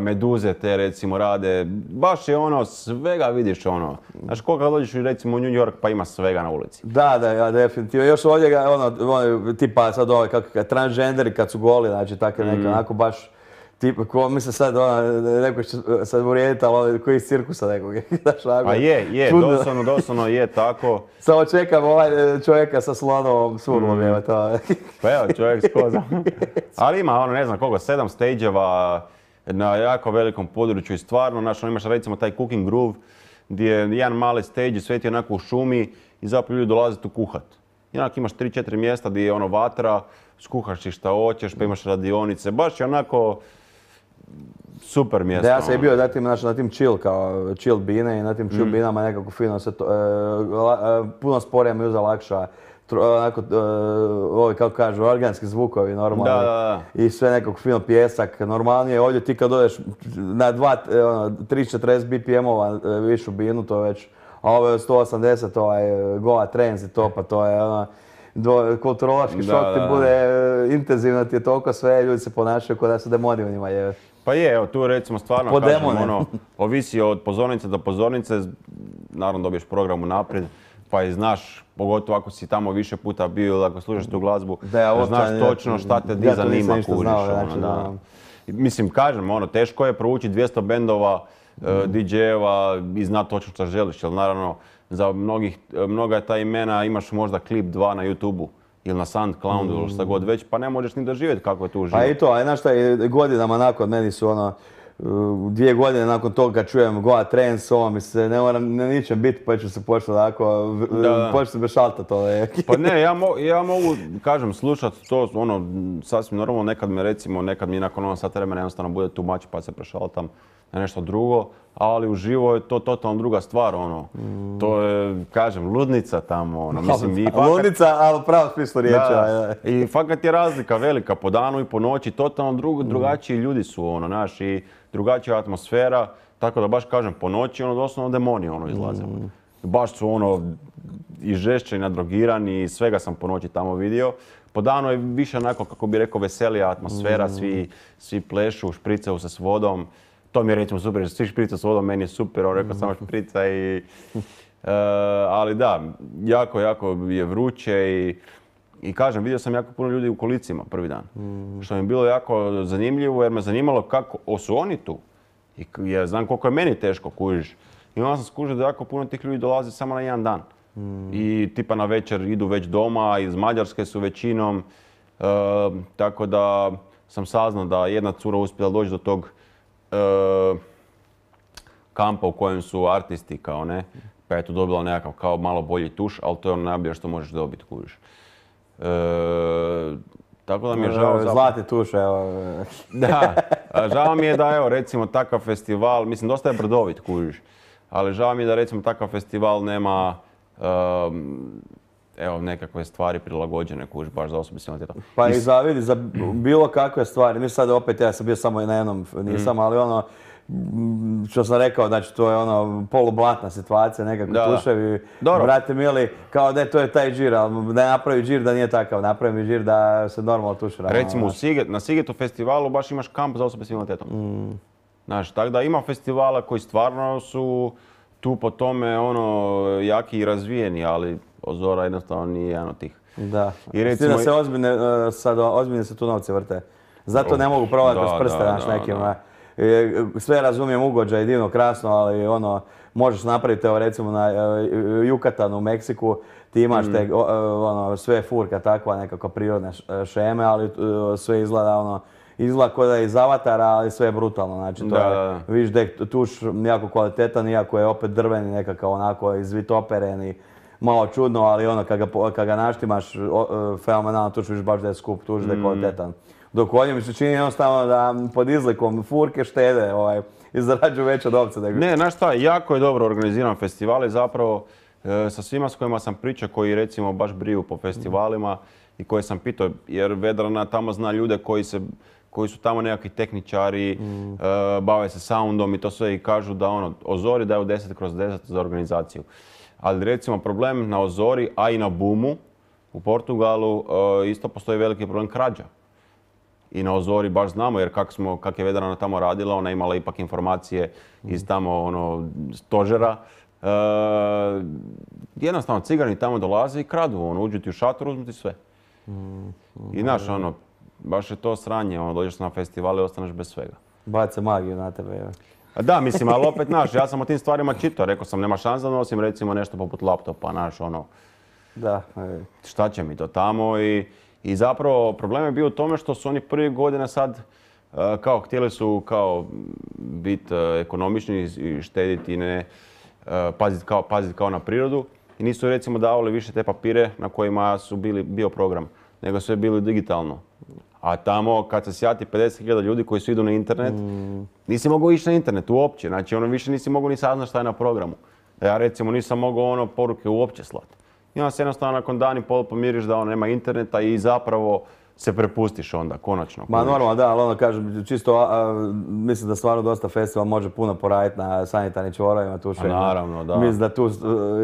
meduze te recimo rade, baš je ono, svega vidiš ono. Znaš, koliko dođeš recimo u New York pa ima svega na ulici. Da, da, ja, definitivno. Još ovdje ga, ono, ono, tipa sad ove, kako, transgenderi kad su goli, znači tako neka, mm. onako baš, tipa, ko, mislim sad, ona, neko će sad uvrijediti, ali koji iz cirkusa nekog, znaš, onako. A je, je, doslovno, doslovno je tako. Samo čekam ovaj čovjeka sa slonovom surlom, mm. evo to. Pa evo, čovjek s kozom. Ali ima, ono, ne znam koliko, sedam stage-eva na jako velikom području i stvarno, znaš, ono, imaš recimo taj cooking groove, gdje je jedan mali stage, sve ti onako u šumi i zapravo ljudi dolaze tu kuhat. I onako imaš tri četiri mjesta gdje je ono vatra, skuhaš ti šta hoćeš, pa imaš radionice, baš je onako super mjesto. Da, ja sam i bio na tim, znači, na tim chill, kao chill bine i na tim chill mm. binama nekako fino se to, e, puno sporije mi uza lakša, onako, e, ovi kako kažu, organski zvukovi normalni. Da, da, da. I sve nekako fino pjesak, normalnije. Ovdje ti kad odeš na dva, ono, tri četrdeset be pe em-ova višu binu, to je već, a ovo je sto osamdeset, ovaj, Goa Trends i to, pa to je ono, do, kulturološki šok da, ti da, bude da. Intenzivno, ti je toliko sve, ljudi se ponašaju kao da su demoni u njima. Je. Pa je, evo tu recimo stvarno po kažem, ono, ovisi od pozornice do pozornice, naravno dobiješ program unaprijed, pa i znaš, pogotovo ako si tamo više puta bio ili ako slušaš tu glazbu, da, ja, znaš ja, točno šta te di ja zanima, kužiš. Znao, znači, da. Mislim, kažem, ono, teško je proučiti dvjesto bendova mm. di džejeva i zna točno što želiš. Jer naravno, za mnogih, mnoga ta imena imaš možda klip dva na YouTubeu ili na SoundCloudu mm. ili šta god već, pa ne možeš ni doživjeti kako je to uživo. Pa i to, a znaš šta, godinama nakon meni su ono, dvije godine nakon toga kad čujem Goa Trends, ovo mi se ne moram ne ničem biti, pa ću se početi onako, početi se bešaltat ove. Pa ne, ja, mo, ja mogu, kažem, slušati to, ono, sasvim normalno, nekad me recimo, nekad mi nakon ono sat vremena jednostavno bude too much pa se prešaltam na nešto drugo, ali uživo je to totalno druga stvar, ono. Mm. To je, kažem, ludnica tamo, ono, mislim, i fakat... Ludnica, ali pravo smislu riječi. Da, i fakat je razlika velika, po danu i po noći, totalno dru, drugačiji ljudi su, ono, znaš, i drugačija atmosfera, tako da baš kažem, po noći, ono, doslovno demoni, ono, izlaze. Mm. Baš su, ono, i žešće i nadrogirani, i svega sam po noći tamo vidio. Po danu je više onako, kako bi rekao, veselija atmosfera, mm. svi, svi plešu, špricaju se s vodom. To mi je recimo super, svi šprica s vodom, meni je super, on rekao samo šprica i... Uh, ali da, jako, jako je vruće i, i kažem, vidio sam jako puno ljudi u kolicima prvi dan. Mm. Što mi je bilo jako zanimljivo jer me zanimalo kako su oni tu. I ja znam koliko je meni teško, kužiš. I onda sam skužio da jako puno tih ljudi dolazi samo na jedan dan. Mm. I tipa na večer idu već doma, iz Mađarske su većinom. Uh, tako da sam saznao da jedna cura uspjela doći do tog Uh, kampa u kojem su artisti kao ne, pa je tu dobila nekakav kao malo bolji tuš, ali to je ono najbolje što možeš dobiti, kužiš. Uh, tako da mi je žao... Za... Zlati tuš, evo. Da, žao mi je da evo recimo takav festival, mislim dosta je brdovit, kužiš, ali žao mi je da recimo takav festival nema um, evo nekakve stvari prilagođene, kužiš, baš za osobe s invaliditetom. Pa i za, vidi, za bilo kakve stvari, mi sad opet, ja sam bio samo na jednom, nisam, mm. ali ono, što sam rekao, znači to je ono polublatna situacija, nekako tuševi, brate mili, kao da je to je taj džir, ali da je napravi džir da nije takav, napravi mi džir da se normalno tušira. Recimo Siget, na Sigetu festivalu baš imaš kamp za osobe s invaliditetom. Mm. Znaš, tako da ima festivala koji stvarno su tu po tome ono jaki i razvijeni, ali Ozora jednostavno nije jedan od tih. Da, i recimo... da se ozbiljne, sad ozbiljne se tu novce vrte. Zato ne mogu provati kroz prste naš nekim. Sve razumijem, ugođaj, divno, krasno, ali ono, možeš napraviti, evo recimo na Jukatanu u Meksiku, ti imaš te, ono, sve furka takva, nekako prirodne šeme, ali sve izgleda ono, izgleda kao da je iz Avatara, ali sve je brutalno. Znači, to da, je, da. vidiš da je tuš jako kvalitetan, iako je opet drveni, nekakav onako izvitoperen i malo čudno, ali ono, kad ga, kad ga naštimaš, fenomenalno tuš, vidiš baš da je skup tuš, da je kvalitetan. Dok ovdje mi se čini jednostavno da pod izlikom furke štede ovaj, i zarađuju veće novce. Nego... Ne, znaš šta, jako je dobro organiziran festival i zapravo e, sa svima s kojima sam pričao, koji recimo baš briju po festivalima i koje sam pitao, jer Vedrana tamo zna ljude koji, se, koji su tamo nekakvi tehničari, mm. e, bave se soundom i to sve i kažu da ono, Ozori daju deset kroz deset za organizaciju. Ali recimo problem na Ozori, a i na Boomu u Portugalu e, isto postoji veliki problem krađa. I na Ozori baš znamo, jer kak, smo, kak je Vedrana tamo radila, ona je imala ipak informacije iz tamo ono, stožera. E, jednostavno cigani tamo dolaze i kradu, ono, uđu ti u šator, uzmu ti sve. I znaš, ono, baš je to sranje, ono, dođeš na festival i ostaneš bez svega. Bace magiju na tebe, joj. Da, mislim, ali opet, znaš, ja sam o tim stvarima čitao, rekao sam, nema šansa da nosim recimo nešto poput laptopa, znaš, ono, da. Šta će mi to tamo i, i zapravo problem je bio u tome što su oni prvi godine sad uh, kao htjeli su kao biti uh, ekonomični i štediti i ne uh, paziti kao, pazit kao na prirodu i nisu recimo davali više te papire na kojima su bili bio program, nego sve bili digitalno. A tamo kad se sjati pedeset hiljada ljudi koji su idu na internet, mm. nisi mogao ići na internet uopće. Znači ono više nisi mogao ni saznati šta je na programu. Ja recimo nisam mogao ono poruke uopće slati. I onda se jednostavno nakon dan i pol pomiriš da ono nema interneta i zapravo se prepustiš onda, konačno. Ma normalno da, ali ono kažem, čisto a, a, mislim da stvarno dosta festival može puno poraditi na sanitarnim čvorovima, tuševima. Naravno, da. Mislim da tu,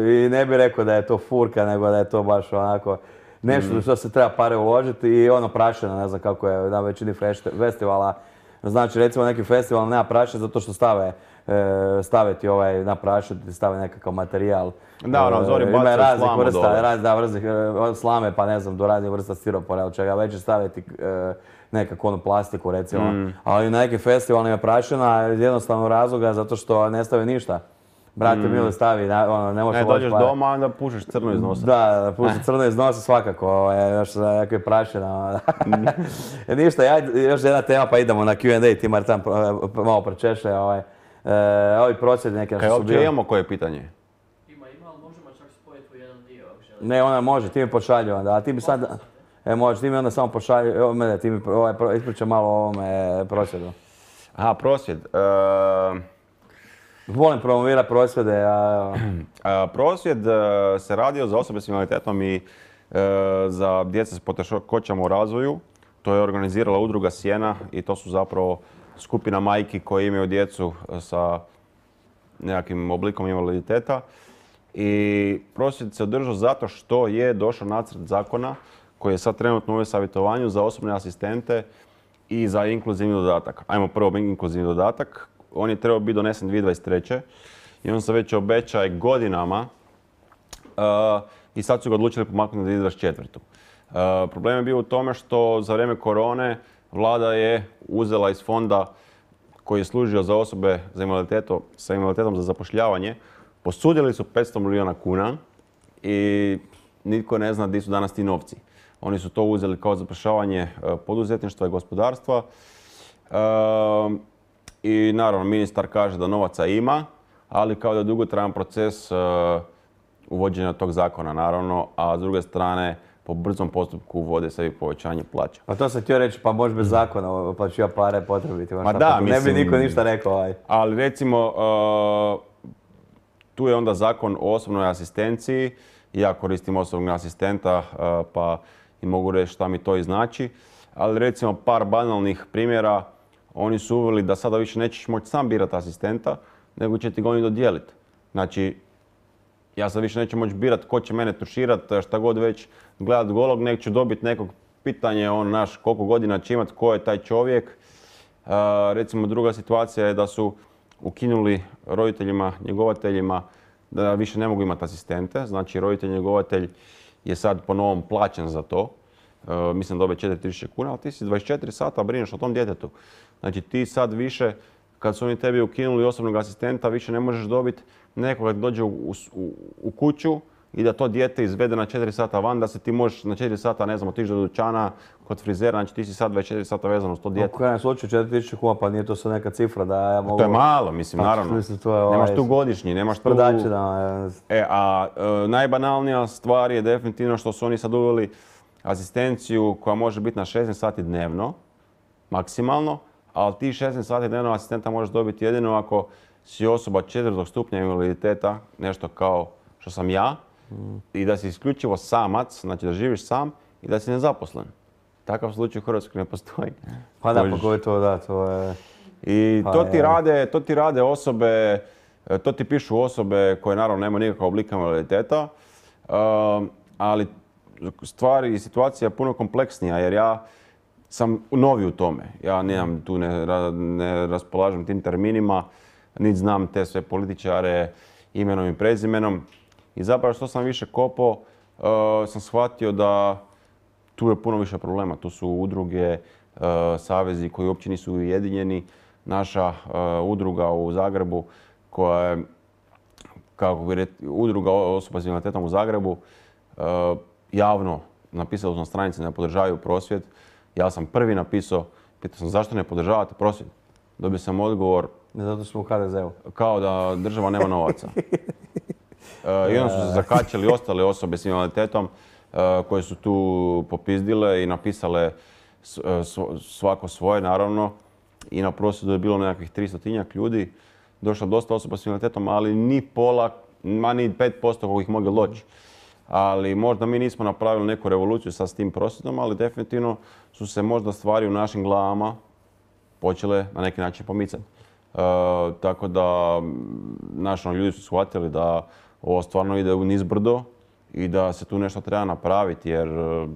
i ne bih rekao da je to furka, nego da je to baš onako nešto mm. što se treba pare uložiti i ono prašeno, ne znam kako je na većini festivala. Znači, recimo neki festival nema prašine zato što stave, e, stave ti ovaj, na prašinu, ti stave nekakav materijal. Da, ono, zori Ima bacaju raznih slamu vrsta, dole. raz, da, raznih, od slame pa ne znam, do raznih vrsta stiropora ili čega već staviti ti e, nekakvu onu plastiku recimo. Mm. Ali na nekim festivalima je prašina iz jednostavnog razloga zato što ne stave ništa. Brate Mm. mili stavi, na- ono, ne možeš Ne, dođeš doma, onda pušiš crno iz nosa. Da, da pusti crno iz nosa svakako, ovaj, još sa nekakve prašina. E, ništa, ja, još jedna tema pa idemo na Q and A, ti Martan pro- malo pročeše. Ovaj, e, ovi prosvjedi neke Kaj što su uopće bili. imamo koje pitanje? Ima, ima, ali možemo čak spojiti u jedan dio ako želite. Ne, ona može, ti mi pošalju onda, a ti mi sad... E, može, ti mi onda samo pošalju, evo mene, ti mi ovaj, pro- ispričaj malo o ovome prosvjedu. Aha, prosvjed. E, Volim promovirati prosvjede, a... a, prosvjed e, se radio za osobe s invaliditetom i e, za djece s poteškoćama u razvoju. To je organizirala udruga Sjena i to su zapravo skupina majki koje imaju djecu sa nekakvim oblikom invaliditeta. I prosvjed se održao zato što je došao nacrt zakona koji je sad trenutno u savjetovanju za osobne asistente i za inkluzivni dodatak. Ajmo prvo inkluzivni dodatak. On je trebao biti donesen dvije tisuće dvadeset treće i on se već obećaje godinama uh, i sad su ga odlučili pomaknuti na dvije tisuće dvadeset četvrtu. Uh, problem je bio u tome što za vrijeme korone vlada je uzela iz fonda koji je služio za osobe za invaliditetom, sa invaliditetom za zapošljavanje, posudili su petsto milijuna kuna i nitko ne zna gdje su danas ti novci. Oni su to uzeli kao zapošljavanje uh, poduzetništva i gospodarstva. Uh, I naravno, ministar kaže da novaca ima, ali kao da je dugotrajan proces uh, uvođenja tog zakona, naravno, a s druge strane, po brzom postupku uvode sebi povećanje plaća. Pa to sam htio reći, pa može bez zakona plaćiva pare potrebiti. Ma da, Ne mislim- bi niko ništa rekao. Aj. Ali recimo, uh, tu je onda zakon o osobnoj asistenciji. Ja koristim osobnog asistenta, uh, pa i mogu reći šta mi to i znači. Ali recimo par banalnih primjera. Oni su uveli da sada više nećeš moći sam birati asistenta, nego će ti ga oni dodijeliti. Znači, ja sad više neću moći birati ko će mene tuširati, šta god već, gledat golog, nek ću dobiti nekog pitanje, on naš koliko godina će imati, ko je taj čovjek. Uh, recimo druga situacija je da su ukinuli roditeljima, njegovateljima da više ne mogu imati asistente. Znači, roditelj njegovatelj je sad po novom plaćen za to. Uh, mislim da dobe četiri tisuće kuna, ali ti si dvadeset četiri sata brineš o tom djetetu. Znači ti sad više, kad su oni tebi ukinuli osobnog asistenta, više ne možeš dobiti nekoga da dođe u, u, u kuću i da to dijete izvede na četiri sata van, da se ti možeš na četiri sata, ne znam, otići do dućana, kod frizera, znači ti si sad dvadeset četiri sata vezan uz to U dijete. krajem slučaju četiri tisuće kuna, pa nije to sad neka cifra da ja mogu... To je malo, mislim, Pa, naravno. mislim, to je ovaj- Nemaš tu godišnji, nemaš tu... Sprdačina. E, a e, najbanalnija stvar je definitivno što su oni sad uveli asistenciju koja može biti na šesnaest sati dnevno, maksimalno, ali ti šesnaest sati dnevno asistenta možeš dobiti jedino ako si osoba četvrtog stupnja invaliditeta, nešto kao što sam ja, mm. i da si isključivo samac, znači da živiš sam i da si nezaposlen. Takav slučaj u Hrvatskoj ne postoji. Pa da, Možeš- pa ko je to, da, to je... I Pa to ti, je. rade, to ti rade osobe, e, to ti pišu osobe koje naravno nemaju nikakav oblika invaliditeta, um, ali stvari i situacija je puno kompleksnija jer ja sam novi u tome. Ja nemam tu, ne, ra- ne raspolažem tim terminima, niti znam te sve političare imenom i prezimenom. I zapravo što sam više kopao, uh, sam shvatio da tu je puno više problema. Tu su udruge, uh, savezi koji uopće nisu ujedinjeni. Naša uh, udruga u Zagrebu koja je, kako bi rekli, udruga osoba s invaliditetom u Zagrebu, uh, javno napisali su na stranici da ne podržavaju prosvjed. Ja sam prvi napisao, pitao sam zašto ne podržavate prosvjed. Dobio sam odgovor Ne, zato smo u ha de zeu. kao da država nema novaca. Uh, I onda su se zakačili ostale osobe s invaliditetom uh, koje su tu popizdile i napisale s- uh, svo- svako svoje, naravno. I na prosvjedu je bilo nekakvih tristotinjak ljudi. Došlo dosta osoba s invaliditetom, ali ni pola, ma ni pet posto koliko ih moglo doći. Ali možda mi nismo napravili neku revoluciju sa s tim prosvjedom, ali definitivno su se možda stvari u našim glavama počele na neki način pomicati. E, tako da m, naši ljudi su shvatili da ovo stvarno ide u nizbrdo i da se tu nešto treba napraviti jer e,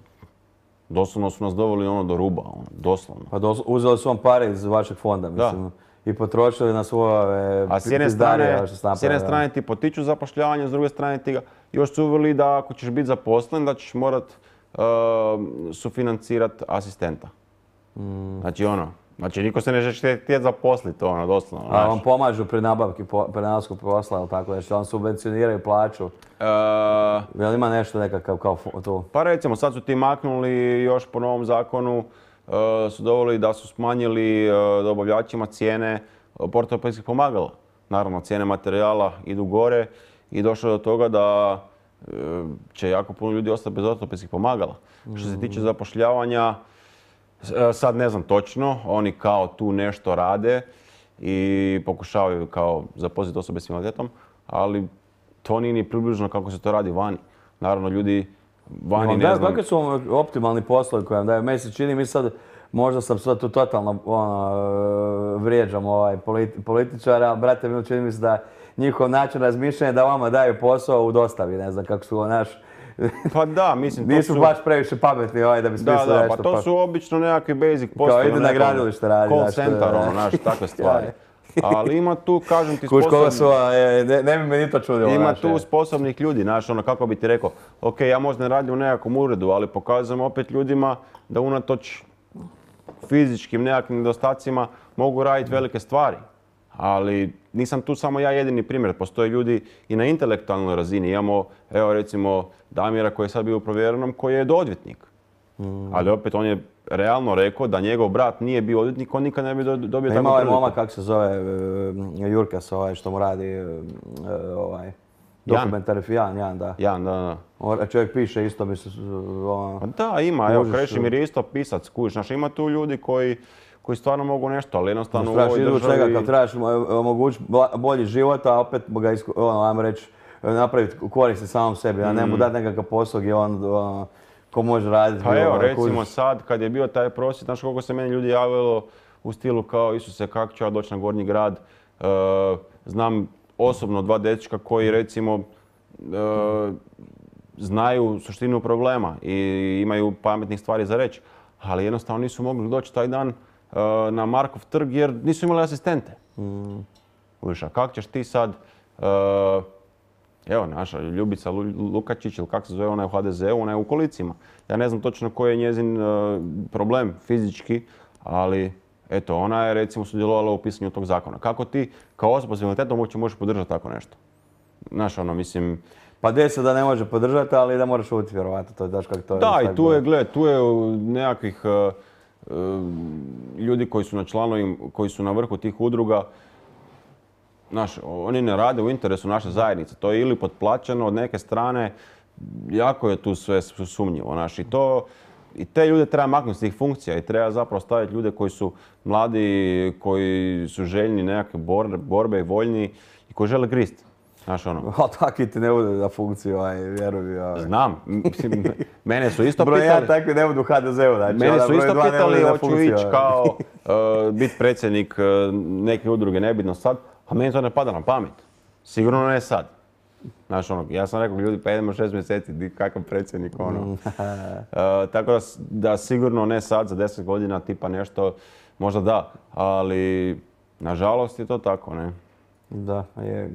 Doslovno su nas doveli ono do ruba, ono, doslovno. Pa dos- uzeli su vam pare iz vašeg fonda, mislim. I potrošili na svoje A s jedne pizdarije, strane, što ste s jedne napravili, strane ti potiču zapošljavanje, s druge strane ti ga još su uveli da ako ćeš biti zaposlen, da ćeš morat uh, sufinancirati asistenta. Znači ono, znači niko se ne želi htjeti zaposliti, ono, doslovno. A znaš. vam pomažu pri nabavki, po- pri nabavsku posla, ili tako, znači vam subvencioniraju plaću. E, Jel ima nešto nekakav kao fu- tu? Pa recimo, sad su ti maknuli još po novom zakonu, uh, su doveli da su smanjili uh, dobavljačima cijene uh, ortopedskih pomagala. Naravno, cijene materijala idu gore i došlo je do toga da uh, će jako puno ljudi ostati bez ortopedskih pomagala. Što se tiče zapošljavanja, uh, sad ne znam točno, oni kao tu nešto rade i pokušavaju kao zaposliti osobe s invaliditetom, ali to nije ni približno kako se to radi vani. Naravno, ljudi vani Vam ne daju, znam. kakvi su vam optimalni poslovi koji vam daju? Meni se čini, mi sad, možda sam sad tu totalno ono, vrijeđam ovaj politi- političara, ali brate mi čini mi se da njihov način razmišljanja da vama daju posao u dostavi, ne znam kako su ovo naš. Pa da, mislim, to Nisu su... baš previše pametni ovaj da bi Da, smislili da, nešto. pa to su obično nekakvi basic poslovi. idu na gradilište radi, Call znaš, to je- center, ono, znaš, takve stvari. Ali ima tu, kažem ti, Kuš koga sposobnih, su, ovaj, ne, ne bi me ni to čudilo. ima znaš, tu je. sposobnih ljudi, znaš, ono, kako bi ti rekao, ok, ja možda ne radim u nekakvom uredu, ali pokazujem opet ljudima da unatoč fizičkim nekakvim nedostacima mogu raditi velike stvari. Ali nisam tu samo ja jedini primjer, postoje ljudi i na intelektualnoj razini. Imamo, evo recimo, Damira koji je sad bio u provjerenom, koji je odvjetnik. Ali opet on je realno rekao da njegov brat nije bio odvjetnik, on nikad ne bi do- dobio Pa takvu ima ovaj priliku. momak, kako se zove, e, Jurkas, ovaj što mu radi, e, ovaj, dokumentari, Jan, Jan, da. Jan, da, da. O, čovjek piše isto, mislim, ono, Pa da, ima, evo, Možeš, Krešimir je isto pisac, kužiš, znaš, ima tu ljudi koji, koji stvarno mogu nešto, ali jednostavno u trebaš ovoj izvući svega, državi... kad trebaš mo- omogućiti bla- bolji život, a opet ga, isku- ono, ajmo reći, napraviti koristi samom sebi, a ne mu dati nekakav posao gdje on, ono, ko može raditi. Pa evo, ono, recimo kužiš. sad, kad je bio taj prosvjed, znaš koliko se meni ljudi javilo u stilu kao Isuse, kako ću ja doći na Gornji grad. E, znam osobno dva dečka koji recimo e, znaju suštinu problema i imaju pametnih stvari za reći, ali jednostavno nisu mogli doći taj dan e, na Markov trg jer nisu imali asistente. Kužiš, a kako ćeš ti sad, e, evo naša Ljubica Lu- Lukačić ili kako se zove, ona je u ha de ze u, ona je u kolicima. Ja ne znam točno koji je njezin e, problem fizički, ali eto, ona je recimo sudjelovala u pisanju tog zakona. Kako ti kao osoba s invaliditetom uopće možeš podržati tako nešto? Znaš, ono, mislim... Pa desi da ne može podržati, ali da moraš šutiti, vjerovatno, to je daš kako to je. Da, tako i tu je, bude. gle, tu je uh, nekakvih uh, uh, ljudi koji su na članovim, koji su na vrhu tih udruga. Znaš, oni ne rade u interesu naše zajednice. To je ili potplaćeno od neke strane, jako je tu sve sumnjivo. Znaš, i to, i te ljude treba maknuti s tih funkcija i treba zapravo staviti ljude koji su mladi, koji su željni nekakve bor- borbe i voljni i koji žele grist. Znaš, ono. Ali takvi ti ne budu na funkciji, ovaj, vjeruj mi. Ovaj. Znam, mislim, mene su isto Broj jedan pitali. takvi ne budu u ha de zeu, znači. Mene onda su broj isto dva ne pitali budu na hoću funkciji, ići ovaj. kao uh, biti predsjednik uh, neke udruge, nebitno sad, a meni to ne pada na pamet. Sigurno ne sad. Znaš, ono, ja sam rekao ljudi, pa idemo šest mjeseci, di, kakav predsjednik, ono. Uh, tako da, s- da sigurno ne sad, za deset godina, tipa nešto, možda da, ali nažalost je to tako, ne. Da, je.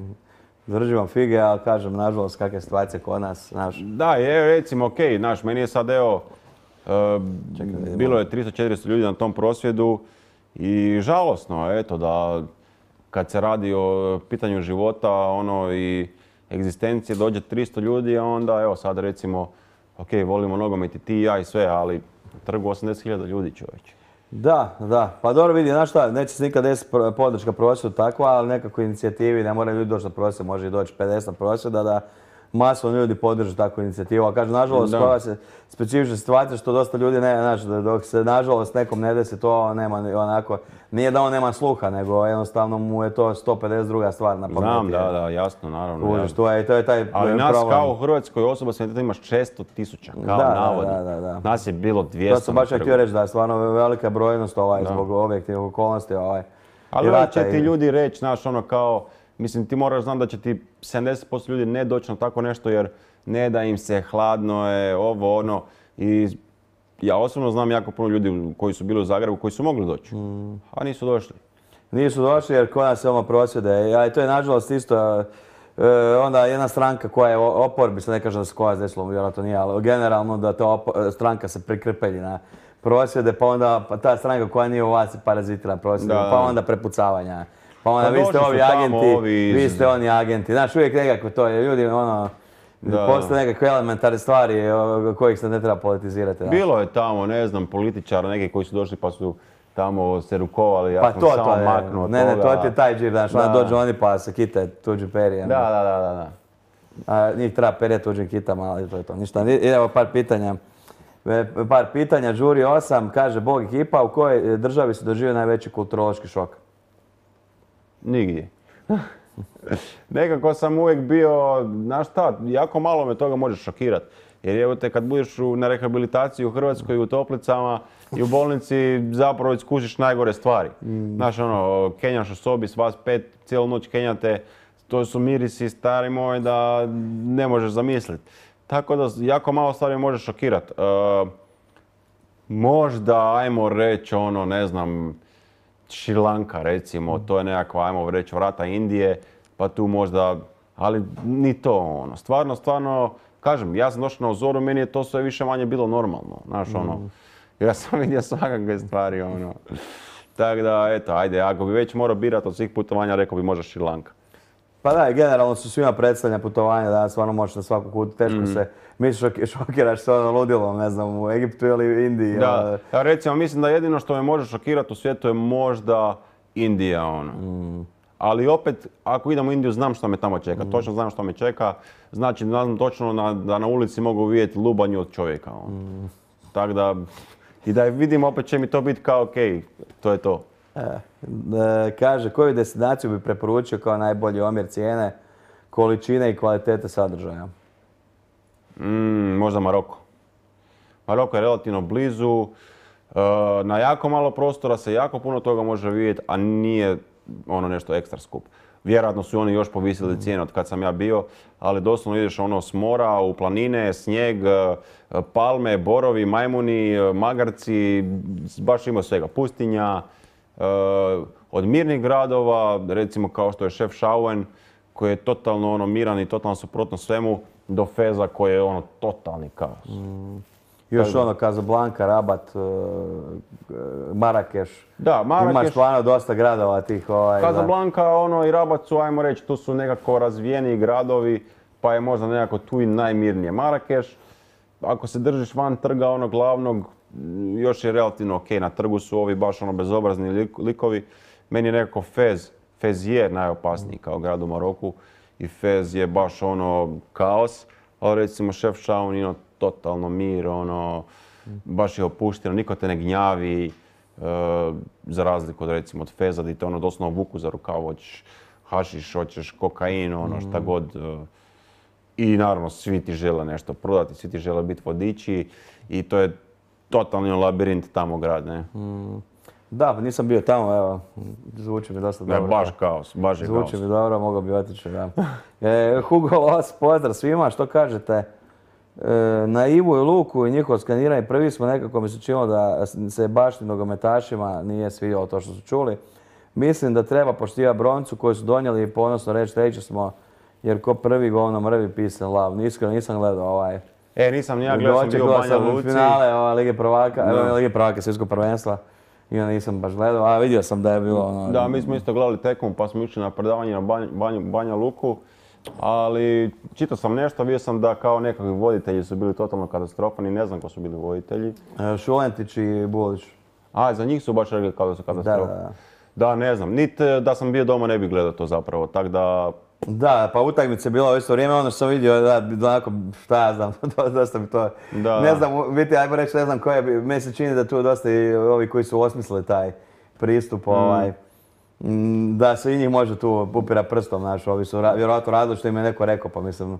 Držim vam fige, ali kažem, nažalost, kakve situacije kod nas, znaš. Da, je, recimo, okej, znaš, meni je sad, evo, uh, Čekaj da vidimo. bilo je tristo četiristo ljudi na tom prosvjedu i žalosno, eto, da kad se radi o pitanju života, ono, i egzistencije, dođe tristo ljudi, a onda, evo, sad recimo, okej, volimo nogomet i ti i ja i sve, ali na trgu osamdeset hiljada ljudi, čovječe. Da, da. Pa dobro vidi, znaš šta, neće se nikad desiti pro- podrška prosvjedu takva, ali nekako inicijativi, ne moraju ljudi doći na prosvjed, može i doći pedeset prosvjeda da masovno ljudi podrže takvu inicijativu. A kažem, nažalost, Da. koja se specifična situacija što dosta ljudi ne, znaš, da dok se nažalost nekom ne desi to nema ni onako, nije da on nema sluha, nego jednostavno mu je to sto pedeset druga stvar na pameti. Znam, da, da, jasno, naravno. Kužiš, jasno. to je, to je taj Ali problem. nas kao u Hrvatskoj osoba s invaliditetom imaš šesto tisuća, kao Da, da, navodno. da, da, da. Nas je bilo dvjesto. To sam baš ja na htio trgu. reći da je stvarno velika brojnost ovaj, Da. zbog objektivnih okolnosti. Ovaj. Ali I onda rata će ti i- ljudi reći, znaš, ono kao, mislim, ti moraš znati da će ti sedamdeset posto ljudi ne doći na tako nešto jer ne da im se, hladno je, ovo, ono. I ja osobno znam jako puno ljudi koji su bili u Zagrebu koji su mogli doći, a nisu došli. Nisu došli jer kod nas je ono prosvjede. Ja, i to je nažalost isto e, onda jedna stranka koja je u oporbi, se ne kažem da se koja desilo, vjerojatno nije, ali generalno da ta opo- stranka se prikrpelji na prosvjede, pa onda pa ta stranka koja nije u vlasti parazitira prosvjede, Da. pa onda prepucavanja. Pa onda Pa vi ste došli su ovi tamo agenti, ovi iz- vi ste oni agenti. Znaš, uvijek nekako to je, ljudi ono, Da. postoje nekakve elementarne stvari o kojih se ne treba politizirati. znaš. Bilo je tamo, ne znam, političara neki koji su došli pa su tamo se rukovali, ja Pa sam to, samo to je, maknuo ne, ne, to toga. ti je taj džir, znaš, onda Da. dođu oni pa se kite tuđi perijem. Da, da, da, da, da. A njih treba perje tuđim kitama, ali to je to. Ništa, idemo par pitanja. E, Par pitanja, Đuri osam, kaže Bog ekipa, u kojoj državi se doživio najveći kulturološki šok? Nigdje. Nekako sam uvijek bio, znaš šta, jako malo me toga može šokirati. Jer evo te kad budeš u, na rehabilitaciji u Hrvatskoj u toplicama i u bolnici zapravo iskušiš najgore stvari. Znaš ono, kenjaš u sobi s vas pet, cijelu noć kenjate, to su mirisi stari moj da ne možeš zamisliti. Tako da jako malo stvari me može šokirati. E, možda, ajmo reći ono, ne znam, Šrilanka recimo, to je nekakva, ajmo reći, vrata Indije, pa tu možda, ali ni to ono. Stvarno, stvarno, kažem, ja sam došao na Uzoru, meni je to sve više manje bilo normalno, znaš ono. Ja sam vidio svakakve stvari, ono. Tako da, eto, ajde, ako bi već morao birati od svih putovanja, rekao bi možda Šrilanka. Pa da, generalno su svima predstavljena putovanja, da stvarno možeš na svaku kutu, teško se, mi šok, šokiraš se ono ludilom, ne znam, u Egiptu ili u Indiji. Da, ono. ja recimo mislim da jedino što me može šokirati u svijetu je možda Indija, ono. Ali opet, ako idem u Indiju, znam što me tamo čeka, točno znam što me čeka, znači znam točno na, da na ulici mogu vidjeti lubanju od čovjeka, ono. Tako da, i da vidim opet će mi to biti kao okej, to je to. E, e, kaže, koju destinaciju bi preporučio kao najbolji omjer cijene, količine i kvalitete sadržaja? Mm, možda Maroko. Maroko je relativno blizu, e, na jako malo prostora se jako puno toga može vidjeti, a nije ono nešto ekstra skup. Vjerojatno su oni još povisili cijene od kad sam ja bio, ali doslovno ideš ono s mora, u planine, snijeg, e, palme, borovi, majmuni, e, magarci, baš ima svega. Pustinja, e, od mirnih gradova, recimo kao što je Chefchaouen, koji je totalno ono miran i totalno suprotno svemu, do Feza koji je ono totalni kaos. Još ono, Casablanca, Rabat, e, Marakeš. Da, Marakeš, Imaš stvarno dosta gradova tih ovaj... da. Casablanca ono, i Rabat su, ajmo reći, tu su nekako razvijeniji gradovi, pa je možda nekako tu i najmirnije. Marakeš, ako se držiš van trga onog glavnog, još je relativno ok, na trgu su ovi baš ono bezobrazni lik- likovi. Meni je nekako Fez, Fez je najopasniji kao grad u Maroku i Fez je baš ono kaos, ali recimo Chefchaouen je ono totalno mir, ono, baš je opušteno, niko te ne gnjavi, e, za razliku od recimo od Feza gdje te ono doslovno vuku za rukav, hoćeš hašiš, hoćeš kokain, ono šta god. e, I naravno svi ti žele nešto prodati, svi ti žele biti vodiči i to je totalni labirint tamo grad, ne? Da, pa nisam bio tamo, evo, zvuči mi dosta Ne, dobro. baš kaos, baš je kaos. Zvuči mi dobro, mogao bi otići, da. E, Hugo Los, pozdrav svima, što kažete? E, na Ivu i Luku i njihovo skaniranje, prvi smo nekako mi se činilo da se baš nogometašima nije svidjelo to što su čuli. Mislim da treba poštivati broncu koju su donijeli i ponosno reći treći smo, jer ko prvi govno mrvi pisan lav. Iskreno nisam gledao ovaj... E, nisam ni ja gledao, sam bio u Banja Luci. finale ove Lige prvaka, Da. evo Lige prvaka svjetskog prvenstva. I onda nisam baš gledao, a vidio sam da je bilo ono... Da, mi smo isto gledali tekmu pa smo išli na predavanje na Banj- Banju- Banja Luku. Ali čitao sam nešto, vidio sam da kao nekakvi voditelji su bili totalno katastrofani, ne znam ko su bili voditelji. E, Šulentić i Bulić. A, za njih su baš rekli kao da su Da, katastrofa. da. Da, ne znam, niti da sam bio doma ne bih gledao to zapravo, tako da... Da, pa utakmica je bila u isto vrijeme, ono što sam vidio, da, onako, šta ja znam, to, dosta mi to... Da. Ne znam, u biti, ajmo reći, ne znam koje bi, meni se čini da tu dosta i ovi koji su osmislili taj pristup, ovaj, mm, da se i njih može tu upira prstom, znaš, ovi su ra- vjerojatno radili što im je neko rekao, pa mislim,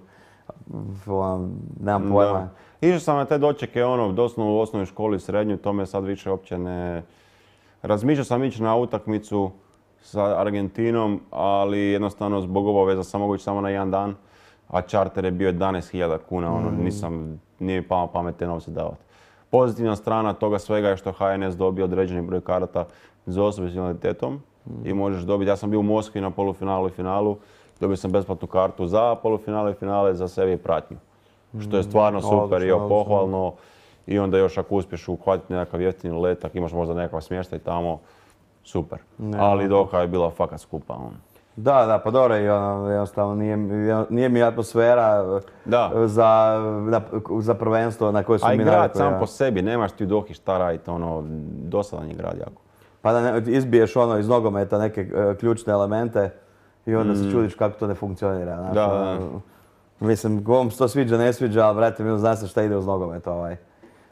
ono, nemam pojma. Da. Išao sam na te dočeke, ono, doslovno u osnovnoj školi, srednjoj, to me sad više uopće ne... Razmišljao sam ići na utakmicu sa Argentinom, ali jednostavno zbog obaveza sam mogu ići samo na jedan dan, a čarter je bio jedanaest hiljada kuna, ono, nisam, nije mi palo na pamet te novce davati. pozitivna strana toga svega je što H N S dobio određeni broj karata za osobe s invaliditetom i možeš dobiti. Ja sam bio u Moskvi na polufinalu i finalu, dobio sam besplatnu kartu za polufinale i finale, za sebi i pratnju. Što je stvarno super i pohvalno. I onda još ako uspiješ uhvatiti nekakav jeftini letak, imaš možda nekakav smještaj tamo, super. Ali Doha je bila fakat skupa. Da, da, pa dobro, i ono, jednostavno nije, nije mi atmosfera za, za prvenstvo na koje su mi navikli. A i grad sam po sebi, nemaš ti u Dohi šta raditi, ono, dosadan je grad jako. Pa da ne, izbiješ ono iz nogometa neke uh, ključne elemente i onda mm. se čudiš kako to ne funkcionira. Znaš, da, ono, mislim, kom se to sviđa, ne sviđa, ali brate, mi zna se šta ide uz nogomet ovaj.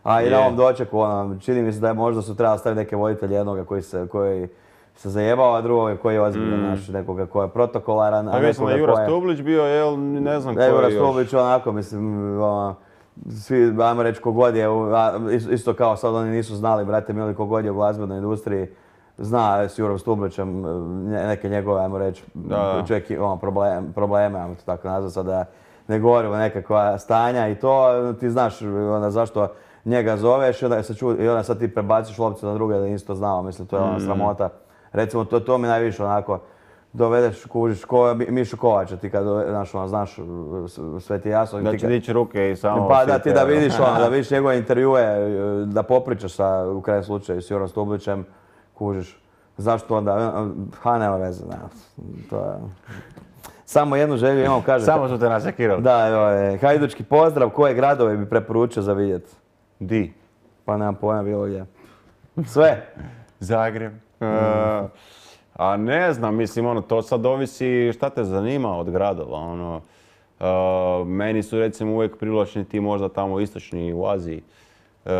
A i na ovom dočeku, ono, čini mi se da je možda su trebali staviti neke voditelje, jednoga koji se, koji se zajebao, a drugoga koji je ozbiljan, mm. naš, nekoga koji je protokolaran. A mislim da je Jura Stublić bio, jel, ne znam ko je Jura još. Stublić onako, mislim, ono, svi, ajmo reći, kogod je, isto kao sad oni nisu znali, brate mili, kogod je u glazbenoj industriji, zna s Jurom Stublićem neke njegove, ajmo reći, čovjek ono, problem, probleme, ajmo to tako nazvati, sada ne govorimo nekakva stanja i to, ti znaš onda zašto njega zoveš i onda, se ču, i onda sad ti prebaciš lopcu na druge da nisi to znao, mislim, to je ona sramota. Recimo, to, to mi najviše onako, dovedeš, kužiš, ko, Mišu Kovača, ti kad, znaš, ono, znaš, sve ti jasno. Da će dići ruke i samo... Pa da ti da vidiš, ono, da vidiš njegove intervjue, da popričaš sa, u krajnjem slučaju, s Jurom Stublićem, kužiš. Zašto onda? Ha, nema veze, ne. To je... Samo jednu želju imam, kažem. Samo su te našekirali. Da, je, hajdučki pozdrav, koje gradove bi preporučio za vidjeti? Di? Pa nemam pojma bilo gdje. Sve. Zagreb. Mm. Uh, a ne znam, mislim, ono, to sad ovisi šta te zanima od gradova. Ono, uh, meni su recimo uvijek privlačni ti možda tamo istočni u Aziji. Uh,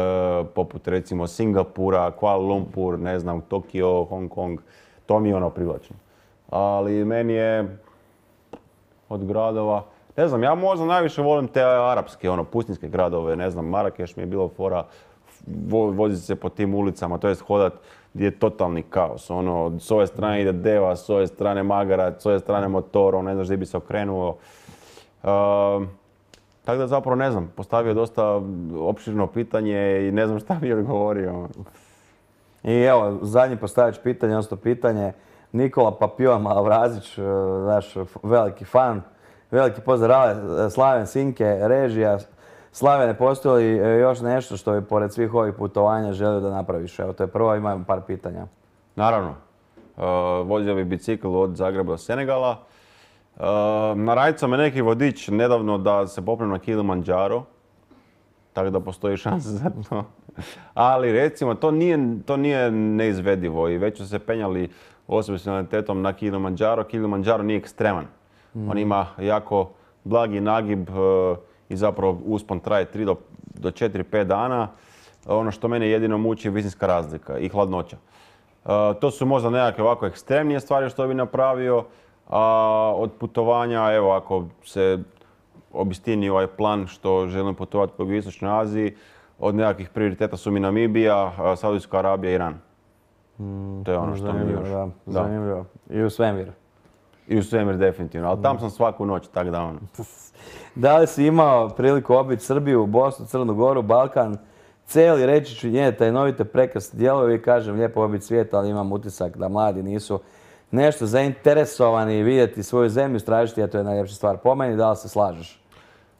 poput recimo Singapura, Kuala Lumpur, ne znam, Tokio, Hong Kong. To mi je ono privlačno. Ali meni je od gradova, ne znam, ja možda najviše volim te arapske, ono, pustinjske gradove, ne znam, Marakeš mi je bilo fora, vo, voziti se po tim ulicama, to jest hodat gdje je totalni kaos, ono, s ove strane ide deva, s ove strane magara, s ove strane motor, ono, ne znaš gdje bi se okrenuo. Uh, tako da zapravo ne znam, postavio dosta opširno pitanje i ne znam šta mi je odgovorio. I evo, zadnji postavić pitanje, odnosno pitanje, Nikola Papion Malavrazić, naš veliki fan, veliki pozdrav, Slaven Sinke, režija. Slavene, postoji li još nešto što bi pored svih ovih putovanja želio da napraviš? Evo, to je prvo, imam par pitanja. Naravno. Uh, vozio bi bicikl od Zagreba do Senegala. Uh, Narajcao me neki vodič nedavno da se popnem na Kilimanjaro, tako da postoji šansa za to. Ali recimo, to nije, to nije neizvedivo i već su se penjali osobe s invaliditetom na Kilimanjaro. Kilimanjaro nije ekstreman. Mm. On ima jako blagi nagib uh, i zapravo uspon traje tri do četiri pet dana. Ono što mene jedino muči je visinska razlika i hladnoća. Uh, to su možda nekakve ovako ekstremnije stvari što bi napravio. A od putovanja, evo, ako se obistini ovaj plan što želim putovati po Istočnoj Aziji, od nekakvih prioriteta su mi Namibija, Saudijska Arabija i Iran. Mm, to je ono što mi još... Da, zanimljivo. I u svemir. I u svemir definitivno, ali tam sam svaku noć, tako da ono. Da li si imao priliku obići Srbiju, Bosnu, Crnu Goru, Balkan, cijeli reći ću njene tajnovite prekrasne dijelove i kažem lijepo obići svijet, ali imam utisak da mladi nisu nešto zainteresovani vidjeti svoju zemlju, istražiti, a to je najljepša stvar po meni, da li se slažeš?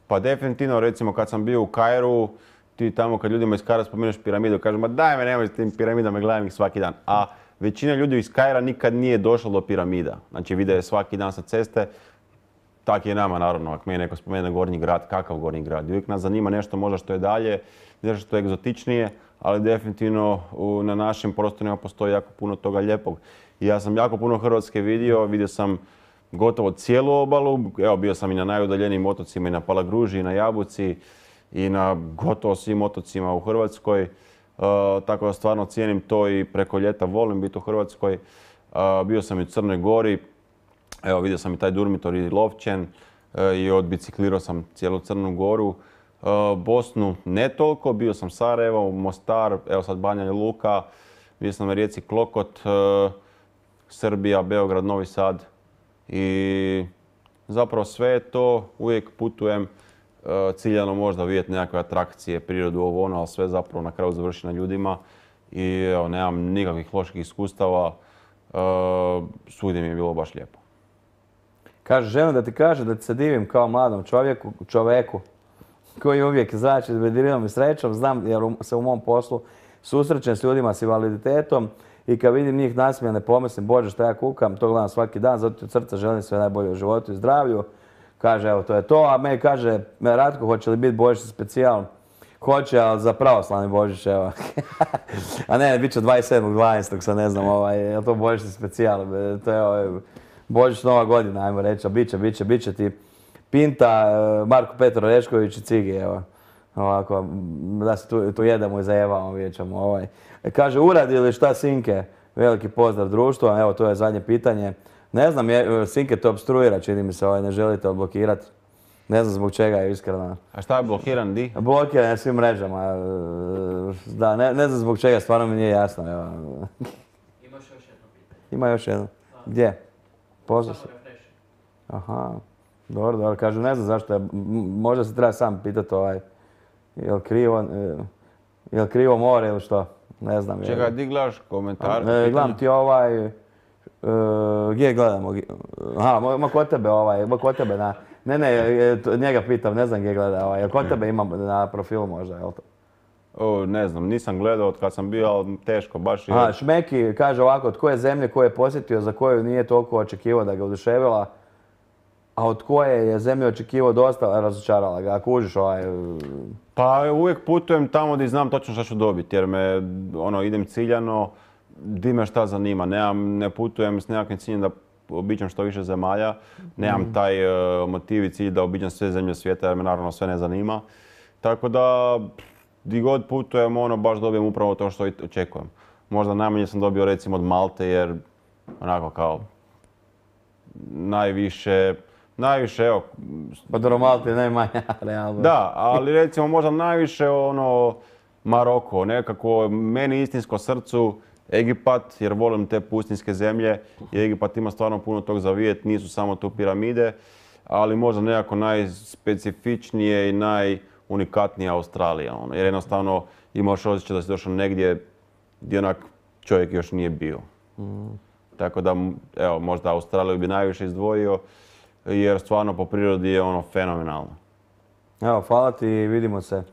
Pa definitivno, recimo kad sam bio u Kairu, ti tamo kad ljudima iz Kaira spomeneš piramidu, kažem, ma daj me, nemoj s tim piramidama, gledam ih svaki dan. A većina ljudi iz Kaira nikad nije došla do piramida. Znači vide je svaki dan sa ceste. Tak je nama, naravno, ako mi je neko spomene Gornji grad, kakav Gornji grad. Uvijek nas zanima nešto možda što je dalje, nešto što je egzotičnije, ali definitivno u, na našim prostorima postoji jako puno toga lijepog. I ja sam jako puno Hrvatske vidio, vidio sam gotovo cijelu obalu, evo bio sam i na najudaljenijim otocima, i na Palagruži, i na Jabuci, i na gotovo svim otocima u Hrvatskoj. Uh, tako da stvarno cijenim to i preko ljeta volim biti u Hrvatskoj. Uh, bio sam i u Crnoj Gori, evo vidio sam i taj Durmitor i Lovćen uh, i odbiciklirao sam cijelu Crnu Goru. Uh, Bosnu ne toliko, bio sam Sarajevo, Mostar, evo sad Banja Luka, bio sam na rijeci Klokot, uh, Srbija, Beograd, Novi Sad i zapravo sve to uvijek putujem e, ciljano možda vidjeti nekakve atrakcije, prirodu, ovo ono, ali sve zapravo na kraju završi na ljudima. I evo, nemam nikakvih loših iskustava, e, svugdje mi je bilo baš lijepo. Kaže, želim da ti kaže da ti se divim kao mladom čovjeku, čoveku koji uvijek zrači vedrinom i srećom. Znam jer se u mom poslu susrećem s ljudima s invaliditetom i kad vidim njih nasmijane pomislim, Bože šta ja kukam, to gledam svaki dan, zato ti od srca želim sve najbolje u životu i zdravlju. Kaže, evo to je to, a meni kaže, Ratko, hoće li biti Božić specijal? Hoće, ali za pravoslavni Božić, evo. A ne, bit će dvadeset sedmog dvanaestog sad ne znam, ovaj, je li to Božić specijal? To je ovaj, Božić Nova godina, ajmo reći, a bit će, bit će, bit će ti Pinta, Marko Petro Rešković i Cigi, evo. Ovako, da se tu, tu jedemo i zajevamo, vidjet ćemo ovaj. Kaže, uradi li šta Sinke? Veliki pozdrav društvu, evo to je zadnje pitanje. Ne znam, je, Sinke to obstruira, čini mi se, ovaj, ne želite odblokirati. Ne znam zbog čega je iskreno. A šta je blokiran, di? Blokiran je svim mrežama. Da, ne, ne znam zbog čega, stvarno mi nije jasno. Evo. Imaš još jedno pitanje. Ima još jedno. Gdje? Pozdrav se. Aha, dobro, dobro. Kažu, ne znam zašto je, možda se treba sam pitati ovaj, je li krivo, je li krivo more ili što? Ne znam. Čekaj, di gledaš komentar? E, gledam ti ovaj, e, gdje gledamo? Aha, ima kod tebe ovaj, ima kod tebe na, ne, ne, njega pitam, ne znam gdje gleda ovaj, jel kod tebe imam na profilu možda, jel to? O, ne znam, nisam gledao od kad sam bio, ali teško, baš je. A, Šmeki kaže ovako, od koje zemlje koje je posjetio, za koju nije toliko očekivao da ga oduševila, a od koje je zemlje očekivao dosta, razočarala ga, ako užiš ovaj... Pa uvijek putujem tamo gdje znam točno šta ću dobiti, jer me, ono, idem ciljano, di me šta zanima. Nemam, ne putujem s nekakvim ciljem da obiđem što više zemalja, nemam taj uh, motiv i cilj da obiđem sve zemlje svijeta, jer me naravno sve ne zanima. Tako da, di god putujem, ono, baš dobijem upravo to što očekujem. Možda najmanje sam dobio recimo od Malte, jer onako kao najviše, najviše, evo... Pa dobro, Malte je najmanja, realno. Da, ali recimo možda najviše ono Maroko, nekako meni istinsko srcu Egipat, jer volim te pustinjske zemlje i Egipat ima stvarno puno tog za vidjeti, nisu samo tu piramide, ali možda nekako najspecifičnije i najunikatnije Australija, ono, jer jednostavno imaš osjećaj da si došao negdje gdje onak čovjek još nije bio. Mm. Tako da, evo, možda Australiju bi najviše izdvojio, jer stvarno po prirodi je ono fenomenalno. Evo, hvala ti i vidimo se.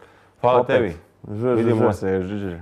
Hvala opet. tebi. Ž, ž, vidimo ž. se. Ž, ž.